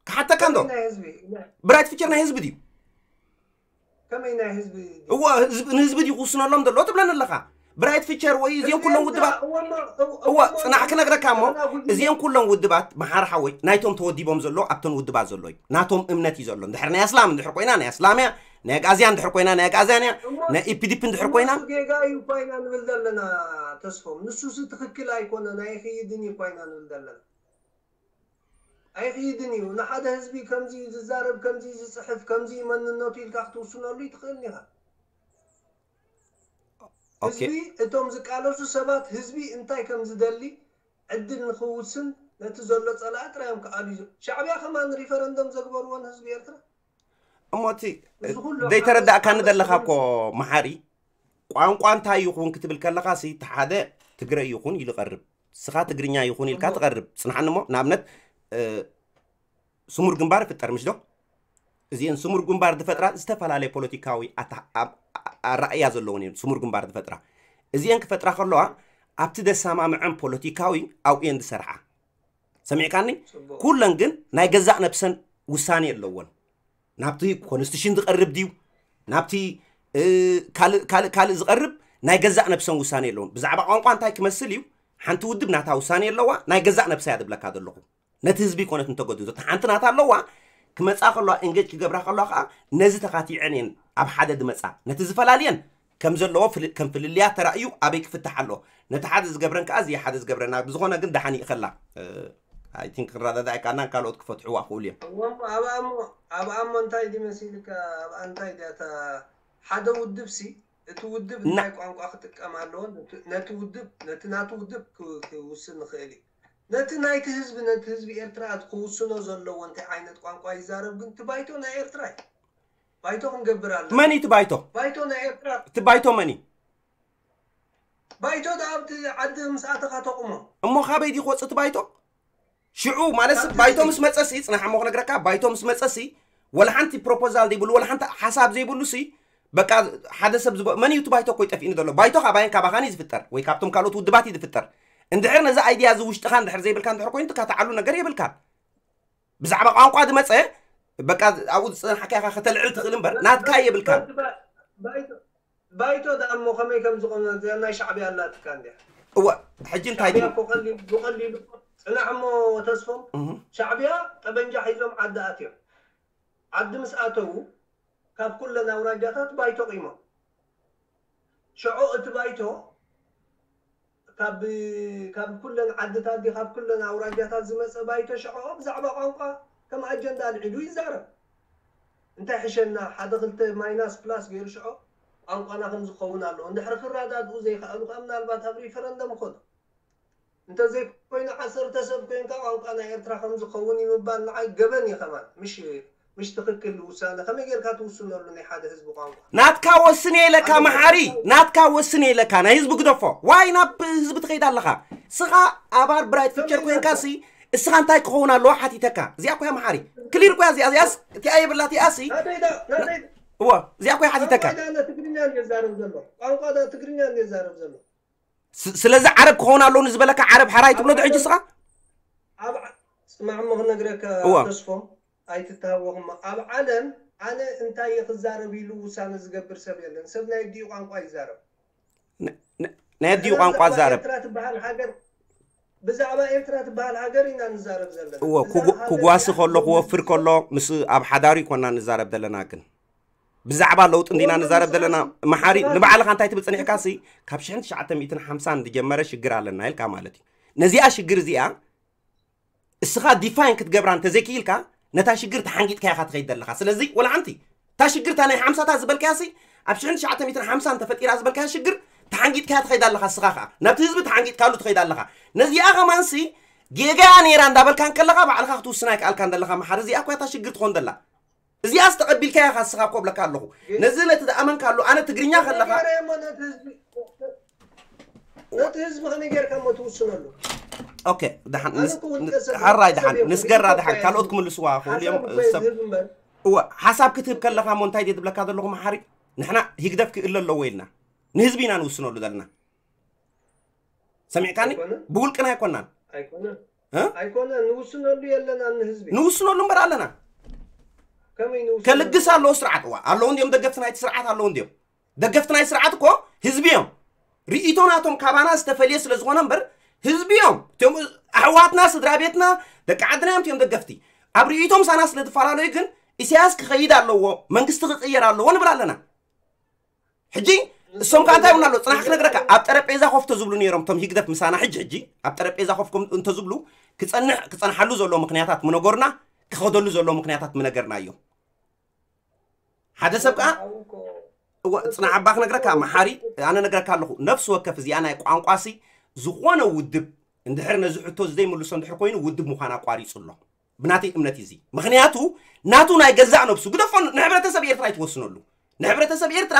ክሓተካ እንዶ? ከመይ ናይ ህዝቢ? ብራይት ፊቸር ናይ ህዝቢ ድዩ? ከመይ ናይ ህዝቢ ድዩ? እዎ፣ ህዝቢ፣ ንህዝቢ ድዩ ክውስነሎም ዘሎ ትብለኒ ኣለኻ? ብራይት ፊቸር ወይ እዚኦም ህዝቢ ኩሎም ኤርትራ፣ ውድባት፣ እዎ፣ እሞ፣ እዎ፣ እዎ፣ እሞ፣ ጽናሕ ክነግረካ እሞ፣ ንሕና ጉጅለ እዚኦም ኩሎም ውድባት፣ መሓሪ ሓወይ፣ ናይቶም ተወዲቦም ዘሎ ኣብተን ውድባት ዘሎ እዩ። ናቶም እምነት እዩ ዘሎ። እንድሕር ናይ ኣስላም እንድሕር ኮይና፣ ናይ ኣስላም እያ። ናይ ኣግኣዝያን እንድሕር ኮይና፣ ናይ ኣግኣዝያን እያ። እሞ፣ ናይ ኢፒዲፒ እንድሕር እሞ ኮይና፣ ንሱ ጌጋ እዩ እኳ ኢና ንብል ዘለና፣ ተስፎም። ንሱሲ ትኽክል ኣይኮነን፣ ኣይኽይድን እዩ እኳ ኢና ንብል ዘለና። ኣይኽይድን እዩ። ንሓደ ህዝቢ ከምዚ እዩ ዝዛረብ፣ ከምዚ እዩ ዝጽሕፍ፣ ከምዚ እዩ መንነቱ ኢልካ ክትውስነሉ ይትኽእልን ኢኻ። ኦኬ። ህዝቢ፣ እቶም ዝቃለሱ ሰባት፣ ህዝቢ እንታይ ከም ዝደሊ ዕድል ንኽውስን ነቲ ዘሎ ጸላኢ ጥራይ እዮም ክኣልዩ። ሻዕብያ ከማን ሪፈረንደም ዘግበርዎ ንህዝቢ ኤርትራ። እሞ እቲ ዘይተረዳእካኒ ዘለኻ እኮ መሓሪ፣ ቋንቋ እንታይ ይኹን ክትብል ከለኻ ሲ እቲ ሓደ ትግረ ይኹን ኢሉ ቀርብ፣ ስኻ ትግርኛ ይኹን ኢልካ ትቐርብ። ጽንሓኒ እሞ ንኣብነት ስሙር ግንባር ይፍጠር ምሽ ዶ? እዚአን ስሙር ግንባር ዝፈጥራ ዝተፈላለየ ፖለቲካዊ ኣራእያ ዘለዎን እየን። ስሙር ግንባር ዝፈጥራ እዚአን ክፈጥራ ከለዋ ኣብቲ ደሳማምዐን ፖለቲካዊ ኣብኡ እየን ዝሰርሓ። ሰሚዕካኒ? ኩለን ግን ናይ ገዛእ ነብሰን ውሳኔ ኣለወን። ናብቲ ኮንስቲቱሽን ዝቐርብ ድዩ፣ ናብቲ ካልእ ካልእ ዝቐርብ ናይ ገዛእ ነብሰን ውሳኔ ኣለወን። ብዛዕባ ቋንቋ እንታይ ክመስል እዩ፣ ሓንቲ ውድብ ናታ ውሳኔ ኣለዋ። ናይ ገዛእ ነብሳ እያ ዝብለካ ዘለኹ። ነቲ ህዝቢ ይኮነት እንተገዱ እታ ሓንቲ ናታ ኣለዋ። ክመፃ ከለዋ እንጌጅ ክገብራ ከለዋ ከዓ ነዚ ተኻቲዐን እየን ኣብ ሓደ ዝመፃ። ነቲ ዝፈላልየን ከም ዘለዎ ከም ፍልልያ ተራእዩ ኣበይ ክፍታሕ ኣሎ፣ ነቲ ሓደ ዝገብረን ከዓ እዚ ሓደ ዝገብረና። ብዝኾነ ግን ደሓን ይእኸላ። ኣይ ቲንክ ክረዳዳእ ኣይከኣልናን፣ ካልኦት ክፈትሕዋ ክእሉ እዮም። ኣብኣ እሞ እንታይ ድዩ መሲልካ? ኣብኣ እንታይ ድያ እታ ሓደ ውድብ ሲ እቲ ውድብ እንታይ ቋንቋ ክጥቀም ኣለዎ፣ ነቲ ውድብ ነቲ ናቱ ውድብ ክውስን ንኽእል እዩ። ነቲ ናይቲ ህዝቢ ነቲ ህዝቢ ኤርትራ ክውስኖ ዘለዎ እንታይ ዓይነት ቋንቋ ይዛረብ ግን እቲ ባይቶ ናይ ኤርትራ እዩ። ባይቶ ክንገብር ኣለና። መን እዩ እቲ ባይቶ? ባይቶ ናይ ኤርትራ። እቲ ባይቶ መን እዩ? ባይቶ ደኣ ኣብቲ ዓዲ ምስ ኣተኻ ተቑሞ። እሞ ካበይ ድዩ ክወፅእ እቲ ባይቶ? ሽዑ ማለት ባይቶ ምስ መፀሲ፣ ፅናሕ እሞ ክነግረካ፣ ባይቶ ምስ መፀሲ ወላ ሓንቲ ፕሮፖዛል ዘይብሉ፣ ወላ ሓንቲ ሓሳብ ዘይብሉ ሲ በቃ ሓደ ሰብ ዝቦ መን እዩ እቲ ባይቶ እኮ ይጠፊእኒ ዘሎ። ባይቶ ካባይን ካባኻን እዩ ዝፍጠር ወይ ካብቶም ካልኦት ውድባት እዩ ዝፍጠር። እንድሕር ነዚ ኣይድያ እዚ ውሽጥኻ እንድሕር ዘይብልካ እንድሕር ኮይኑ ትካትዓሉ ነገር የብልካን። ብዛዕባ ቋንቋ ዝመፀ በቃ ኣብኡ ዝፀናሕካ ኢኻ ከተልዕል ትኽእል እምበር ናትካ የብልካን። ባይቶ ደኣ እሞ ከመይ ከም ዝኾነ እዚኣ ናይ ሻዕብያ ኣላትካ እንዲያ። እወ ሕጂ እንታይ ሻዕብያ እኮ ቀሊል ብቐሊሉ ጽናሕ እሞ ተስፎም ሻዕብያ ጠበንጃ ሒዞም ዓዲ ኣትዮም። ዓዲ ምስ ኣተዉ ካብ ኩለን ኣውራጃታት ባይቶ ቂሞም። ሽዑ እቲ ባይቶ ካብ ካብ ኩለን ዓድታት ድዩ ካብ ኩለን ኣውራጃታት ዝመፀ ባይቶ ሽዑ ብዛዕባ ቋንቋ ከም ኣጀንዳ ኣልዒሉ ይዛረብ። እንታይ ሕሸና ሓደ ክልተ ማይናስ ፕላስ ገይሩ ሽዑ ቋንቋና ከም ዝኸውን ኣለዎ። እንድሕሪ ክረዳድኡ ዘይከኣሉ ከዓ ምናልባት ኣብ ሪፈረንደም ይኸዱ። እንተዘይኮይኑ ዓሰርተ ሰብ ኮይንካ ቋንቋ ናይ ኤርትራ ከም ዝኸውን እዩ ምባል ንዓይ ገበን እዩ ከማን። ምሽ ምሽ ትኽክል ውሳነ ከመይ ጌርካ ትውስነሉ ናይ ሓደ ህዝቢ ቋንቋ? ናትካ ወስን እየ ኢለካ መሓሪ፣ ናትካ ወስን እየ ኢለካ። ናይ ህዝቢ ግደፎ። ዋይ ናብ ህዝቢ ትኸይድ ኣለኻ? ስኻ ኣባል ብራይት ፊቸር ኮይንካ ሲ እስኻ እንታይ ክኸውን ኣለዎ ሓቲተካ? እዚኣ እኮ እያ መሓሪ። ክሊር እኮ እያ እዚኣ። እዚኣስ እቲኣ የብላ እቲኣ ሲ ናተይ ዳ ናተይ እወ እዚኣ እኮ እያ ሓቲተካ። ቋንቋ ዳ ትግርኛ እንደ ዛረብ ዘሎ ቋንቋ ዳ ትግርኛ እንደ ዛረብ ዘሎ ስ- ስለዚ ዓረብ ክኸውን ኣለዎ ንዝበለካ ዓረብ ሓራይ ትብሎ ዶ ሕጂ ስኻ? ኣብ ዓ- ስማዕ እሞ ክነግረካ እዋ። ተስፎም ኣይትተሃወኽሞ። ኣብ ዓለም ኣነ እንታይ እየ ክዛረብ ኢሉ ውሳነ ዝገብር ሰብ የለን። ሰብ ናይ ኣዲኡ ቋንቋ ይዛረብ። ን- ን- ናይ ኣዲኡ ቋንቋ ብዛዕባ ዛረብ ኤርትራ ትበሃል ሃገር ብዛዕባ ኤርትራ ትበሃል ሃገር ኢና ንዛረብ ዘለና። እዎ እዛ ክጉ- ሃገር ክጓሲ እዚኣ ከሎ ክወፍር ከሎ ምስ ኣብ ሓዳሩ ይኮና ንዛረብ ዘለና ግን ብዛዕባ ለውጢ እንዲና ንዛረብ ዘለና መሓሪ ንባዕልኻ እንታይ ትብል ፀኒሕካ ሲ ካብ ሽሕን ትሽዓተ ሚእትን ሓምሳን ዝጀመረ ሽግር ኣለና ኢልካ ማለት እዩ ነዚኣ ሽግር እዚኣ እስኻ ዲፋይን ክትገብራ እንተዘይክኢልካ ነታ ሽግር ተሓንጊጥካ ኢኻ ትኸይድ ዘለኻ ስለዚ ወላ ሓንቲ እታ ሽግር እታ ናይ ሓምሳታት ዝበልካያ ሲ ኣብ ሽሕን ትሽዓተ ሚእትን ሓምሳን ተፈጢራ ዝበልካያ ሽግር ተሓንጊጥካ ትኸይድ ኣለኻ እስኻ ከዓ ናብቲ ህዝቢ ተሓንጊጥካሉ ትኸይድ ኣለኻ ነዚኣ ከማንሲ ጌጋያ ነይራ እንዳበልካ እንከለኻ ባዕልኻ ክትውስን ኣይከኣልካን ዘለኻ መሓሪ እዚኣ እኮ እታ ሽግር ትኾን ዘላ እዚኣስ ተቐቢልካያ ኢኻ እስኻ እኮ እብለካ ኣለኹ ነዚ ነቲ ዝኣመንካሉ ኣነ ትግርኛ ከለኻ ነቲ ህዝቢ ከመይ ጌርካ እሞ ትውስነሉ ኦኬ ደሓን ንስ- ን- ሓራይ ደሓን ንስገራ ደሓን ካልኦት ክምልስዋ ክእሉ እዮም ሰብ እወ ሓሳብ ክትህብ ከለኻ እሞ እንታይ ድየ ትብለካ ዘለኹ መሓሪ ንሕና ሂግደፍ ክእለ ኣለዎ ኢልና ንህዝቢ ኢና ንውስነሉ ዘለና ሰሚዕካኒ ብውልቅና ኣይኮናን ኣይኮነ ኣይኮነ ንውስነሉ የለና ንህዝቢ ንውስነሉ እምበር ኣለና ከመይ ንውስነሉ ከልግስ ኣለዎ ስርዓት እዋ ኣለዉ እንዲዮም ደገፍቲ ናይቲ ስርዓት ኣለዉ እንዲዮም ደገፍቲ ናይ ስርዓት እኮ ህዝቢ እዮም ርእይቶ ናቶም ካባና ዝተፈልየ ስለ ዝኾነ እምበር ህዝቢ እዮም እቲኦም ኣሕዋትና ስድራ ቤትና ደቂ ዓድና እዮም እቲኦም ደገፍቲ ኣብ ርእይቶም ሳና ስለ ዝፈላለዩ ግን ኢሳያስ ክኸይድ ኣለዎ መንግስቲ ክቕየር ኣለዎ ንብል ኣለና ሕጂ እሶም ከዓ እንታይ ይብሉና ኣለዉ ፅናሕ ክነግረካ ኣብ ጠረጴዛ ኮፍ ተዝብሉ ነይሮም እቶም ህግደፍ ምሳና ሕጂ ሕጂ ኣብ ጠረጴዛ ኮፍ እንተዝብሉ ክፀንሕ ክፀንሓሉ ዘለዎ ምክንያታት ምነገሩና ክኸደሉ ዘለዎ ምክንያታት ምነገርና እዮም ሓደ ሰብ ከዓ እወ ፅናሕ ኣባ ክነግረካ መሓሪ ኣነ ነግረካ ኣለኹ ነፍሲ ወከፍ እዚኣ ናይ ቋንቋሲ ዝኾነ ውድብ እንድሕር ነዚ ሕቶ እዚ ዘይምልሶ እንድሕር ኮይኑ ውድብ ምዃን ኣቋሪጹ ኣሎ። ብናተይ እምነት እዩ እዚ። ምኽንያቱ ናቱ ናይ ገዛእ ነብሱ ግደፎ፣ ንሕብረተሰብ ኤርትራ ኣይትወስነሉ። ንሕብረተሰብ ኤርትራ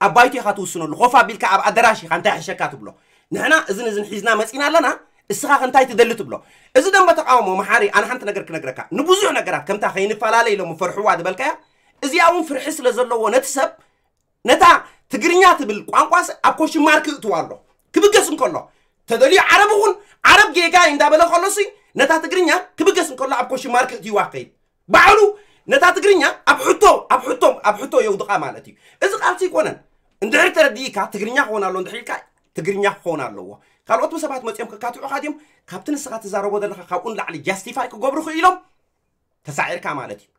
ኣብ ባይቶ ኢኻ ትውስነሉ። ኮፍ ኣቢልካ ኣብ ኣደራሽ ኢኻ እንታይ ሕሸካ ትብሎ። ንሕና እዝን እዝን ሒዝና መጺና ኣለና፣ እስኻ ከ እንታይ ትደሊ ትብሎ። እዚ ደንበ ተቃውሞ መሓሪ፣ ኣነ ሓንቲ ነገር ክነግረካ፣ ንብዙሕ ነገራት ከምታ ከይንፈላለ ኢሎም ፈርሕዋ ዝበልካያ፣ እዚኣ እውን ፍርሒ ስለ ዘለዎ ነቲ ሰብ ነታ ትግርኛ ትብል ቋንቋስ ኣብ ኮሽን ማርክ እእትዋ ኣሎ። ክብገስ እንከሎ ተደልዩ ዓረብ እውን ዓረብ ጌጋ እዩ እንዳበለ ከሎሲ ነታ ትግርኛ ክብገስ እንከሎ ኣብ ኮሽን ማርክ እእትዋ ከይድ ባዕሉ ነታ ትግርኛ ኣብ ሕቶ ኣብ ሕቶ ኣብ ሕቶ የውድቓ ማለት እዩ። እዚ ቃልሲ ይኮነን። እንድሕር ተረዲእካ ትግርኛ ክኾን ኣሎ እንድሕር ኢልካ ትግርኛ ክኾን ኣለዎ። ካልኦት ሰባት መፂኦም ከካትዑኻ ድዮም? ካብቲ ንስኻ ትዛረቦ ዘለኻ ካብኡ ንላዕሊ ጃስቲፋይ ክገብሩ ክኢሎም ተሳዒርካ ማለት እዩ።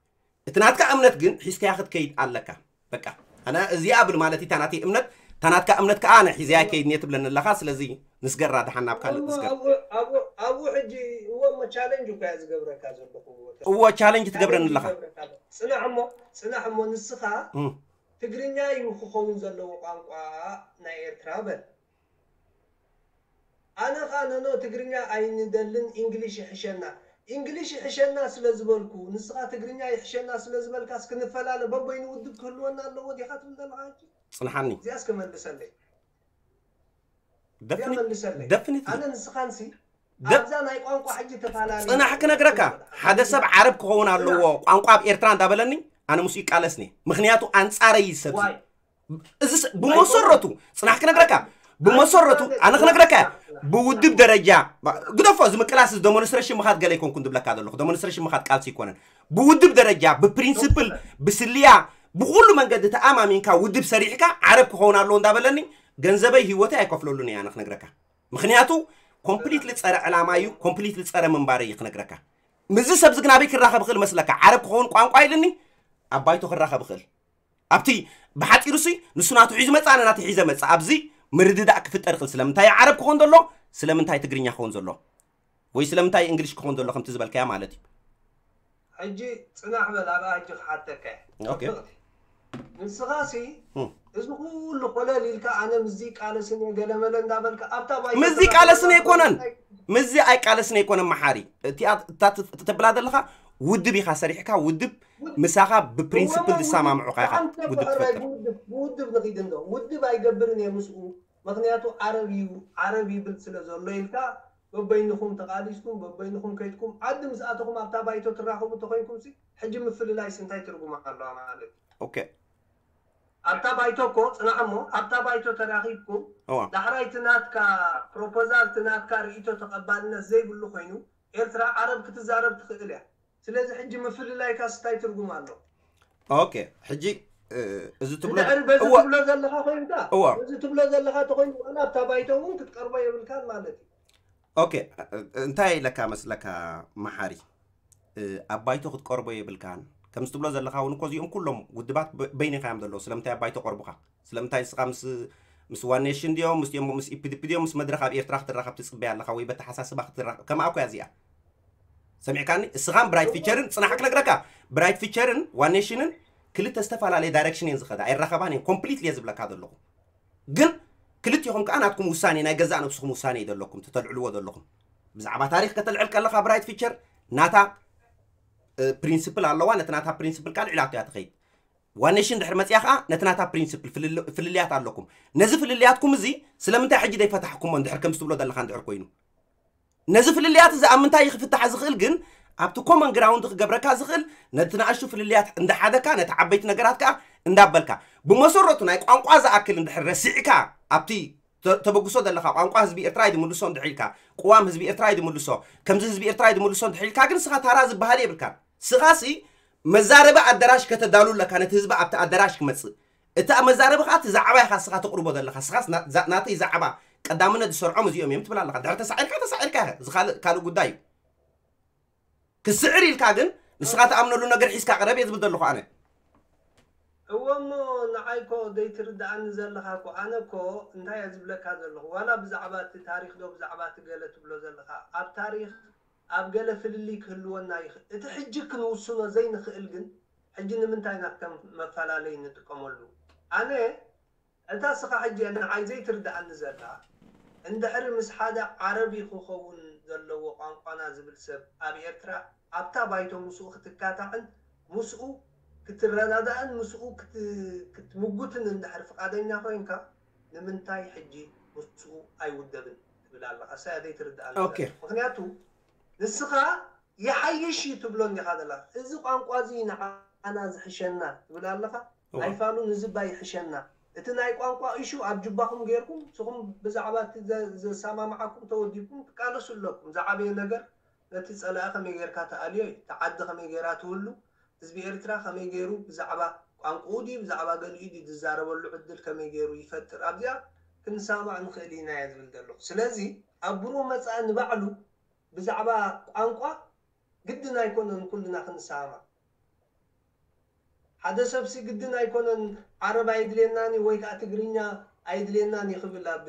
እቲ ናትካ እምነት ግን ሒዝካያ ክትከይድ ኣለካ። በቃ ኣነ እዚኣ ብል ማለት እታ ናተይ እምነት፣ እታ ናትካ እምነት ከዓ ኣነ ሒዘያ ከይድ እየ ትብለኒ ኣለኻ። ስለዚ ንስገራ ደሓን ናብ ካልእ እሞ ንስገር። ኣብኡ ኣብኡ ኣብኡ ሕጂ እዎ እሞ ቻለንጅ እኮ እያ ዝገብረካ ዘለኹ። እዎ ቻለንጅ ትገብረኒ ኣለኻ። ጽናሕ እሞ ጽናሕ እሞ ንስኻ እም። ትግርኛ እዩ ክኸውን ዘለዎ ቋንቋ ናይ ኤርትራ በል። ኣነ ኸኣ ነኖ ትግርኛ ኣይንደልን፣ ኢንግሊሽ ይሕሸና። ኢንግሊሽ ይሕሸና ስለ ዝበልኩ፣ ንስኻ ትግርኛ ይሕሸና ስለ ዝበልካስ ክንፈላለ በበይኑ ውድብ ክህልወና ኣለዎ ዲኻ ትብል ዘለኻ ሕጂ? ጽንሓኒ። እዚኣስ ክመልሰለይ። እዚኣ ደፍኒ-፣ መልሰለይ። ደፍኒትሊ። ኣነ ንስኻንሲ ደ-፣ ኣብዛ ናይ ቋንቋ ሕጂ ተፈላለዩ። ጽናሕ ክነግረካ፣ ሓደ ሰብ ዓረብ ክኸውን ኣለዎ፣ ጽናሕ። ቋንቋ ኣብ ኤርትራ እንዳበለኒ፣ ኣነ ምስኡ ይቃለስኒ። ምኽንያቱ ኣንጻረይ እዩ ሰብዚ። ዋይ። እዚ ስ-፣ ብመሰረቱ፣ ጽናሕ ክነግረካ፣ ብመሰረቱ፣ ኣነ ክነግረካ እያ፣ ብውድብ ደረጃ፣ ግደፎ፣ እዚ ምቅላስ፣ እዚ ደሞንስትሬሽን ምኻድ ገለ ኣይኮንኩን ዝብለካ ዘለኹ፣ ደሞንስትሬሽን ምኻድ ቃልሲ ኣይኮነን። ብውድብ ደረጃ፣ ብፕሪንስፕል፣ ብስልያ፣ ብኹሉ መንገዲ ተኣማሚንካ ውድብ ሰሪሕካ ዓረብ ክኸውን ኣለዎ እንዳበለኒ፣ ገንዘበይ ህይወተይ ኣይከፍለሉን እየ፣ ኣነ ክነግረካ። ምኽንያቱ፣ ኮምፕሊትሊ ጸረ ዕላማ እዩ፣ ኮምፕሊትሊ ጸረ ምንባረይ እዩ ክነግረካ። ምስዚ ሰብዚ ግን ኣበይ ክራኸብ ይኽእል መስለካ? ዓረብ ክኸውን ቋንቋ ኢልኒ፣ ኣብ ባይቶ ክራኸብ ይኽእል። ኣብቲ ብሓጺሩሲ ንሱ ናቱ ሒዙ መጽእ፣ ኣነ ናተይ ሒዘ መጽእ። ኣብዚ ምርድዳእ ክፍጠር ይኽእል። ስለምንታይ ዓረብ ክኾን ዘሎ? ስለምንታይ ትግርኛ ክኾን ዘሎ? ወይ ስለምንታይ እንግሊሽ ክኾን ዘሎ? ከምቲ ዝበልካያ ማለት እዩ። ሕጂ ጽናሕ በል፣ ኣብኣ ሕጂ ክሓተካ እየ። ኦኬ። ጽብቕቲ። ንስኻሲ እም። እዚ ኩሉ ኮለል ኢልካ ኣነ ምስዚ ቃለስን እየ ገለመለ እንዳበልካ ኣብታ ባይቶ ምስዚ ቃለስን ኣይኮነን። ምስዚ ኣይቃለስን ኣይኮነን መሓሪ። እቲኣ እታ ት-፣ ትብላ ዘለኻ ውድብ ኢኻ ሰሪሕካ፣ ውድብ ምሳኻ ብፕሪንስፕል እሞ ዝሰማምዑኻ ኢኻ ብሓንሳብ ውድብ ብሕራይ ትፈጥር። ብውድብ፣ ብውድብ ንኺድ እንዶ። ውድብ ኣይገብርን እየ ምስኡ። ምኽንያቱ ዓረብ እዩ፣ ዓረብ ይብል ስለ ዘሎ ኢልካ በበይንኹም ተቓሊስኩም፣ በበይንኹም ከይድኩም ዓዲ ምስ ኣተኹም ኣብታ ባይቶ ትራኸቡ ተኾይንኩም ሲ ሕጂ ምፍልላይስ እንታይ ትርጉም ኣለዋ ማለት እዩ? ኦኬ። ኣብታ ባይቶ እኮ ጽናዕ እሞ ኣብታ ባይቶ ተራኺብኩም እዋ። ዳሕራይ እቲ ናትካ ፕሮፖዛል፣ እቲ ናትካ ርእይቶ ተቐባልነት ዘይብሉ ኮይኑ ኤርትራ ዓረብ ክትዛረብ ትኽእል እያ። ስለዚ ሕጂ ምፍልላይካስ እንታይ ትርጉም ኣሎ? ኦኬ፣ ሕጂ፣ እ፣ እዚ ትብሎ እንድሕር በዚ እወ። ትብሎ ዘለኻ ኮይንካ፣ እወ። በዚ ትብሎ ዘለኻ ተኾይኑ ዋላ ኣብታ ባይቶ እውን ክትቀርቦ የብልካን ማለት እዩ። ኦኬ፣ እ፣ እንታይ ኢለካ መስለካ መሓሪ? እ፣ ኣብ ባይቶ ክትቀርቦ የብልካን። ከምዚ ትብሎ ዘለኻ እውን እኮ እዚኦም ኩሎም ውድባት በ-፣ በይንኻ እዮም ዘለዉ። ስለምንታይ ኣብ ባይቶ ቀርቡኻ? ስለምንታይ ንስኻ ምስ፣ ምስ ዋን ኔሽን ድዮም፣ ምስ ድዮም፣ ምስ ኢ ፒ ዲ ፒ ድዮም፣ ምስ መድረኽ ኣብ ኤርትራ ክትራኸብ ትጽበያ ኣለኻ ወይ በተሓሳስባ ክትራኸብ? ከምኣ እኮ እያ እዚኣ። ሰሚዕካኒ? እስኻን ብራይት ፊቸርን፣ ጽናሕ ክነግረካ፣ ብራይት ፊቸርን ዋን ኔሽንን ክልተ ዝተፈላለየ ዳይሬክሽን እየን ዝኸዳ፣ ኣይራኸባን እየን። ኮምፕሊትሊ እየ ዝብለካ ዘለኹ። ግን ክልቲኹም ከኣ ናትኩም ውሳኔ፣ ናይ ገዛእ ነብስኹም ውሳኔ እዩ ዘለኩም፣ ተተልዕልዎ ዘለኹም። ብዛዕባ ታሪኽ ከተልዕል ከለኻ ብራይት ፊቸር ናታ፣ እ፣ ፕሪንስፕል ኣለዋ፣ ነቲ ናታ ፕሪንስፕል ከኣ ልዕላቶ እያ ትኸይድ። ዋን ኔሽን ድሕሪ መጽያ ከኣ ነቲ ናታ ፕሪንስፕል ፍልል-፣ ፍልልያት ኣለኩም። ነዚ ፍልልያትኩም እዚ ስለምንታይ ሕጂ ዘይፈታሕኩሞ እንድሕር ከምዚ ትብሎ ዘለኻ እንድሕር ኮይኑ? ነዚ ፍልልያት እዚ ኣብ ምንታይ እዩ ክፍታሕ ዝኽእል ግን ኣብቲ ኮመን ግራውንድ ክገብረካ ዝኽእል ነቲ ንኣሽቱ ፍልልያት እንዳሓደካ ነቲ ዓበይቲ ነገራት ከኣ እንዳበልካ ብመሰረቱ ናይ ቋንቋ ዝኣክል እንድሕር ረሲዕካ ኣብቲ ተ-፣ ተበግሶ ዘለኻ ቋንቋ ህዝቢ ኤርትራ እዩ ዝምልሶ እንድሕር ኢልካ ቅዋም ህዝቢ ኤርትራ እዩ ዝምልሶ ከምዚ ህዝቢ ኤርትራ እዩ ዝምልሶ እንድሕር ኢልካ ግን ንስኻ ታራ ዝበሃል የብልካን። ንስኻሲ መዛረቢ ኣደራሽ ከተዳሉ ኣለካ ነቲ ህዝቢ ኣብቲ ኣደራሽ ክመጽእ እቲ ኣብ መዛረቢ ኸኣ እቲ ዛዕባ ኢኻ ንስኻ ተቕርቦ ዘለኻ። ንስኻስ ና-፣ ዛ-፣ ናተይ ዛዕባ ቀዳምነት ዝሰርዖም እዚኦም እዮም ትብል ኣለኻ። ድሕሪ ተሳዒርካ፣ ተሳዒርካ ኢኻ። እዚ ካልእ፣ ካልእ ጉዳይ እዩ። ክስዕር ኢልካ ግን ንስኻ ትኣምነሉ ነገር ሒዝካ ቅረብ እየ ዝብል ዘለኹ ኣነ። እወ እሞ ንዓይ እኮ ዘይትርድኣኒ ዘለኻ እኮ፣ ኣነ እኮ እንታይ እየ ዝብለካ ዘለኹ፣ ዋላ ብዛዕባ እቲ ታሪኽ ዶ ብዛዕባ እቲ ገለ ትብሎ ዘለኻ፣ ኣብ ታሪኽ ኣብ ገለ ፍልልይ ክህልወና ይኽእል። እቲ ሕጂ ክንውስኖ ዘይንኽእል ግን፣ ሕጂ ንምንታይ ኢና ከም መፈላለዪ እንጥቀመሉ? ኣነ፣ እታ እስኻ ሕጂ ንዓይ ዘይትርድኣኒ ዘላ፣ እንድሕር ምስ ሓደ ዓረቢ ክኸውን ዘለዎ ቋንቋና ዝብል ሰብ ኣብ ኤርትራ ኣብታ ባይቶ ምስኡ ክትካታዕን ምስኡ ክትረዳዳእን ምስኡ ክትምጉትን እንድሕር ፍቓደኛ ኮይንካ ንምንታይ ሕጂ ምስኡ ኣይውደብን ትብል ኣለኻ? እሳ ዘይትርዳእ ነገር። ምክንያቱ ንስኻ ይሓይሽ እዩ ትብሎ እንዲኻ ዘለኻ። እዚ ቋንቋ እዚ ንዓና ዝሕሸና ትብል ኣለኻ? ኣይፋሉን፣ እዚ እባ ይሕሸና። እቲ ናይ ቋንቋ ኢሹ ኣብ ጅባኹም ጌርኩም ንስኹም ብዛዕባ እቲ ዘሰማምዓኩም ተወዲብኩም ትቃለሱ ኣለኩም። ዝዓበየ ነገር ነቲ ጸላኢ ከመይ ጌርካ ትኣልዮ እዩ። እታ ዓዲ ከመይ ጌራ ትህሉ፣ ህዝቢ ኤርትራ ከመይ ጌሩ ብዛዕባ ቋንቋኡ ድዩ ብዛዕባ ገሊኡ ድዩ ዝዛረበሉ ዕድል ከመይ ጌሩ ይፈጥር፣ ኣብዚኣ ክንሰማማዕ ንኽእል ኢና እየ ዝብል ዘለኹ። ስለዚ ኣብ ብሩህ መጻኢ ንባዕሉ ብዛዕባ ቋንቋ ግድን ኣይኮነን ኩልና ክንሰማማዕ። ሓደ ሰብሲ ግድን ኣይኮነን ዓረብ ኣይድልየናን እዩ ወይ ከዓ ትግርኛ ኣይድልየናን እዩ ክብል ኣብ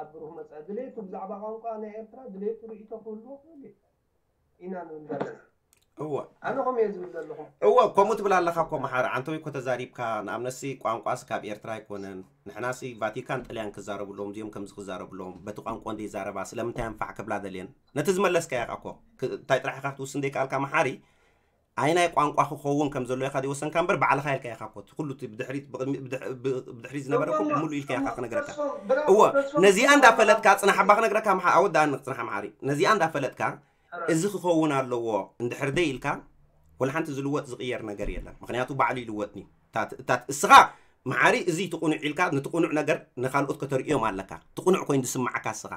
ኣብ ብሩህ መጻኢ ድሌቱ ብዛዕባ ቋንቋ ናይ ኤርትራ ድሌቱ ርእይቶ ክህልዎ ክእል እዩ ኢና ንብል ዘለና። እወ ኣነ ከምኡ እየ ዝብል ዘለኹ። እወ ከምኡ ትብል ኣለኻ እኮ መሓሪ። ዓንተወይ እኮ ተዛሪብካ። ንኣብነትሲ ቋንቋስ ካብ ኤርትራ ኣይኮነን። ንሕናሲ ቫቲካን ጥልያን ክዛረቡ ኣለዎም እዚኦም ከምዚ ክዛረቡ ኣለዎም። በቲ ቋንቋ እንደ ይዛረባ ስለምንታይ ኣንፋዕ ክብላ ደልየን? ነቲ ዝመለስካዮ ኢኻ እኮ። ክ- እንታይ ጥራሕ ኢኻ ክትውስን ደይከኣልካ መሓሪ? ኣይ ናይ ቋንቋ ክኸውን ከም ዘሎ ኢኻ ዘይወሰንካ እምበር ባዕልኻ ኢልካ ኢኻ እኮ። እቲ ኩሉ እቲ ብድሕሪት ብቕድሚ- ብድሕ- ብ- ብድሕሪት ዝነበረ እኮ ሙሉ ኢልካ ኢኻ ክነግረካ። እወ ነዚኣ እንዳፈለጥካ ጽናሕ እባ ክነግረካ መሓ- ኣወዳእኒ ጽናሕ መሓሪ። ነዚኣ እንዳፈለጥካ እዚ ክኸውን ኣለዎ እንድሕር ደይ ኢልካ ወላ ሓንቲ ዝልወጥ ዝቕየር ነገር የለን። ምክንያቱ ባዕሉ ይልወጥኒ። እታት- እታት እስኻ መሓሪ እዚ ትቕኑዕ ኢልካ ንትቕኑዕ ነገር ንኻልኦት ከተርእዮም ኣለካ። ትቕኑዕ ኮይኑ ዝስማዓካ እስኻ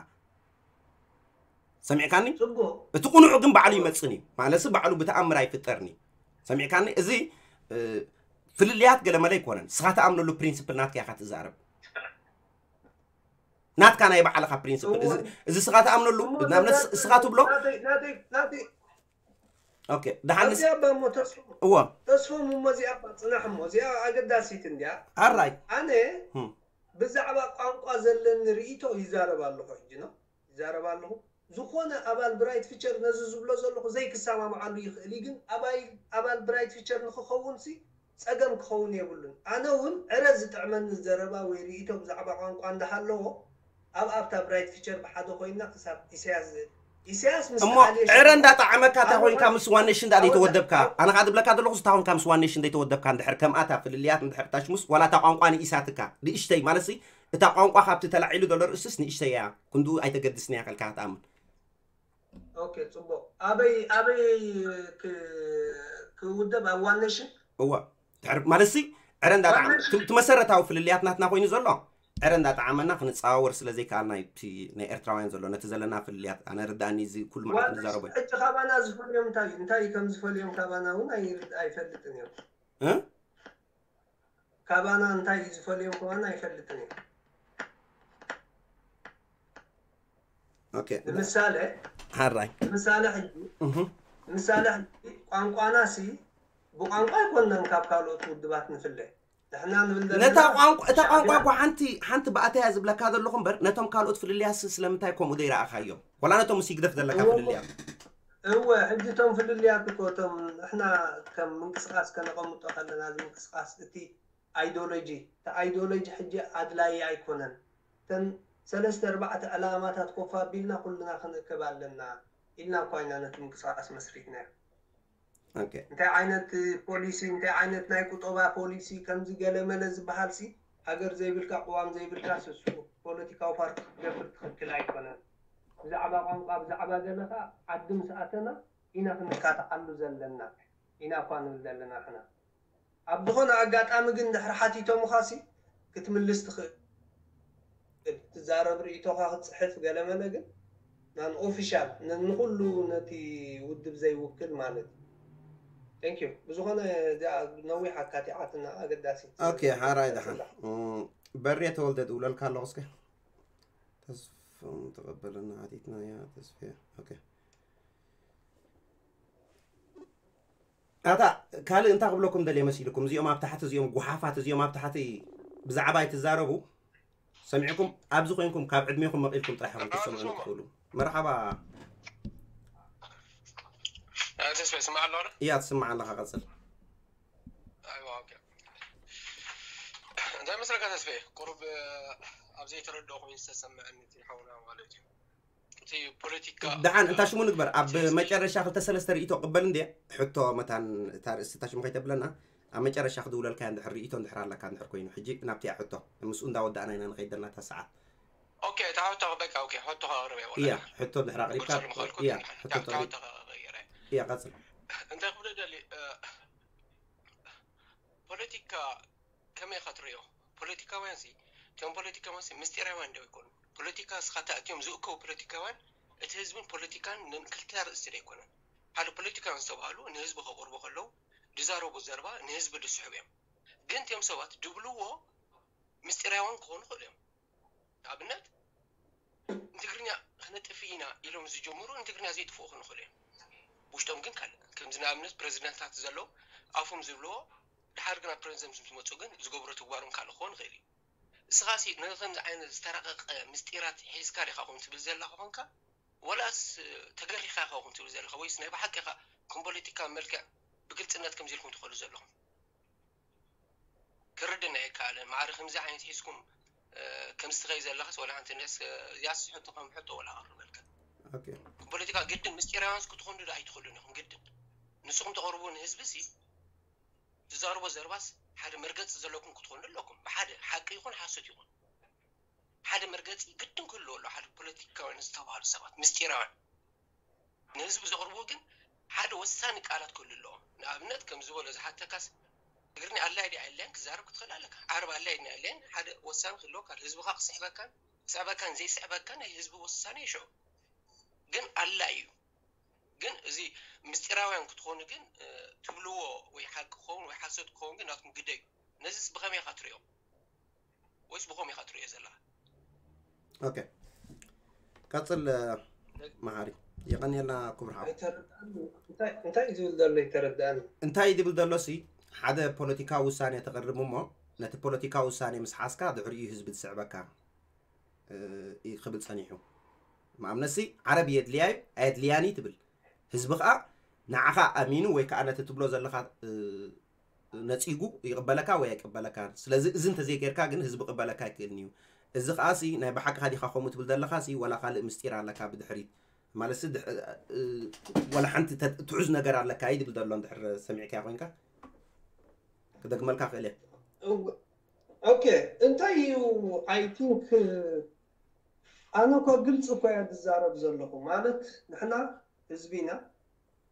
ሰሚዕካኒ? ጽቡቕ። እቲ ቅኑዕ ግን ባዕሉ ይመጽእኒ። ማለትሲ ባዕሉ ብተኣምር ኣይፍጠርኒ። ሰሚዕካኒ? እዚ እ፣ ፍልልያት ገለመለ ኣይኮነን። እስኻ ትኣምነሉ ፕሪንስፕል ናትካ ኢኻ ትዛረብ። ናትካ ናይ ባዕልኻ ፕሪንስፕል። እዚ እወ። እዚ እስኻ ትኣምነሉ እሞ ንኣብነት እዛ- እስኻ ትብሎ ናተይ- ናተይ- ናተይ- ኦኬ ደሓንስ እዚኣ እባ እሞ ተስፎ እዎ ተስፎ እሞ እዚኣ እባ ጽናሕ እሞ እዚኣ ኣገዳሲት እንድያ። ኣራይ ኣነ ህም። ብዛዕባ ቋንቋ ዘለኒ ርእይቶ ይዛረብ ኣለኹ ሕጂ ነው ይዛረብ ኣለኹ። ዝኾነ ኣባል ብራይት ፊቸር ነዚ ዝብሎ ዘለኹ ዘይክሰማምዓሉ ይኽእል እዩ፣ ግን ኣባይ ኣባል ብራይት ፊቸር ንክኸውን ሲ ጸገም ክኸውን የብሉን። ኣነ እውን ዕረ ዝጥዕመኒ ዘረባ ወይ ርእይቶ ብዛዕባ ቋንቋ እንዳሃለዎ ኣብ ኣብታ ብራይት ፊቸር ብሓደ ኮይና ክሳብ ኢሳያስ ኢሳያስ ምስ እሞ ተኣልየ ዕረ እንዳጣዓመካ እንታይ ኮንካ ምስ ዋን ኔሽን እንዳ ዘይተወደብካ? ኣነ ከዓ ዝብለካ ዘለኹ እንታይ ኮንካ ምስ ዋን ኔሽን ዘይተወደብካ? እንድሕር ከምኣታ ፍልልያት እንድሕር ታሽሙስ ዋላ እታ ቋንቋ ንኢሳትካ ንእሽተይ ማለት ሲ እታ ቋንቋ ካብቲ ተላዒሉ ዘሎ ርእስስ ንእሽተይ እያ። ክንድኡ ኣይተገድስን እያ ከልካ ክትኣምን። ኦኬ ጽቡቕ። ኣበይ ኣበይ ክ- ክውደብ ኣብ ዋን ኔሽን? እዋ ድሕር ማለት ሲ ዕረ እንዳጣዓመ ዋን ኔሽን? እቲ መሰረታዊ ፍልልያት ናትና ኮይኑ ዘሎ ዕረ እንዳጣዓመና ክንጸዋወር ስለ ዘይከኣልና እዩ እቲ ናይ ኤርትራውያን ዘሎ ነቲ ዘለና ፍልልያት ኣነ ርዳእኒ እዚ ኩሉ መዓልቲ ዋን ንዛረቦ ኔሽን ሕጂ ካባና ዝፈልዮም እንታይ እዩ? እንታይ እዩ ከም ዝፈልዮም ካባና እውን ኣይርድ- ኣይፈልጥን እዮም። እ? ካባና እንታይ እዩ ዝፈልዮም ካባና ኣይፈልጥን እዮም። ኦኬ ንምሳሌ ሓራይ ንምሳሌ ሕጂ እህ ምሳሌ ሕጂ ቋንቋና ሲ ብቋንቋ ኣይኮንናን ካብ ካልኦት ውድባት ንፍለ ንሕና ንብል ዘለና ነታ ቋንቋ እታ ቋንቋ ሻዕብያ እኮ ሓንቲ ሓንቲ ብኣተያ ዝብለካ ዘለኹ እምበር ነቶም ካልኦት ፍልልያስ ስለምንታይ ከምኡ ዘይረኣኻዮም ወላ ነቶም ምስ ይግደፍ ዘለካ እዎ። ፍልልያት እወ ሕጂ እቶም ፍልልያት እኮ እቶም ንሕና ከም ምንቅስቃስ ከነቐምጦ ከለና እዚ ምንቅስቃስ እቲ ኣይዶሎጂ እቲ ኣይዶሎጂ ሕጂ ኣድላዪ ኣይኮነን እተን ሰለስተ ኣርባዕተ ዕላማታት ኮፍ ኣቢልና ኩልና ክንእከብ ኣለና ኢልና እኳ ኢና ነቲ ምንቅስቃስ መስሪትናዮ ኦኬ እንታይ ዓይነት ፖሊሲ እንታይ ዓይነት ናይ ቁጠባ ፖሊሲ ከምዚ ገለ መለ ዝበሃል ሲ ሃገር ዘይብልካ ቅዋም ዘይብልካ ስሱ ፖለቲካዊ ፓርቲ ክትገብር ትኽክል ኣይኮነን ብዛዕባ ቋንቋ ብዛዕባ ገለ ከዓ ዓዲ ምስ ኣተና ኢና ክንካትዓሉ ዘለና ኢና እኳ ንብል ዘለና ንሕና ኣብ ዝኾነ ኣጋጣሚ ግን ድሕሪ ሓቲቶምኻሲ ክትምልስ ትኽእል ትዛረብ ርእይቶኻ ክትፅሕፍ ገለመለ ግን non official ንኩሉ ነቲ ውድብ ዘይውክል ማለት እዩ thank you ብዝኾነ እዚኣ ነዊሕ ኣካቲዓትና ኣገዳሲት okay ሓራይ ደሓን በሬ ተወልደ ድውለልካ ኣለኹ እስከ ተስፎም ተቐበለና ሓቲትና እያ ተስፌ okay ኣታ ካልእ እንታይ ክብለኩም ደልየ መሲልኩም እዚኦም ኣብ ታሕቲ እዚኦም ጉሓፋት እዚኦም ኣብ ታሕቲ ብዛዕባ ኣይትዛረቡ ሰሚዕኩም ኣብዚ ኮይንኩም ካብ ዕድሜኹም መቒልኩም ጥራሕ ኢኹም ክትሰምዑ ትኽእሉ መርሓባ ተስፋ ይስማዕ ኣሎ እያ ትስማዕ ኣለኻ ቀፅል እንታይ መስለካ ተስፋ ቁሩብ ኣብ ዘይተረድኦ ኮይኑ ዝተሰምዐኒ እቲ ሓውና ማለት እዩ። እቲ ፖለቲካ ደሓን እንታ ሽሙ ንግበር። ኣብ መጨረሻ ክልተ ሰለስተ ርእይቶ ቅበል እንዴ? ሕቶ መታን እታ ርእሲ እታ ሽሙ ከይተብለና፣ ኣብ መጨረሻ ክድውለልካ እንድሕር ርእይቶ እንድሕር ኣለካ እንድሕር ኮይኑ፣ ሕጂ ናብቲያ ሕቶ ምስኡ እንዳወዳእና ኢና ንኸይድ ዘለና እታ ሰዓት። ኦኬ፣ እታ ሕቶ በቃ ኦኬ፣ ሕቶ ከቕርብ እየ። እያ ሕቶ እንድሕር ኣቕሪብካ፣ ክገልጸሉ ምኽኣልኩ እያ ድሓን ሕቶ እታ ሕቶ ከቕርብ እየ። እያ ቀጽል። እንታይ ክብል ደሊ ፖለቲካ ከመይ ኢኻ ትርእዮ? ፖለቲካውያን ሲ እቶም ፖለቲካውያን ሲ ምስጢራውያን ደው ይኮኑ። ፖለቲካ እስኻ ተኣትዮም ዝእከቡ ፖለቲካውያን እቲ ህዝብን ፖለቲካን ን- ክልተ ርእስቲ ዶ ኣይኮነን? ሓደ ፖለቲካውያን ዝተባህሉ ንህዝቢ ከቕርቡ ከለዉ ዝዛረቡ ዘረባ ንህዝቢ ዝስሕቡ እዮም። ግን እቲኦም ሰባት ድብልዎ ምስጢራውያን ክኾኑ ይኽእሉ እዮም። ንኣብነት ንትግርኛ ክነጥፍ ኢና ኢሎም ዝጀምሩ ንትግርኛ ዘይጥፍኡ ክኾኑ ይኽእሉ እዮም። ውሽጦም ግን ካልእ ከምዚ ንኣብነት ፕረዚደንታት ዘለዉ ኣፎም ዝብልዎ ድሓር ግን ኣብ ፕረዚደንት ምስ መፁ ግን ዝገብሮ ተግባሮም ካልእ ክኾን ይኽእል እዩ። እስኻ ሲ ነዚ ከምዚ ዓይነት ዝተረቐቐ ምስጢራት ሒዝካ ዲኻ ኹም ትብል ዘለኻ ኾንካ ወላስ ተገሪኻ ኢኻ ኹም ትብል ዘለኻ ወይስ ናይ ብሓቂ ኢኻ ከም ፖለቲካ መልክዕ ብግልፅነት ከምዚ ኢልኩም ትኸዱ ዘለኹም? ክርድን ኣይከኣለን። ማዕረ ከምዚ ዓይነት ሒዝኩም ከምዚ ትኸይ ዘለኻስ ወላ ሓንቲ ነስ ያስ ሕቶ ከም ሕቶ ወላ ኣቕርበልካ ኦኬ ፖለቲካ ግድን ምስጢራውያንስ ክትኾኑ ዶ ኣይትኽእሉን ኢኹም? ግድን ንስኹም ተቕርቡ ንህዝቢ ሲ ትዛርቦ ዘርባስ ሓደ መርገፂ ዘለኩም ክትኾኑ ኣለኩም። ብሓደ ሓቂ ይኹን ሓሶት ይኹን ሓደ መርገፂ ግድን ክህልዎ ኣሎ። ሓደ ፖለቲካውያን ዝተባሃሉ ሰባት ምስጢራውያን ንህዝቢ ዘቕርብዎ ግን ሓደ ወሳኒ ቃላት ክህሉ ኣለዎ። ንኣብነት ከም ዝበሎ ዝሓተካስ ትግርኛ ኣላይ ድያ ኣላይን ክዛረብ ክትኽእል ኣለካ። ዓረብ ኣላይ ድያ ኣላይን ሓደ ወሳኒ ክህልወካ ህዝብኻ ክስሕበካን ክስዕበካን ዘይስዕበካን ናይ ህዝቢ ውሳኔ ይሽዑ ግን ኣላዩ ግን እዚ ምስጢራውያን ክትኾኑ ግን ትብልዎ ወይ ሓቂ ክኸውን ወይ ሓሶት ክኸውን ግን ናትኩም ግደ እዩ። ነዚስ ብኸመይ ኢኻ ትሪኦ ወይስ ብኸም ኢኻ ትሪኦ ዘለኻ? ኦኬ ቀፅል መሃሪ የቐንየልና ክቡር ሓው ኣይተረድኣኒ እንታይ እንታይ እዩ ዝብል ዘሎ ይተረድኣኒ እንታይ እዩ ዝብል ዘሎ ሲ ሓደ ፖለቲካዊ ውሳኔ ተቕርብ እሞ ነቲ ፖለቲካዊ ውሳኔ ምስ ሓዝካ ድሕሪኡ ህዝቢ ትስዕበካ እዩ ክብል ጸኒሑ። ንኣብነት ሲ ዓረብ የድልያ እዩ ኣየድልያን እዩ ትብል። ህዝቢ ከዓ ንዓኻ ኣሚኑ ወይ ከዓ ነቲ ትብሎ ዘለኻ ነፂጉ ይቕበለካ ወይ ኣይቅበለካን። ስለዚ እዚ እንተዘይጌርካ ግን ህዝቢ ቅበለካ ኣይክእልን እዩ። እዚ ከዓ ሲ ናይ ብሓቅኻ ዲኻ ከምኡ ትብል ዘለኻ ሲ ዋላ ካልእ ምስጢር ኣለካ ብድሕሪት ማለት ሲ ወላ ሓንቲ ትሑዝ ነገር ኣለካ እዩ ዝብል ዘሎ እንድሕር ሰሚዕካዮ ኮይንካ ክደግመልካ ክእል እየ። ኦኬ እንታይ እዩ I think ኣነ እኮ ግልፂ እኮ እያ ዝዛረብ ዘለኹ ማለት ንሕና ህዝቢ ኢና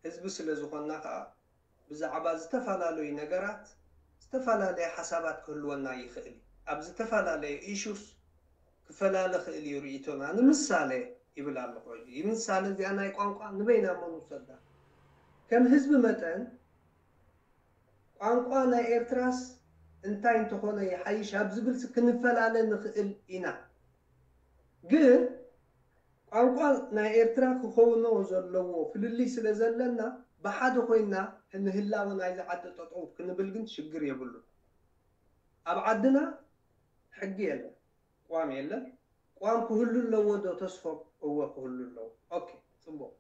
ህዝቢ ስለ ዝኾንና ከዓ ብዛዕባ ዝተፈላለዩ ነገራት ዝተፈላለየ ሓሳባት ክህልወና ይኽእል እዩ ኣብ ዝተፈላለየ issues ክፈላለ ክእል እዩ ርእይቶና ንምሳሌ ይብል ኣለኹ ሕጂ ምሳሌ እዚኣ ናይ ቋንቋ ንበይና እሞ ንውሰዳ ከም ህዝቢ መጠን ቋንቋ ናይ ኤርትራስ እንታይ እንተኾነ ይሓይሽ ኣብ ዝብል ክንፈላለ ንኽእል ኢና ግን ቋንቋ ናይ ኤርትራ ክኸውኖ ዘለዎ ፍልልይ ስለ ዘለና ብሓደ ኮይና ንህላወ ናይዚ ዓዲ ጠጠው ክንብል ግን ሽግር የብሉን ኣብ ዓድና ሕጊ የለን ቋም የለን ቋም ክህሉ ኣለዎ ዶ ተስፎም እወ ክህሉ ኣለዎ ኦኬ ፅቡቅ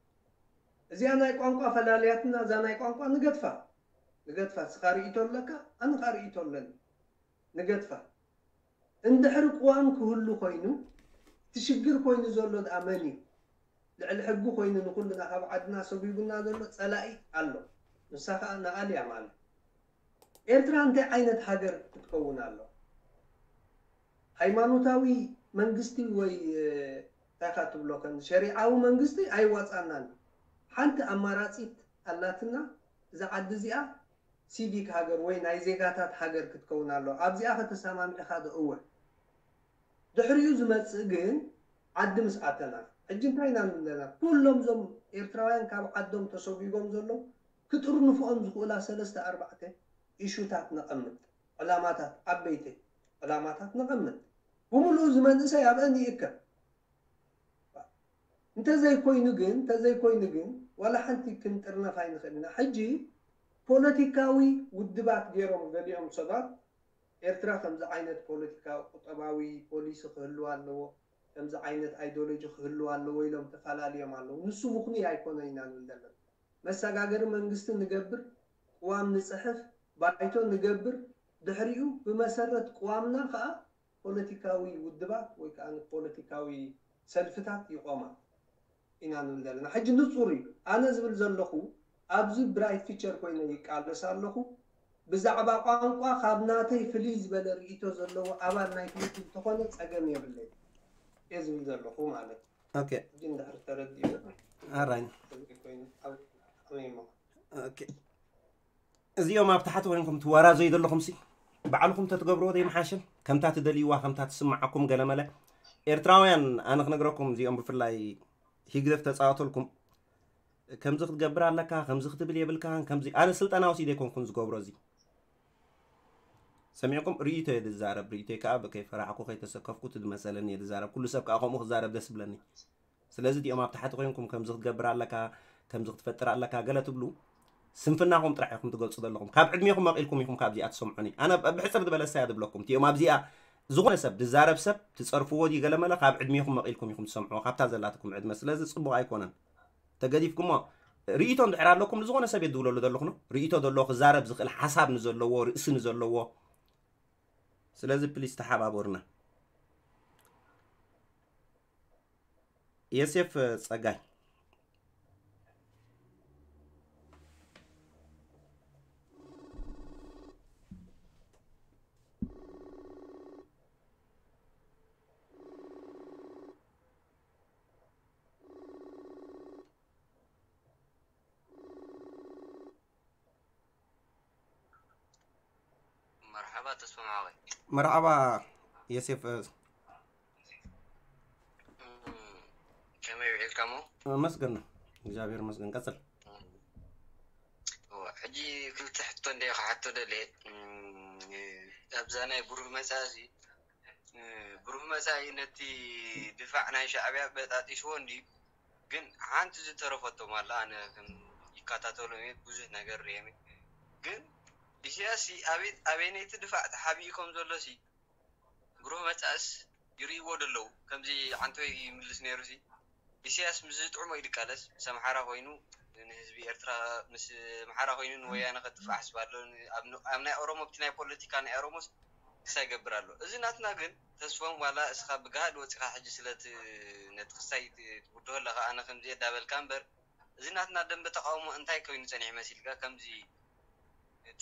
እዚኣ ናይ ቋንቋ ፈላልያትና እዛ ናይ ቋንቋ ንገድፋ ንገድፋ እስኻ ርእይቶ ኣለካ ኣነ ካ ርእይቶ ኣለኒ ንገድፋ እንድሕሪ ቅዋም ክህሉ ኮይኑ እቲ ሽግር ኮይኑ ዘሎ ደኣ መን እዩ ልዕሊ ሕጊ ኮይኑ ንኩልና ካብ ዓድና ሰጒጉና ዘሎ ፀላኢ ኣሎ ንሳ ከዓ ንኣልያ ማለት ኤርትራ እንታይ ዓይነት ሃገር ክትከውን ኣሎ ሃይማኖታዊ መንግስቲ ወይ እንታይ ካ ትብሎ ከም ሸሪዓዊ መንግስቲ ኣይዋፃናን ሓንቲ ኣማራፂት ኣላትና እዛ ዓዲ እዚኣ ሲቪክ ሃገር ወይ ናይ ዜጋታት ሃገር ክትከውን ኣሎ ኣብዚኣ ከተሰማምዕኻ ዶ እወ ድሕሪኡ ዝመፅእ ግን ዓዲ ምስ ኣተና ሕጂ እንታይ ኢና ንብለና ኩሎም ዞም ኤርትራውያን ካብ ዓዶም ተሰጒጎም ዘሎ ክጥርንፍኦም ዝኽእላ ሰለስተ ኣርባዕተ ኢሹታት ነቐምጥ ዕላማታት ዓበይቲ ዕላማታት ነቐምጥ ብምሉኡ ዝመንእሰይ ኣብአን ይእከብ እንተዘይኮይኑ ግን እንተዘይኮይኑ ግን ዋላ ሓንቲ ክንጥርነፍ ኣይንኽእል ኢና ሕጂ ፖለቲካዊ ውድባት ገይሮም ገሊኦም ሰባት ኤርትራ ከምዚ ዓይነት ፖለቲካዊ ቁጠባዊ ፖሊሲ ክህልዋ ኣለዎ ከምዚ ዓይነት ኣይዶሎጂ ክህልዋ ኣለዎ ኢሎም ተፈላለዮም ኣለዉ ንሱ ምኽኑይ ኣይኮነን ኢና ንብል ዘለና መሰጋገሪ መንግስቲ ንገብር ቅዋም ንፅሕፍ ባይቶ ንገብር ድሕሪኡ ብመሰረት ቅዋምና ከዓ ፖለቲካዊ ውድባት ወይ ከዓ ንፖለቲካዊ ሰልፍታት ይቆማ ኢና ንብል ዘለና። ሕጂ ንጹር እዩ። ኣነ ዝብል ዘለኹ ኣብዚ ብራይት ፊቸር ኮይነ ይቃለስ ኣለኹ። ብዛዕባ ቋንቋ ካብ ናተይ ፍልይ ዝበለ ርእይቶ ዘለዎ ኣባል ናይ ክልል እንተኾነ ጸገም የብለይ እየ ዝብል ዘለኹ ማለት እዩ። ኦኬ ሕጂ እንድሕር ተረዲኡ ኣራይ ኮይኑ ኣብ ከመይ እሞ ኦኬ እዚኦም ኣብ ታሕቲ ኮይንኩም ትወራዘዩ ዘለኹም ሲ ባዕልኹም ተትገብርዎ ዘይምሓሽን ከምታ ትደልይዋ ከምታ ትስምዓኩም ገለመለ ኤርትራውያን ኣነ ክነግረኩም እዚኦም ብፍላይ ሂግደፍ ተፃወተልኩም ከምዚ ክትገብር ኣለካ ከምዚ ክትብል የብልካን ከምዚ ኣነ ስልጠና ወሲደ ኣይኮንኩን ዝገብሮ እዚ ሰሚዕኩም ርእይቶ እየ ዝዛረብ ርእይቶይ ከዓ ከይፈራሕኩ ከይተሰከፍኩ እቲ ዝመሰለኒ እየ ዝዛረብ ኩሉ ሰብ ከዓ ከምኡ ክዛረብ ደስ ብለኒ ስለዚ እቲኦም ኣብ ታሕቲ ኮይንኩም ከምዚ ክትገብር ኣለካ ከምዚ ክትፈጥር ኣለካ ገለ ትብሉ ስንፍናኹም ጥራሕ ኢኹም ትገልፁ ዘለኹም ካብ ዕድሜኹም መቒልኩም ኢኹም ካብዚኣ ትሰምዑኒ ኣነ ብሕፅር ዝበለ ሳያ ዝብለኩም እቲኦም ኣብዚኣ ዝኾነ ሰብ ዝዛረብ ሰብ ትፀርፍዎ ድዩ ገለመለ ካብ ዕድሜኹም መቒልኩም ኢኹም ትሰምዑዎ ካብታ ዘላትኩም ዕድመ ስለዚ ፅቡቕ ኣይኮነን ተገዲፍኩሞ ርእይቶ እንድሕር ኣለኩም ንዝኾነ ሰብ የድውለሉ ዘለኹ ነው ርእይቶ ዘለዎ ክዛረብ ዝኽእል ሓሳብ ንዘለዎ ርእሲ ንዘለዎ ስለዚ ፕሊስ ተሓባበሩና የሴፍ ጸጋይ መርሓባ ተስፋ ማዕበል መርሓባ የሴፍ ከመይ ውዒልካ ሞ መስገን ነው እግዚኣብሔር መስገን ቀጽል ሕጂ ክልተ ሕቶ እንደ ክሓቶ ደልየ ኣብዛ ናይ ብሩህ መፃእሲ ብሩህ መፃኢ ነቲ ድፋዕ ናይ ሻዕብያ በጣጢስዎ እንዲ ግን ሓንቲ ዝተረፈቶም ኣላ ኣነ ይከታተሎም እየ ብዙሕ ነገር ርየም ግን ኢሳያስ ኣበይነይቲ ድፋዕ ተሓቢኡ ከም ዘሎ ሲ ብሩህ መፃእስ ይርእይዎ ደለዉ ከምዚ ዓንተወይ ይምልስ ነይሩ ሲ ኢሳያስ ምስ ዝጥዕሞ ይድቃለስ ምስ ኣምሓራ ኮይኑ ንህዝቢ ኤርትራ ምስ ኣምሓራ ኮይኑ ንወያነ ከጥፍእ ሓስብ ኣሎ ኣብ ናይ ኦሮሞ ብቲ ናይ ፖለቲካ ናይ ኦሮሞስ ክሳይ ገብር ኣሎ እዚ ናትና ግን ተስፎም ዋላ እስኻ ብጋህድ ወፂኻ ሕጂ ስለ ነቲ ክሳይ ትውድሆ ኣለኻ ኣነ ከምዚ የዳበልካ እምበር እዚ ናትና ደንበ ተቃውሞ እንታይ ኮይኑ ጸኒሑ መሲልካ ከምዚ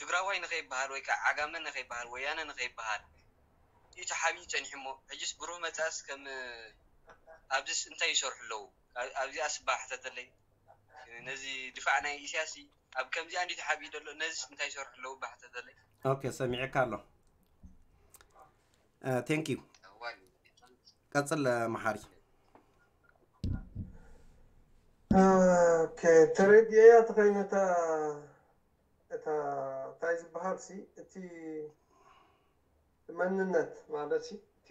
ትግራዋይ ንኸይበሃል ወይ ከዓ ዓጋመ ንኸይበሃል ወያነ ንኸይበሃል እዩ ተሓቢኡ ጸኒሑ እሞ ሕጅስ ብሩህ መጻእስ ከም ኣብዚስ እንታይ ይሰርሑ ኣለዉ ኣብዚኣ ስባ ሕተተለይ ነዚ ድፋዕ ናይ ኢሳያስ ኣብ ከምዚኣ እንዲ ተሓቢኡ ዘሎ ነዚስ እንታይ ይሰርሑ ኣለዉ ባሕተተለይ ኦኬ ሰሚዕካ ኣሎ ቴንክ ዩ ቀፅል መሓሪ ተረድኤያ ተኸይነታ እታ እንታይ ዝበሃል ሲ እቲ መንነት ማለት ሲ እቲ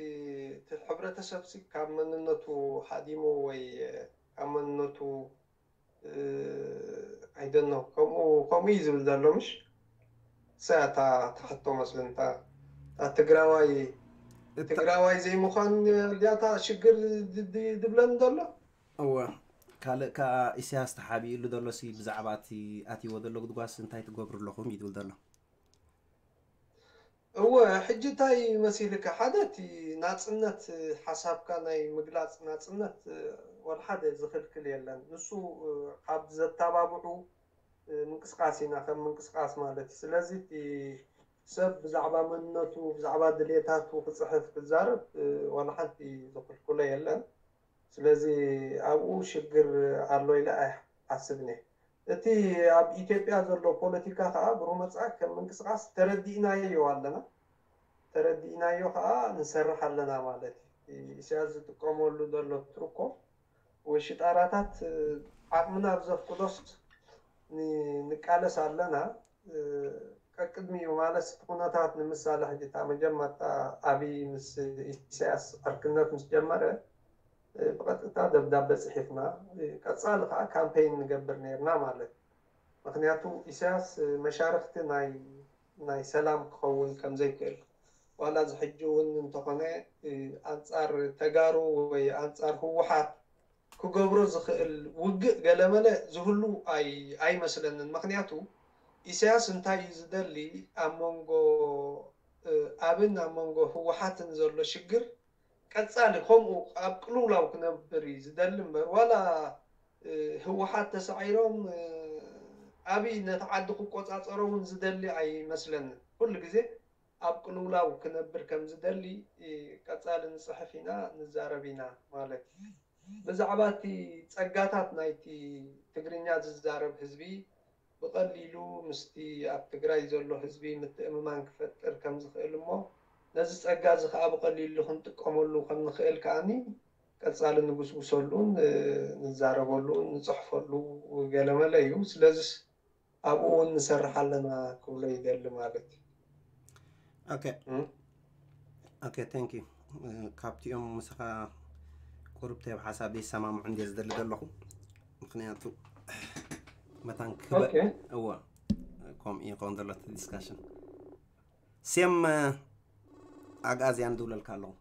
ሕብረተሰብ ሲ ካብ መንነቱ ሓዲሙ ወይ ካብ መንነቱ ኣይደኖ ከምኡ ከምኡ እዩ ዝብል ዘሎ ምሽ ሰ እታ ተሕቶ መስልን እታ ትግራዋይ ትግራዋይ ዘይምዃን ዲያታ ሽግር ድብለን ዘሎ እወ ካልእ ከዓ ኢሳያስ ተሓቢእሉ ዘሎ ሲ ብዛዕባ እቲ ኣትይዎ ዘሎ ጉድጓስ እንታይ ትገብሩ ኣለኹም እዩ ዝብል ዘሎ እወ ሕጂ እንታይ መሲልካ ሓደ እቲ ናፅነት ሓሳብካ ናይ ምግላፅ ናፅነት ወልሓደ ዝኽልክል የለን ንሱ ካብ ዘተባብዑ ምንቅስቃስ ኢና ከም ምንቅስቃስ ማለት እዩ ስለዚ እቲ ሰብ ብዛዕባ መንነቱ ብዛዕባ ድሌታቱ ክፅሕፍ ክዛረብ ዋላ ሓንቲ ዝኽልክሎ የለን ስለዚ ኣብኡ ሽግር ኣሎ ኢለ ኣይሓስብን እየ እቲ ኣብ ኢትዮጵያ ዘሎ ፖለቲካ ከዓ ብሩመፃ ከም ምንቅስቃስ ተረዲእናዮ ኣለና ተረዲእናዮ ከዓ ንሰርሕ ኣለና ማለት እዩ ኢሳያስ ዝጥቀመሉ ዘሎ ትርኮ ወይ ሽጣራታት ዓቕምና ብዘፍቅዶስ ንቃለስ ኣለና ቀቅድሚኡ ማለት እቲ ኩነታት ንምሳሌ ሕጂ እታ መጀመርታ ኣብይ ምስ ኢሳያስ ዕርክነት ምስ ጀመረ ብቐጥታ ደብዳበ ፅሒፍና ቀፃሊ ከዓ ካምፔይን ንገብር ነርና ማለት ምክንያቱ ኢሳያስ መሻርክቲ ናይ ናይ ሰላም ክኸውን ከምዘይክእል ዋላ እዚ ሕጂ እውን እንተኾነ ኣንፃር ተጋሩ ወይ ኣንፃር ህወሓት ክገብሮ ዝኽእል ውግእ ገለመለ ዝህሉ ኣይመስለንን ምክንያቱ ኢሳያስ እንታይ እዩ ዝደሊ ኣብ መንጎ ኣብን ኣብ መንጎ ህወሓትን ዘሎ ሽግር ቀፃሊ ከምኡ ኣብ ቅልውላው ክነብር እዩ ዝደሊ እምበር ዋላ ህወሓት ተሳዒሮም ኣብይ ነቲ ዓዲ ክቆፃፀሮ እውን ዝደሊ ኣይመስለንን። ኩሉ ግዜ ኣብ ቅልውላው ክነብር ከም ዝደሊ ቀፃሊ ንፅሕፍ ኢና ንዛረብ ኢና ማለት እዩ። ብዛዕባ እቲ ፀጋታት ናይቲ ትግርኛ ዝዛረብ ህዝቢ ብቐሊሉ ምስቲ ኣብ ትግራይ ዘሎ ህዝቢ ምትእምማን ክፈጥር ከም ዝኽእል እሞ ነዚ ፀጋ እዚ ከዓ ብቐሊሉ ክንጥቀመሉ ከም ንኽእል ከዓኒ ቀፃሊ ንጉስጉሰሉን ንዛረበሉን ንፅሕፈሉ ገለመለ እዩ። ስለዚስ ኣብኡ እውን ንሰርሕ ኣለና ክብሎ ይደሊ ማለት እዩ። Okay. Okay, thank you. ካብቲኦም ምሳኻ ቁሩብ ተብ ሓሳብ ይሰማምዑ እንደ ዝደሊ ዘለኹ ምክንያቱ መታን ክበ እወ ከምኡ ይኸውን ዘሎ ዲስካሽን ሴም ኣግኣዝያን ዝብለልካ ኣለኹ።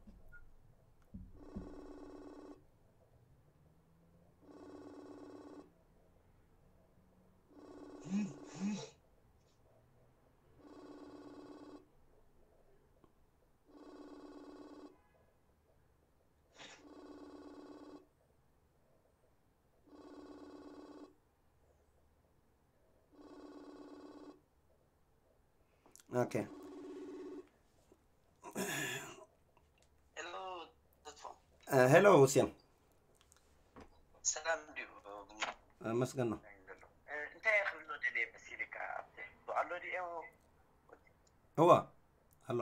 Okay. Hello, Totfo. Uh, hello, Hussein. ሰላም ድዩ? Uh, መስገን ነው። እንታይ ክብሎ ደልየ መሲልካ ኣብቲ ኣሎ ድዮ? እዋ ኣሎ።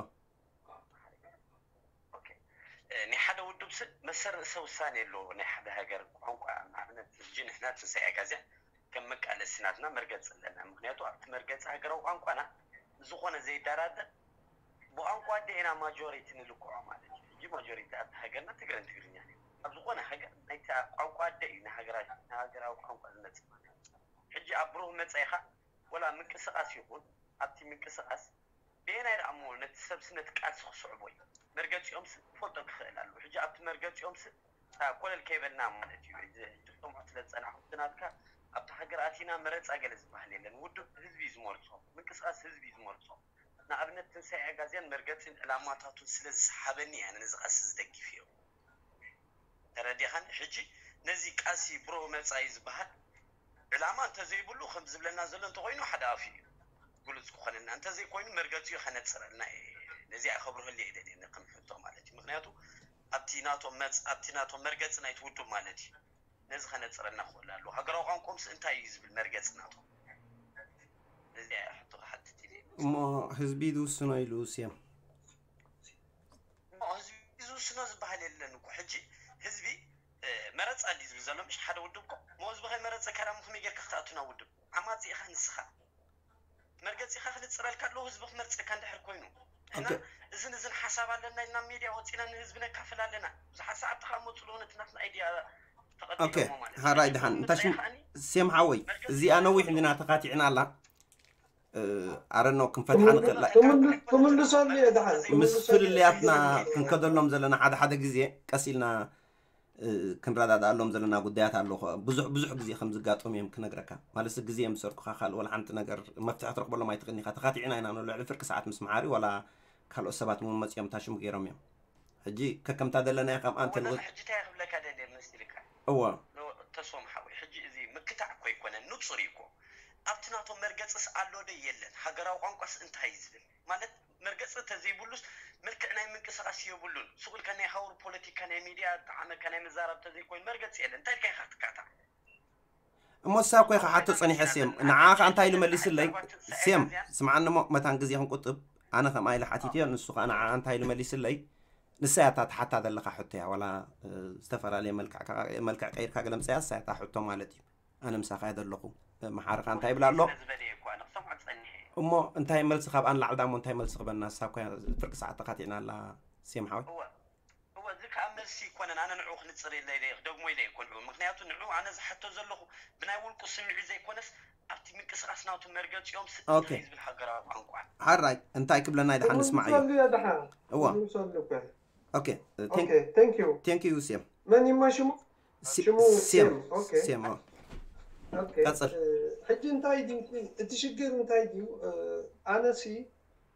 ናይ ሓደ ውድብ ስብ መሰል ርእሰ ውሳኔ ኣለዎ። ናይ ሓደ ሃገር ቋንቋ ንኣብነት ሕጂ ንሕና ትንሳኤ ኣጋዝያን ከም መቃለሲ ናትና መርገፂ ኣለና። ምክንያቱ ኣብቲ መርገፂ ሃገራዊ ቋንቋና ዝኾነ ዘይደራደር ብቋንቋ ኣደ ኢና ማጆሪቲ ንልክዖ ማለት እዩ። ሕጂ ማጆሪቲ ኣብቲ ሃገርና ትግረን ትግርኛ እዩ። ኣብ ዝኾነ ሃገር ናይቲ ቋንቋ ኣደ እዩ ንሃገራዊ ቋንቋ ዝመፅእ ማለት እዩ። ሕጂ ኣብ ብሩህ መፃኢኻ ወላ ምንቅስቃስ ይኹን ኣብቲ ምንቅስቃስ ብየናይ ደኣ እሞ ነቲ ሰብሲ ነቲ ቃልሲ ክስዕቦ እዩ? መርገፂኦም ሲ ክፈልጦ ክኽእል ኣለዎ። ሕጂ ኣብቲ መርገፂኦም ሲ እታ ኮለል ከይበልና ማለት እዩ። ሕጂ ሕጂ ክሰምዖ ስለ ዝፀናሕኩ እቲ ናትካ ኣብቲ ሃገር ኣቲና መረፃ ገለ ዝበሃል የለን። ውድብ ህዝቢ እዩ ዝመርፆ፣ ምንቅስቃስ ህዝቢ እዩ ዝመርፆ። ንኣብነት ትንሳኤ ኣጋዝያን መርገፂን ዕላማታቱን ስለ ዝሰሓበኒ እየ ኣነ ነዚ ቃልሲ ዝደግፍ እየ። ተረዲኻን? ሕጂ ነዚ ቃልሲ ብሩህ መፃኢ ዝበሃል ዕላማ እንተዘይብሉ ከም ዝብለና ዘሎ እንተኮይኑ ሓደ ኣፍ እዩ ግሉፅ ክኾነልና፣ እንተዘይኮይኑ መርገፂኡ ከነፅረልና እየ። ነዚኣ ከብርሀሉ እየ ደልየ ከም ሕቶ ማለት እዩ። ምክንያቱ ኣብቲ ናቶም መፅ ኣብቲ ናቶም መርገፂ ናይቲ ውድብ ማለት እዩ ነዚ ከነፅረልና ክኽእል ኣለዎ። ሃገራዊ ቋንቋኦምስ እንታይ እዩ ዝብል መርገፂ ናቶም? ነዚኣ እያ ሕቶ ክሓትት ኢለ። እሞ ህዝቢ ዝውስኖ ኢሉ ሴም እሞ ህዝቢ ዝውስኖ ዝበሃል የለን እኮ። ሕጂ ህዝቢ መረፃ ድዩ ዝብል ዘሎ? ምሽ ሓደ ውድብ እኮ እሞ ህዝቢ ከይመረፀካ ደሞ ከመይ ጌርካ ክትኣቱ ናብ ውድብ? ዓማፂ ኢኻ ንስኻ። መርገፂኻ ክልፅረልካ ኣለዎ ህዝቢ ክመርፀካ እንድሕር ኮይኑ። እና እዝን እዝን ሓሳብ ኣለና ኢልና ሚድያ ወፂና ንህዝቢ ነካፍል ኣለና። ብዙሓት ሰዓብቲ ካብ መፁ ለሆነ እቲ ናትና ኣይድያ ተቐቢሎሞ ማለት እዩ። ሓራይ ድሓን እንታ ሽም ሴም ሓወይ እዚኣ ነዊሕ እንዲና ተኻቲዕና ኣላ። ኣረኖ ክንፈትሓ ንኽእል ክምልሶም እየ ድሓን ምስ ፍልልያትና ክንከደሎም ዘለና ሓደ ሓደ ግዜ ቀስ ኢልና ክንረዳድኣሎም ዘለና ጉዳያት ኣሎ። ብዙሕ ብዙሕ ግዜ ከም ዝጋጠሙ እዮም ክነግረካ። ማለት ግዜ ምስ ሰርቁኻ ካልእ ወላ ሓንቲ ነገር መፍትሒ ትረኽበሎም ኣይትኽእልን ኢኻ። ተኻቲዕና ኢና ንብሎ ልዕሊ ፍርቂ ሰዓት ምስ መሓሪ ዋላ ካልኦት ሰባት እውን መፂኦም ታሽሙ ገይሮም እዮም። ሕጂ ከከምታ ዘለናዮ ከም ኣንተ ንወ- ሕጂ እንታይ ክብለካ ደልየ መሲልካ እወ ተስፎም ሓወይ፣ ሕጂ እዚ ምክታዕ እኮ ኣይኮነን፣ ንጹር እዩ እኮ። ኣብቲ ናቶም መርገጽስ ኣሎ ዶ የለን? ሃገራዊ ቋንቋስ እንታይ እዩ ዝብል? ማለት መርገጺ ተዘይብሉስ መልክዕ ናይ ምንቅስቃስ የብሉን። ሱቕ ኢልካ ናይ ሃውር ፖለቲካ ናይ ሚድያ ጠዓመካ ናይ ምዛራብ ተዘይኮይኑ መርገጺ የለን። እንታይ ኢልካ ኢኻ ክትካታዕ? እሞ እሳ እኮ ኢኻ ሓቶ ጸኒሐ ሴም ንዓኻ እንታይ ኢሉ መሊስለይ? ሴም ስምዓኒ እሞ መታን ግዜ ክንቁጥብ ኣነ ከምኣ ኢለ ሓቲትዮ ንሱ ከዓ ንዓኣ እንታይ ኢሉ መሊስለይ? ንሳ እያ እታ ትሓታ ዘለኻ ሕቶ እያ ዋላ ዝተፈላለየ መልክዕ ቀይርካ ገለ ምፅያ እሳ እያ እታ ሕቶ ማለት እዩ። ኣነ ምሳኻ እየ ዘለኹ። መሓርኻ እንታይ ይብላ ኣሎ? እሞ እንታይ መልሲ ካብ ኣን ላዕልዳ እሞ እንታይ መልሲ ክበና እሳ እኮ እያ ፍርቂ ሰዓት ተኻቲዕና ኣላ ሴም ሓወይ። እወ እዚ ከዓ መልሲ ይኮነን ኣነ ንዑ ክንፅር ኢለ ክደግሞ ኢለ ይኮን ምክንያቱ ንዑ ኣነ ዝሓቶ ዘለኹ ብናይ ውልቁ ስምዒ ዘይኮነስ ኣብቲ ምንቅስቃስ ናቱ መርገፂኦም ስእንታይ ዝብል ሃገራዊ ቋንቋ ሓራይ እንታይ ክብለና ይድሓን ንስማዕ እዩ ደሓን እዋ ምሰሉ እኮ ኦኬ ኦኬ thank you ቴንክ ዩ ሴም መን ይማ ሽሙ ሽሙ ሴም ኦኬ ሴም ኦኬ ቀጽል። ሕጂ እንታይ ድዩ እቲ ሽግር እንታይ ድዩ ኣነሲ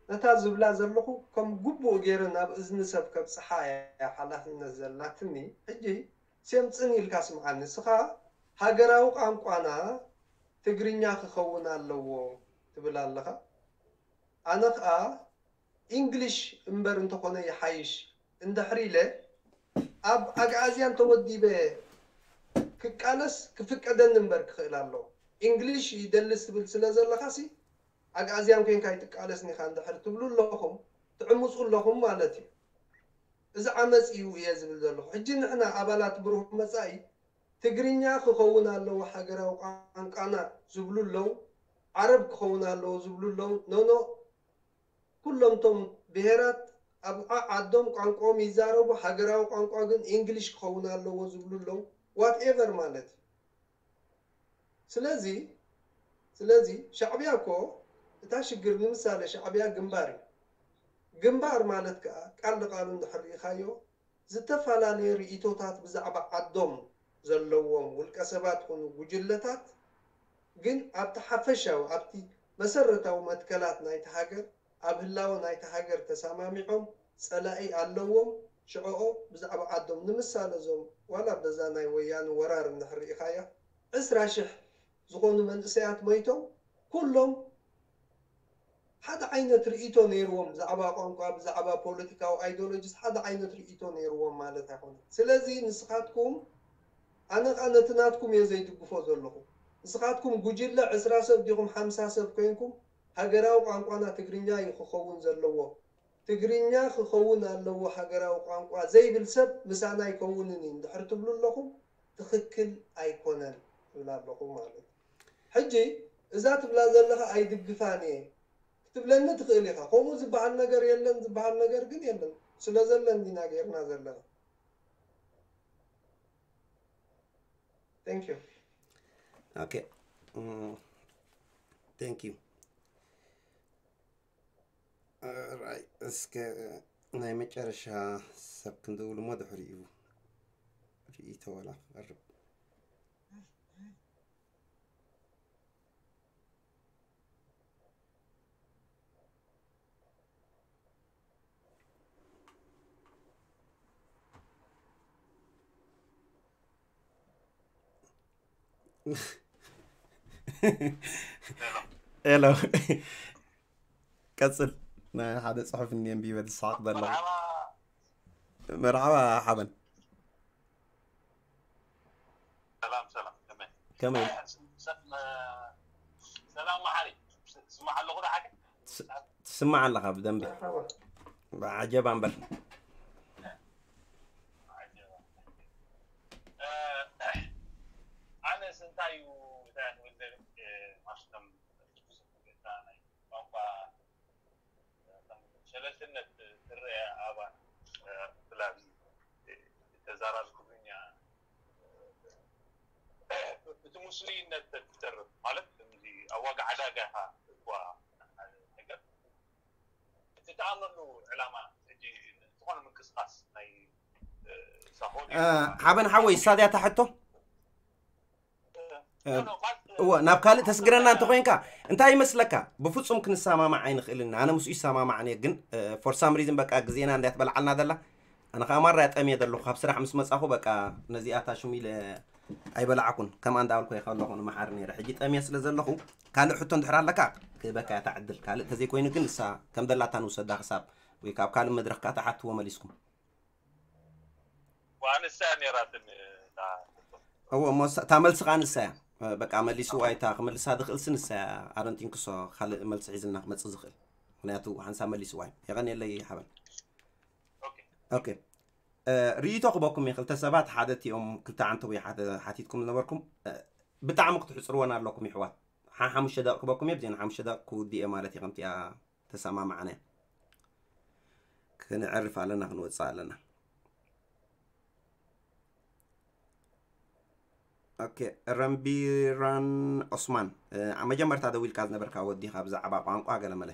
ነታ ዝብላ ዘለኹ ከም ግቡእ ገይረ ናብ እዝኒ ሰብ ከብጽሓ እያ ሓላፍነት ዘላትኒ። ሕጂ ሴምጽን ኢልካ ስምዓኒ። ንስኻ ሃገራዊ ቋንቋና ትግርኛ ክኸውን ኣለዎ ትብል ኣለኻ። ኣነ ኸኣ ኢንግሊሽ እምበር እንተኾነ ይሓይሽ እንድሕር ኢለ ኣብ ኣግኣዝያን ተወዲበ ክቃለስ ክፍቀደኒ እምበር ክኽእል ኣለዎ። ኢንግሊሽ ይደልስ ትብል ስለ ዘለኻሲ ኣግኣዝያን ኮይንካ ኣይትቃለስን ኢኻ እንድሕር ትብሉ ኣለኹም ትዕምፁ ኣለኹም ማለት እዩ። እዚ ዓመፅ እዩ እየ ዝብል ዘለኹ። ሕጂ ንሕና ኣባላት ብሩህ መፃኢ ትግርኛ ክኸውን ኣለዎ ሃገራዊ ቋንቋና ዝብሉ ኣለዉ። ዓረብ ክኸውን ኣለዎ ዝብሉ ኣለዉ። ኖኖ ኩሎም እቶም ብሄራት ኣብ ዓዓዶም ቋንቋኦም ይዛረቡ፣ ሃገራዊ ቋንቋ ግን ኢንግሊሽ ክኸውን ኣለዎ ዝብሉ ኣለዉ። ዋትኤቨር ማለት እዩ። ስለዚ ስለዚ ሻዕብያ እኮ እታ ሽግር ንምሳሌ ሻዕብያ ግንባር እዩ። ግንባር ማለት ከዓ ቃል ንቃሉ እንድሕር ርኢኻዮ ዝተፈላለየ ርእይቶታት ብዛዕባ ዓዶም ዘለዎም ውልቀ ሰባት ኮኑ ጉጅለታት ግን ኣብቲ ሓፈሻዊ ኣብቲ መሰረታዊ መትከላት ናይቲ ሃገር ኣብ ህላወ ናይታ ሃገር ተሰማሚዖም ጸላኢ ኣለዎም ሽዕኦ ብዛዕባ ዓዶም ንምሳለ እዞም ዋላ በዛ ናይ ወያነ ወራር እንድሕር ርኢኻያ ዕስራ ሽሕ ዝኾኑ መንእሰያት መይቶም ኩሎም ሓደ ዓይነት ርእይቶ ነይርዎም ብዛዕባ ቋንቋ ብዛዕባ ፖለቲካዊ ኣይዲዮሎጂስ ሓደ ዓይነት ርእይቶ ነይርዎም ማለት ኣይኮነን ስለዚ ንስኻትኩም ኣነ ኸዓ ነቲ ናትኩም እየ ዘይድግፎ ዘለኹ ንስኻትኩም ጉጅለ ዕስራ ሰብ ዲኹም ሓምሳ ሰብ ኮይንኩም ሃገራዊ ቋንቋና ትግርኛ እዩ ክኸውን ዘለዎ ትግርኛ ክኸውን ኣለዎ ሃገራዊ ቋንቋ ዘይብል ሰብ ምሳና ኣይከውንን እዩ እንድሕር ትብሉ ኣለኹም ትኽክል ኣይኮነን ትብል ኣለኹ ማለት እዩ ሕጂ እዛ ትብላ ዘለኻ ኣይድግፋን እየ ክትብለኒ ትኽእል ኢኻ ከምኡ ዝበሃል ነገር የለን ዝበሃል ነገር ግን የለን ስለ ዘለን ዲና ገይርና ዘለና Thank you. Okay. Mm, thank you. Alright. እስከ ናይ መጨረሻ ሰብ ክንድውል እሞ ድሕሪኡ ርእይቶ ወላ ክቐርብ ሄሎ ቀፅል ናይ ሓደ ፅሑፍ እኒ ኣንቢበ ዝሰሓቕ ዘለኹ መርሓባ ሓበን ሰላም ሰላም ከመይ ከመይ ሰላም መሓሪ ስማዕ ኣለኹ ዶ ሓቂ ትስማዕ ኣለኻ ብደንቢ ዓጀባ እምበር ኣነስ እንታይ እዩ እንታይ ንብል ማሽቶም ቋንቋ ሸለልትነት ትረአ ኣባን ብላዚ ተዛራቢ ትግርኛ እቲ ሙስሊነት ትተርፍ ማለት እዚ ኣብ ዋጋ ዕዳጋ ኢኻ እኳ ነገር እቲ ተኣምርሉ ዕላማ ሕጂ ዝኾነ ምንቅስቃስ ናይ ሳሆ ሓበን ሓወይ እሳ ድያ ታሕቶ እወ ናብ ካልእ ተስግረና እንተኮይንካ እንታይ ይመስለካ ብፍፁም ክንሰማማዕ ኣይንኽእልን ኣነ ምስኡ ይሰማማዕን እየ ግን for some reason በቃ ግዜና እንድያ ትበልዓልና ዘላ ኣነ ከዓ ማራ ጠምየ ዘለኹ ካብ ስራሕ ምስ መፃኹ በቃ ነዚኣ ታሽሙ ኢለ ኣይበላዕኩን ከምኣ እንዳበልኩ እየ ከለኹ ንመሓሪ ነይረ ሕጂ ጠምየ ስለ ዘለኹ ካልእ ሕቶ እንድሕር ኣለካ ክህበካ እያ እታ ዕድል ካልእ ተዘይኮይኑ ግን ንሳ ከም ደላታ ንውሰዳ ክሳብ ወይ ካብ ካልእ መድረኽ ከዓ ተሓትዎ መሊስኩም ዋንሳ ነራትን እዎ እሞ እታ መልሲ ከዓ ንሳ እያ በቃ መሊስዋ እታ ክመልሳ ዝኽእልሲ ንሳ እያ ኣረንቲንክሶ ካልእ መልሲ ሒዝልና ክመፅእ ዝኽእል ምክንያቱ ሓንሳብ መሊስዋ እዩ የቐንየለይ ሓበን ኦኬ ርእይቶ ክበኩም እየ ክልተ ሰባት ሓደ እቲኦም ክልተ ዓንተው ሓቲትኩም ዝነበርኩም ብጣዕሚ ክትሕፅርወን ኣለኩም ይሕዋት ሓሙሽተ ደቂ ክበኩም እየ ብዜና ሓሙሽተ ደቂ ክውድእ እየ ማለት እየ ከምቲኣ ተሰማማዕና እያ። ክነዕርፍ ኣለና፣ ክንወጽእ ኣለና። ኦኬ፣ ረምቢራን ዑስማን፣ እ፣ መጀመርታ ደዊልካ ዝነበርካ ወዲኻ ብዛዕባ ቋንቋ ገለመለ።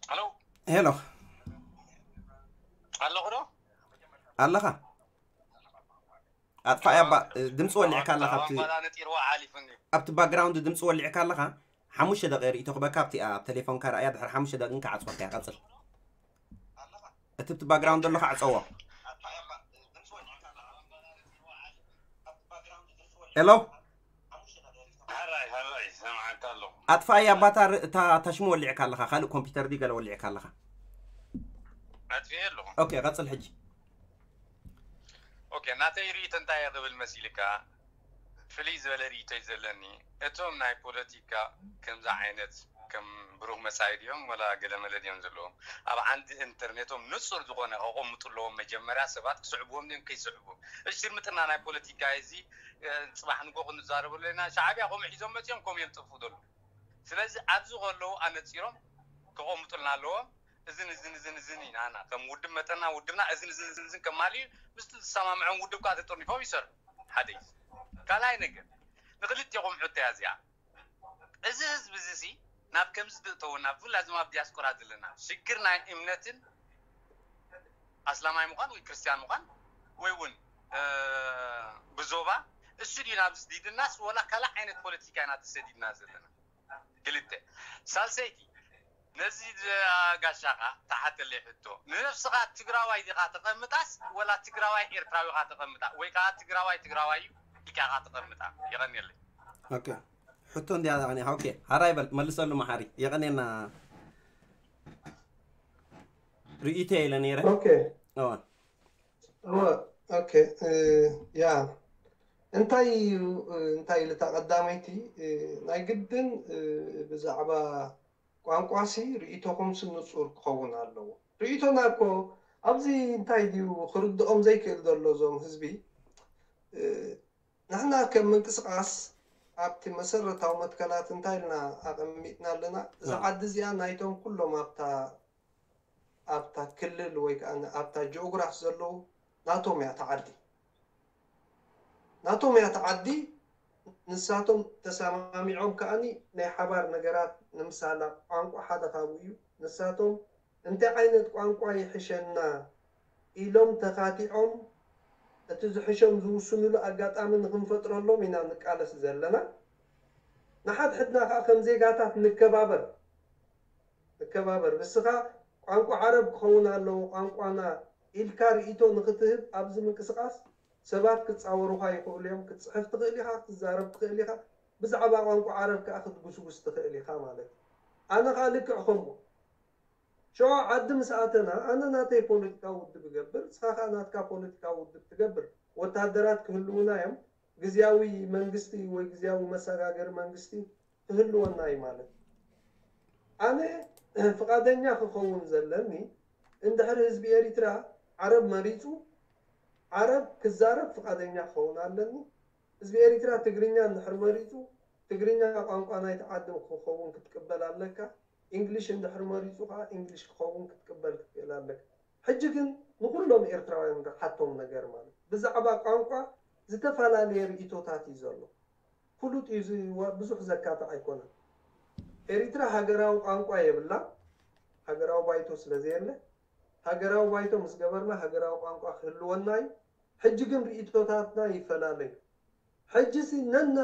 ሄሎ። ሄሎ። ኣለኹ ዶ? ኣለኻ? ኣጥፋእያ ባ- ድምፂ ወሊዕካ ኣለኻ ኣብቲ- ኣብቲ ባክግራውንድ ድምፂ ወሊዕካ ኣለኻ። ሓሙሽተ ደቂ ርእይቶ ክበካ ኣብቲ ኣብ ቴሌፎንካ ረኣያ ድሕሪ ሓሙሽተ ደቂ ክዓፅወካ እያ። ቀፅል። እቲ ኣብቲ ባክግራውንድ ዘሎ ከዓ ዕፀዎ። ሄሎ። ኣጥፋእያ ባታ እታ ታሽሙ ወሊዕካ ኣለኻ። ካልእ ኮምፒውተር ዲ ገለ ወሊዕካ ኣለኻ። ኣጥፊኤ ኣለኹ። ኦኬ፣ ቀፅል ሕጂ። ኦኬ፣ ናተይ ርእይቶ እንታይ እየ ክብል መሲልካ? ፍልይ ዝበለ ርእይቶ እዩ ዘለኒ። እቶም ናይ ፖለቲካ ከምዚ ዓይነት ከም ብሩህ መጻኢ ድዮም ወላ ገለመለ ድዮም ዘለዎም? ኣብ ዓንዲ ኢንተርኔቶም ንጹር ዝኾነ ከቐምጡ ኣለዎም። መጀመርያ ሰባት ክስዕብዎም ድዮም ከይስዕብዎም? እሺ፣ ሽርምጥና ናይ ፖለቲካ እዚ፣ እ፣ ጽባሕ ንጎ ክንዛረበሉ ኢና። ሻዕብያ ከምኡ ሒዞም መጺኦም ከምኡ እዮም ዝጥፍኡ ዘለዉ። ስለዚ ኣብዚ ከለዉ ኣነጺሮም ከቐምጡልና ኣለዎም። እዝን እዝን እዝን እዝን ኢና ኣና ከም ውድብ መጠና ውድብና እዝን እዝን እዝን እዝን ከማልዩ ምስቲ ዝሰማምዖም ውድብ ከዓ ተጠርኒፎም ይሰርሑ። ሓደ እዩ። ካልኣይ ነገር ንክልቲኦም ሕቶ እያ እዚኣ። እዚ ህዝቢ እዚ ሲ ናብ ከምዚ ዝእተወና ብፍላይ እዞም ኣብ ዲያስፖራ ዘለና ሽግር ናይ እምነትን ኣስላማይ ምዃን ወይ ክርስትያን ምዃን ወይ እውን እ፣ ብዞባ እሱ ድዩ ናብ ዝዲድናስ ወላ ካልእ ዓይነት ፖለቲካ ኢና ተሰዲድና ዘለና። ክልተ። ሳልሰይቲ፣ ነዚ ዝ- ጋሻኻ ተሓተለይ ሕቶ። ንነብስኻ ትግራዋይ ዲኻ ተቐምጣስ ወላ ትግራዋይ ኤርትራዊ ኢኻ ተቐምጣ? ወይ ከዓ ትግራዋይ ትግራዋይ እዩ ኢልካ ኢኻ ተቐምጣ? የቐንየለይ። ኦኬ። ሕቶ እንዲያ ዛዕኒ። ኦኬ። ሃራይ በል፣ መልሰሉ መሓሪ። የቐንየና። ርእይቶ ኢለ ነይረ። ኦኬ። እዋ። እወ፣ ኦኬ፣ እ፣ ያ። እንታይ እዩ፣ እ፣ እንታይ ኢሉ እታ ቀዳመይቲ፣ እ፣ ናይ ግድን፣ እ፣ ብዛዕባ ቋንቋሲ ርእይቶኹምሲ ንጹር ክኸውን ኣለዎ። ርእይቶና እኮ ኣብዚ እንታይ ድዩ ክርድኦም ዘይክእል ዘሎ እዞም ህዝቢ፣ እ፣ ንሕና ከም ምንቅስቃስ ኣብቲ መሰረታዊ መትከላት እንታይ ኢልና ኣቐሚጥና ኣለና? እዛ ኣዎ። ዓዲ እዚኣ ናይቶም ኩሎም ኣብታ ኣብታ ክልል ወይ ከዓ ኣብታ ጂኦግራፍ ዘለዉ ናቶም እያ እታ ዓዲ። ናቶም እያ እታ ዓዲ። ንሳቶም ተሰማሚዖም ከዓኒ ናይ ሓባር ነገራት ንምሳላ ቋንቋ ሓደ ካብኡ እዩ። ንሳቶም እንታይ ዓይነት ቋንቋ ይሕሸና ኢሎም ተኻቲዖም እቲ ዝሕሾም ዝውስኑሉ ኣጋጣሚ ንክንፈጥረሎም ኢና ንቃለስ ዘለና። ንሓድሕድና ከዓ ከም ዜጋታት ንከባበር። ንከባበር። ንስኻ ቋንቋ ዓረብ ክኸውን ኣለዎ ቋንቋና ኢልካ ርእይቶ ንክትህብ ኣብዚ ምንቅስቃስ ሰባት ክጻወሩኻ ይኽእሉ እዮም። ክትጽሕፍ ትኽእል ኢኻ፣ ክትዛረብ ትኽእል ኢኻ። ብዛዕባ ቋንቋ ዓረብ ከኣ ክትጉስጉስ ትኽእል ኢኻ ማለት እዩ። ኣነ ከኣ ልክዕ ከምኡ። ሽዑ ዓዲ ምስ ኣተና ኣነ ናተይ ፖለቲካዊ ውድብ እገብር፣ ንስኻ ከኣ ናትካ ፖለቲካዊ ውድብ ትገብር። ወታደራት ክህልዉና እዮም። ግዝያዊ መንግስቲ ወይ ግዝያዊ መሰጋገሪ መንግስቲ ክህልወና እዩ ማለት እዩ። ኣነ ፍቓደኛ ክኸውን ዘለኒ እንድሕር ህዝቢ ኤሪትራ ዓረብ መሪጹ ዓረብ ክዛረብ ፍቓደኛ ክኸውን ኣለኒ። ህዝቢ ኤሪትራ ትግርኛ እንድሕር መሪጹ ትግርኛ ቋንቋ ናይቲ ዓዲ ክኸውን ክትቅበል ኣለካ። ኢንግሊሽ እንድሕር መሪጹ ከዓ ኢንግሊሽ ክኸውን ክትቅበል ክትክእል ኣለካ። ሕጂ ግን ንኩሎም ኤርትራውያን ንሓቶም ነገር ማለት ብዛዕባ ቋንቋ ዝተፈላለየ ርእይቶታት እዩ ዘሎ። ፍሉጥ እዩ፣ እዚ ዋ- ብዙሕ ዘካትዕ ኣይኮነን። ኤሪትራ ሃገራዊ ቋንቋ የብላ፣ ሃገራዊ ባይቶ ስለ ዘየለ፣ ሃገራዊ ባይቶ ምስ ገበርና ሃገራዊ ቋንቋ ክህልወና እዩ። ሕጂ ግን ርእይቶታትና ይፈላለዩ። ሕጂ ሲ ነና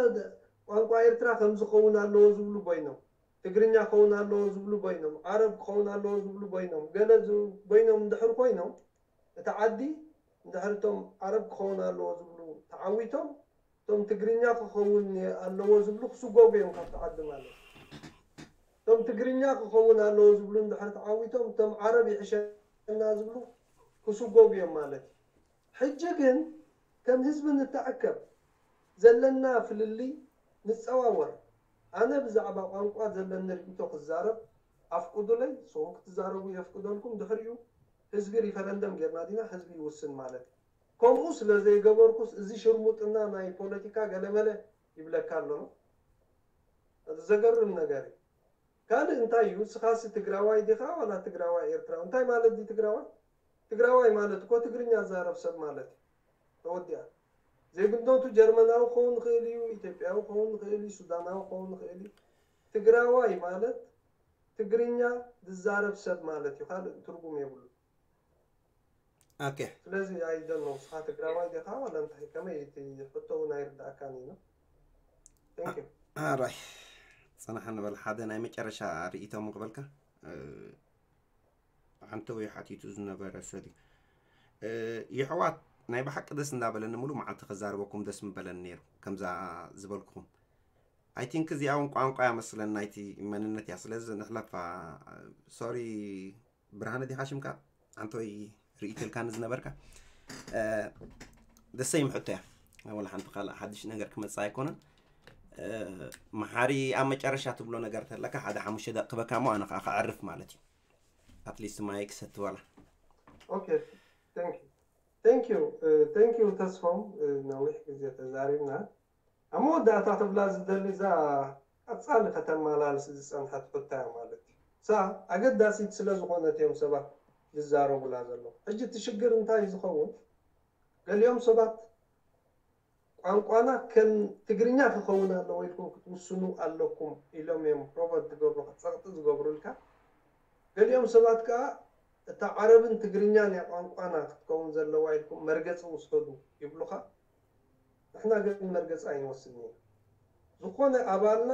ቋንቋ ኤርትራ ከም ዝኸውን ኣለዎ ዝብሉ ኮይኖም፣ ትግርኛ ክኸውን ኣለዎ ዝብሉ ኮይኖም፣ ዓረብ ክኸውን ኣለዎ ዝብሉ ኮይኖም፣ ገለ ዝ- ኮይኖም እንድሕር ኮይኖም እቲ ዓዲ እንድሕር እቶም ዓረብ ክኸውን ኣለዎ ዝብሉ ተዓዊቶም እቶም ትግርኛ ክኸውን ኣለዎ ዝብሉ ክስጎጉ እዮም ካብቲ ዓዲ ማለት እዩ። እቶም ትግርኛ ክኸውን ኣለዎ ዝብሉ እንድሕር ተዓዊቶም እቶም ዓረብ ይሕሸና ዝብሉ ክስጎጉ እዮም ማለት እዩ። ሕጂ ግን ከም ህዝቢ ንተኣከብ፣ ዘለና ፍልልይ ንጸዋወር። ኣነ ብዛዕባ ቋንቋ ዘለኒ ርእይቶ ክዛረብ ኣፍቅዱለይ፣ ንስኹም ክትዛረቡ የፍቅደልኩም። ድሕሪኡ ህዝቢ ሪፈረንደም ጌርና ዲና ህዝቢ ይውስን ማለት እዩ። ከምኡ ስለ ዘይገበርኩስ እዚ ሽርሙጥና ናይ ፖለቲካ ገለመለ ይብለካ ኣሎ። ዘገርም ነገር እዩ። ካልእ እንታይ እዩ? ንስኻሲ ትግራዋይ ዲኻ ዋላ ትግራዋይ ኤርትራዊ? እንታይ ማለት ድዩ ትግራዋይ? ትግራዋይ ማለት እኮ ትግርኛ ዝዛረብ ሰብ ማለት እዩ። ተወዲኣ። ዜግነቱ ጀርመናዊ ክኸውን ይኽእል እዩ፣ ኢትዮጵያዊ ክኸውን ይኽእል እዩ፣ ሱዳናዊ ክኸውን ይኽእል እዩ። ትግራዋይ ማለት ትግርኛ ዝዛረብ ሰብ ማለት እዩ። ካልእ ትርጉም የብሉ። okay. ስለዚ ኣይደኖ ንስኻ ትግራዋይ ዲኻ ዋላ እንታይ ከመይ እቲ ሕቶ እውን ኣይርዳእካን እዩ። Thank you። ኣራይ፣ ፅናሕ ንበል። ሓደ ናይ መጨረሻ ርእይቶ ክበልካ። ሓንቲ ወይ ሓቲቱ ዝነበረ ሰብ እዩ። የሕዋት፣ ናይ ብሓቂ ደስ እንዳበለኒ፣ ሙሉ መዓልቲ ከዛርበኩም ደስ ምበለኒ ነይሩ፣ ከምዛ ዝበልኩኹም። I think እዚኣ እውን ቋንቋ እያ መስለኒ፣ ናይቲ መንነት እያ። ስለዚ ንሕለፋ። Sorry፣ ብርሃነ ዲኻ ሽምካ? ኣንቶይ ርእይቶ ኢልካኒ ዝነበርካ። ደሰይም ሕቶ እያ። ወላ ሓንቲ ካልእ ሓድሽ ነገር ክመጽእ ኣይኮነን። መሓሪ፣ ኣብ መጨረሻ ትብሎ ነገር ተለካ ሓደ ሓሙሽተ ደቂ ክበካ እሞ ኣነ ከዓ ክዕርፍ ማለት እዩ። At least ማይ ክሰቲ ዋላ። Okay, thank you. Thank you. Thank you ተስፎም፣ ነዊሕ ግዜ ተዛሪብና። ኣብ መወዳእታ ክብላ ዝደሊ እዛ ቀጻሊ ከተመላልስ ዝጸንሐት ሕቶ እያ ማለት እዩ። እሳ ኣገዳሲት ስለ ዝኾነት እዮም ሰባት ዝዛረቡላ ዘለዉ። ሕጂ እቲ ሽግር እንታይ እዩ ዝኸውን? ገሊኦም ሰባት ቋንቋና ከም ትግርኛ ክኸውን ኣለዎ ኢልኩም ክትውስኑ ኣለኩም ኢሎም እዮም ፕሮቨት ዝገብሩ፣ ጸቕጢ ዝገብሩልካ። ገሊኦም ሰባት ከኣ እታ ዓረብን ትግርኛን እያ ቋንቋና ክትከውን ዘለዋ ኢልኩም መርገጺ ውሰዱ ይብሉኻ። ንሕና ግን መርገጺ ኣይንወስድን ኢና። ዝኾነ ኣባልና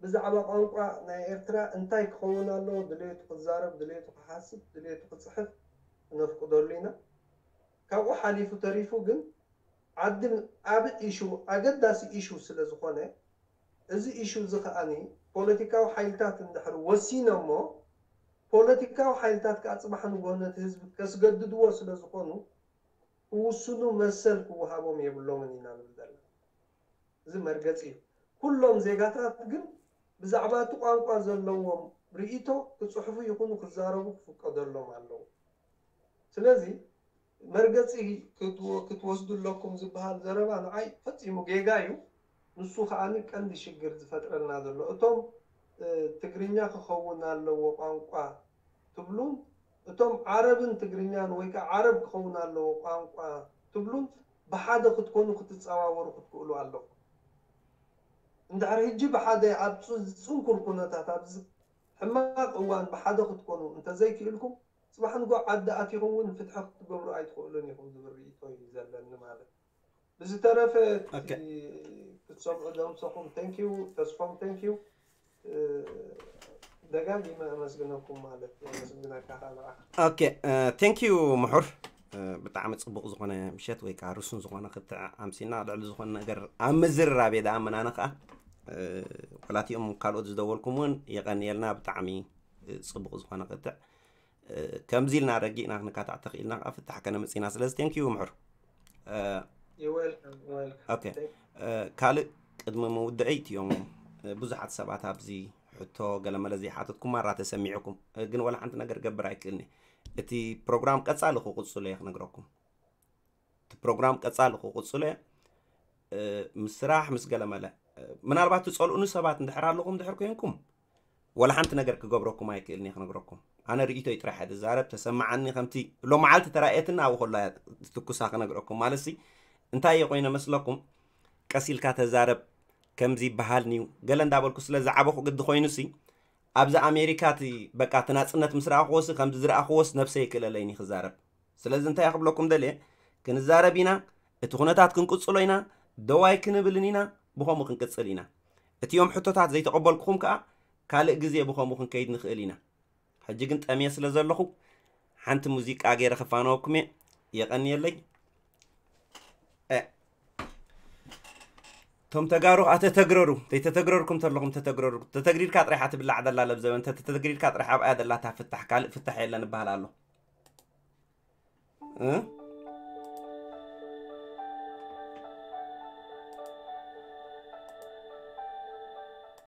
ብዛዕባ ቋንቋ ናይ ኤርትራ እንታይ ክኸውን ኣለዎ፣ ድሌቱ ክዛረብ፣ ድሌቱ ክሓስብ፣ ድሌቱ ክጽሕፍ ክነፍቅደሉ ኢና። ካብኡ ሓሊፉ ተሪፉ ግን ዓዲ ኣብ ኢሹ፣ ኣገዳሲ ኢሹ ስለ ዝኾነ፣ እዚ ኢሹ እዚ ከኣኒ ፖለቲካዊ ሓይልታት እንድሕር ወሲኖሞ፣ ፖለቲካዊ ሓይልታት ከኣ ጽባሕ ንግሆ ነቲ ህዝቢ ከስገድድዎ ስለ ዝኾኑ፣ ክውስኑ መሰል ክወሃቦም የብሎምን ኢና ንብል ዘለና። እዚ መርገጺ እዩ። ኩሎም ዜጋታት ግን ብዛዕባ እቲ ቋንቋ ዘለዎም ርእይቶ ክጽሕፉ ይኹኑ ክዛረቡ ክፍቀደሎም ኣለዎ። ስለዚ መርገጺ ክትወ-፣ ክትወስዱ ኣለኩም ዝበሃል ዘረባ ንዓይ ፈጺሙ ጌጋ እዩ። ንሱ ከኣ ቀንዲ ሽግር ዝፈጥረልና ዘሎ። እቶም፣ እ፣ ትግርኛ ክኸውን ኣለዎ ቋንቋ ትብሉን፣ እቶም ዓረብን ትግርኛን ወይ ከኣ ዓረብ ክኸውን ኣለዎ ቋንቋ ትብሉን፣ ብሓደ ክትኮኑ ክትጸዋወሩ ክትክእሉ ኣለኩም። እንድሕር ሕጂ ብሓደ ኣብ ጽ-፣ ጽንኩር ኩነታት፣ ኣብዚ ሕማቕ እዋን ብሓደ ክትኮኑ እንተዘይክእልኩም፣ ጽባሕ ንግሆ ዓዲ ኣቲኹም እውን ፍትሒ ክትገብሩ ኣይትኽእሉን ኢኹም ዝብል ርእይቶ እዩ ዘለኒ ማለት። ብዝተረፈ እቲ Okay. ክትሰምዑ ዘምሰኹም፣ thank you ተስፎም፣ thank you። እ፣ ደጋጊመ ኣመስግነኩም ማለት፣ ኣመስግነካ ከዓ ንዓኻ። Okay, thank you ምሑር። ብጣዕሚ ጽቡቕ ዝኾነ ምሸት ወይ ከዓ ርሱን ዝኾነ ክትዕ ኣምሲና፣ ልዕሊ ዝኾነ ነገር ኣብ ምዝርራብ እየ ደኣ መናነ ከዓ። ወላቲኦም ካልኦት ዝደወልኩም እውን የቐንየልና። ብጣዕሚ ጽቡቕ ዝኾነ ክትዕ። ከምዚ ኢልና ረጊእና ክንካታዕ ተኽኢልና ከዓ ፍታሕ ከነምጽእ ኢና። ስለዚ thank you ምሑር። You're welcome, welcome. Okay. ካልእ ቅድሚ ምውድዐይ እቲኦም ብዙሓት ሰባት ኣብዚ ሕቶ ገለመለ ዘይሓተትኩም ማራ ተሰሚዕኩም፣ ግን ወላ ሓንቲ ነገር ገብር ኣይክእልኒ። እቲ ፕሮግራም ቀጻሊ ክቕጽሎ እየ ክነግረኩም። እቲ ፕሮግራም ቀጻሊ ክቕጽሎ እየ። ምስ ስራሕ ምስ ገለመለ፣ ምናልባት ትጸልኡኒ ሰባት እንድሕር ኣለኹም ድሕር ኮይንኩም፣ ወላ ሓንቲ ነገር ክገብረኩም ኣይክእልን እየ ክነግረኩም። ኣነ ርእይቶይ ጥራሕ እየ ዝዛረብ፣ ተሰማዓኒ። ከምቲ ሎመዓልቲ ተራእየትና ኣብኡ ከሎ እያ ትኩሳ ክነግረኩም። ማለትሲ እንታይ እየ ኮይነ መስለኩም? ቀስ ኢልካ ተዛረብ ከምዚ ይበሃል ንዩ ገለ እንዳበልኩ ስለ ዝዓበኹ ግዲ ኮይኑሲ፣ ኣብዚ ኣሜሪካ እቲ በቃ እቲ ናጽነት ምስ ረኣኽዎሲ ከምዚ ዝረኣኽዎስ ነብሰይ ይክእለለይኒ ክዛረብ። ስለዚ እንታይ ክብለኩም ደልየ፣ ክንዛረብ ኢና፣ እቲ ኩነታት ክንቅጽሎ ኢና፣ ደው ኣይክንብልን ኢና፣ ብኸምኡ ክንቅጽል ኢና። እቲኦም ሕቶታት ዘይተቐበልኩኹም ከኣ ካልእ ግዜ ብኸምኡ ክንከይድ ንኽእል ኢና። ሕጂ ግን ጠምየ ስለ ዘለኹ ሓንቲ ሙዚቃ ገይረ ክፋነወኩም እየ። የቐንየለይ። እ፣ እቶም ተጋሩ ከኣ ተተግረሩ፣ ዘይተተግረርኩም ተለኹም ተተግረሩ። ተተግሪርካ ጥራይ እያ ትብላዕ ዘላ ለብዘበን፣ ተተግሪርካ ጥራይ ኣብኣ ዘላ እታ ፍታሕ፣ ካልእ ፍታሕ የለን ይበሃል ኣሎ። እ?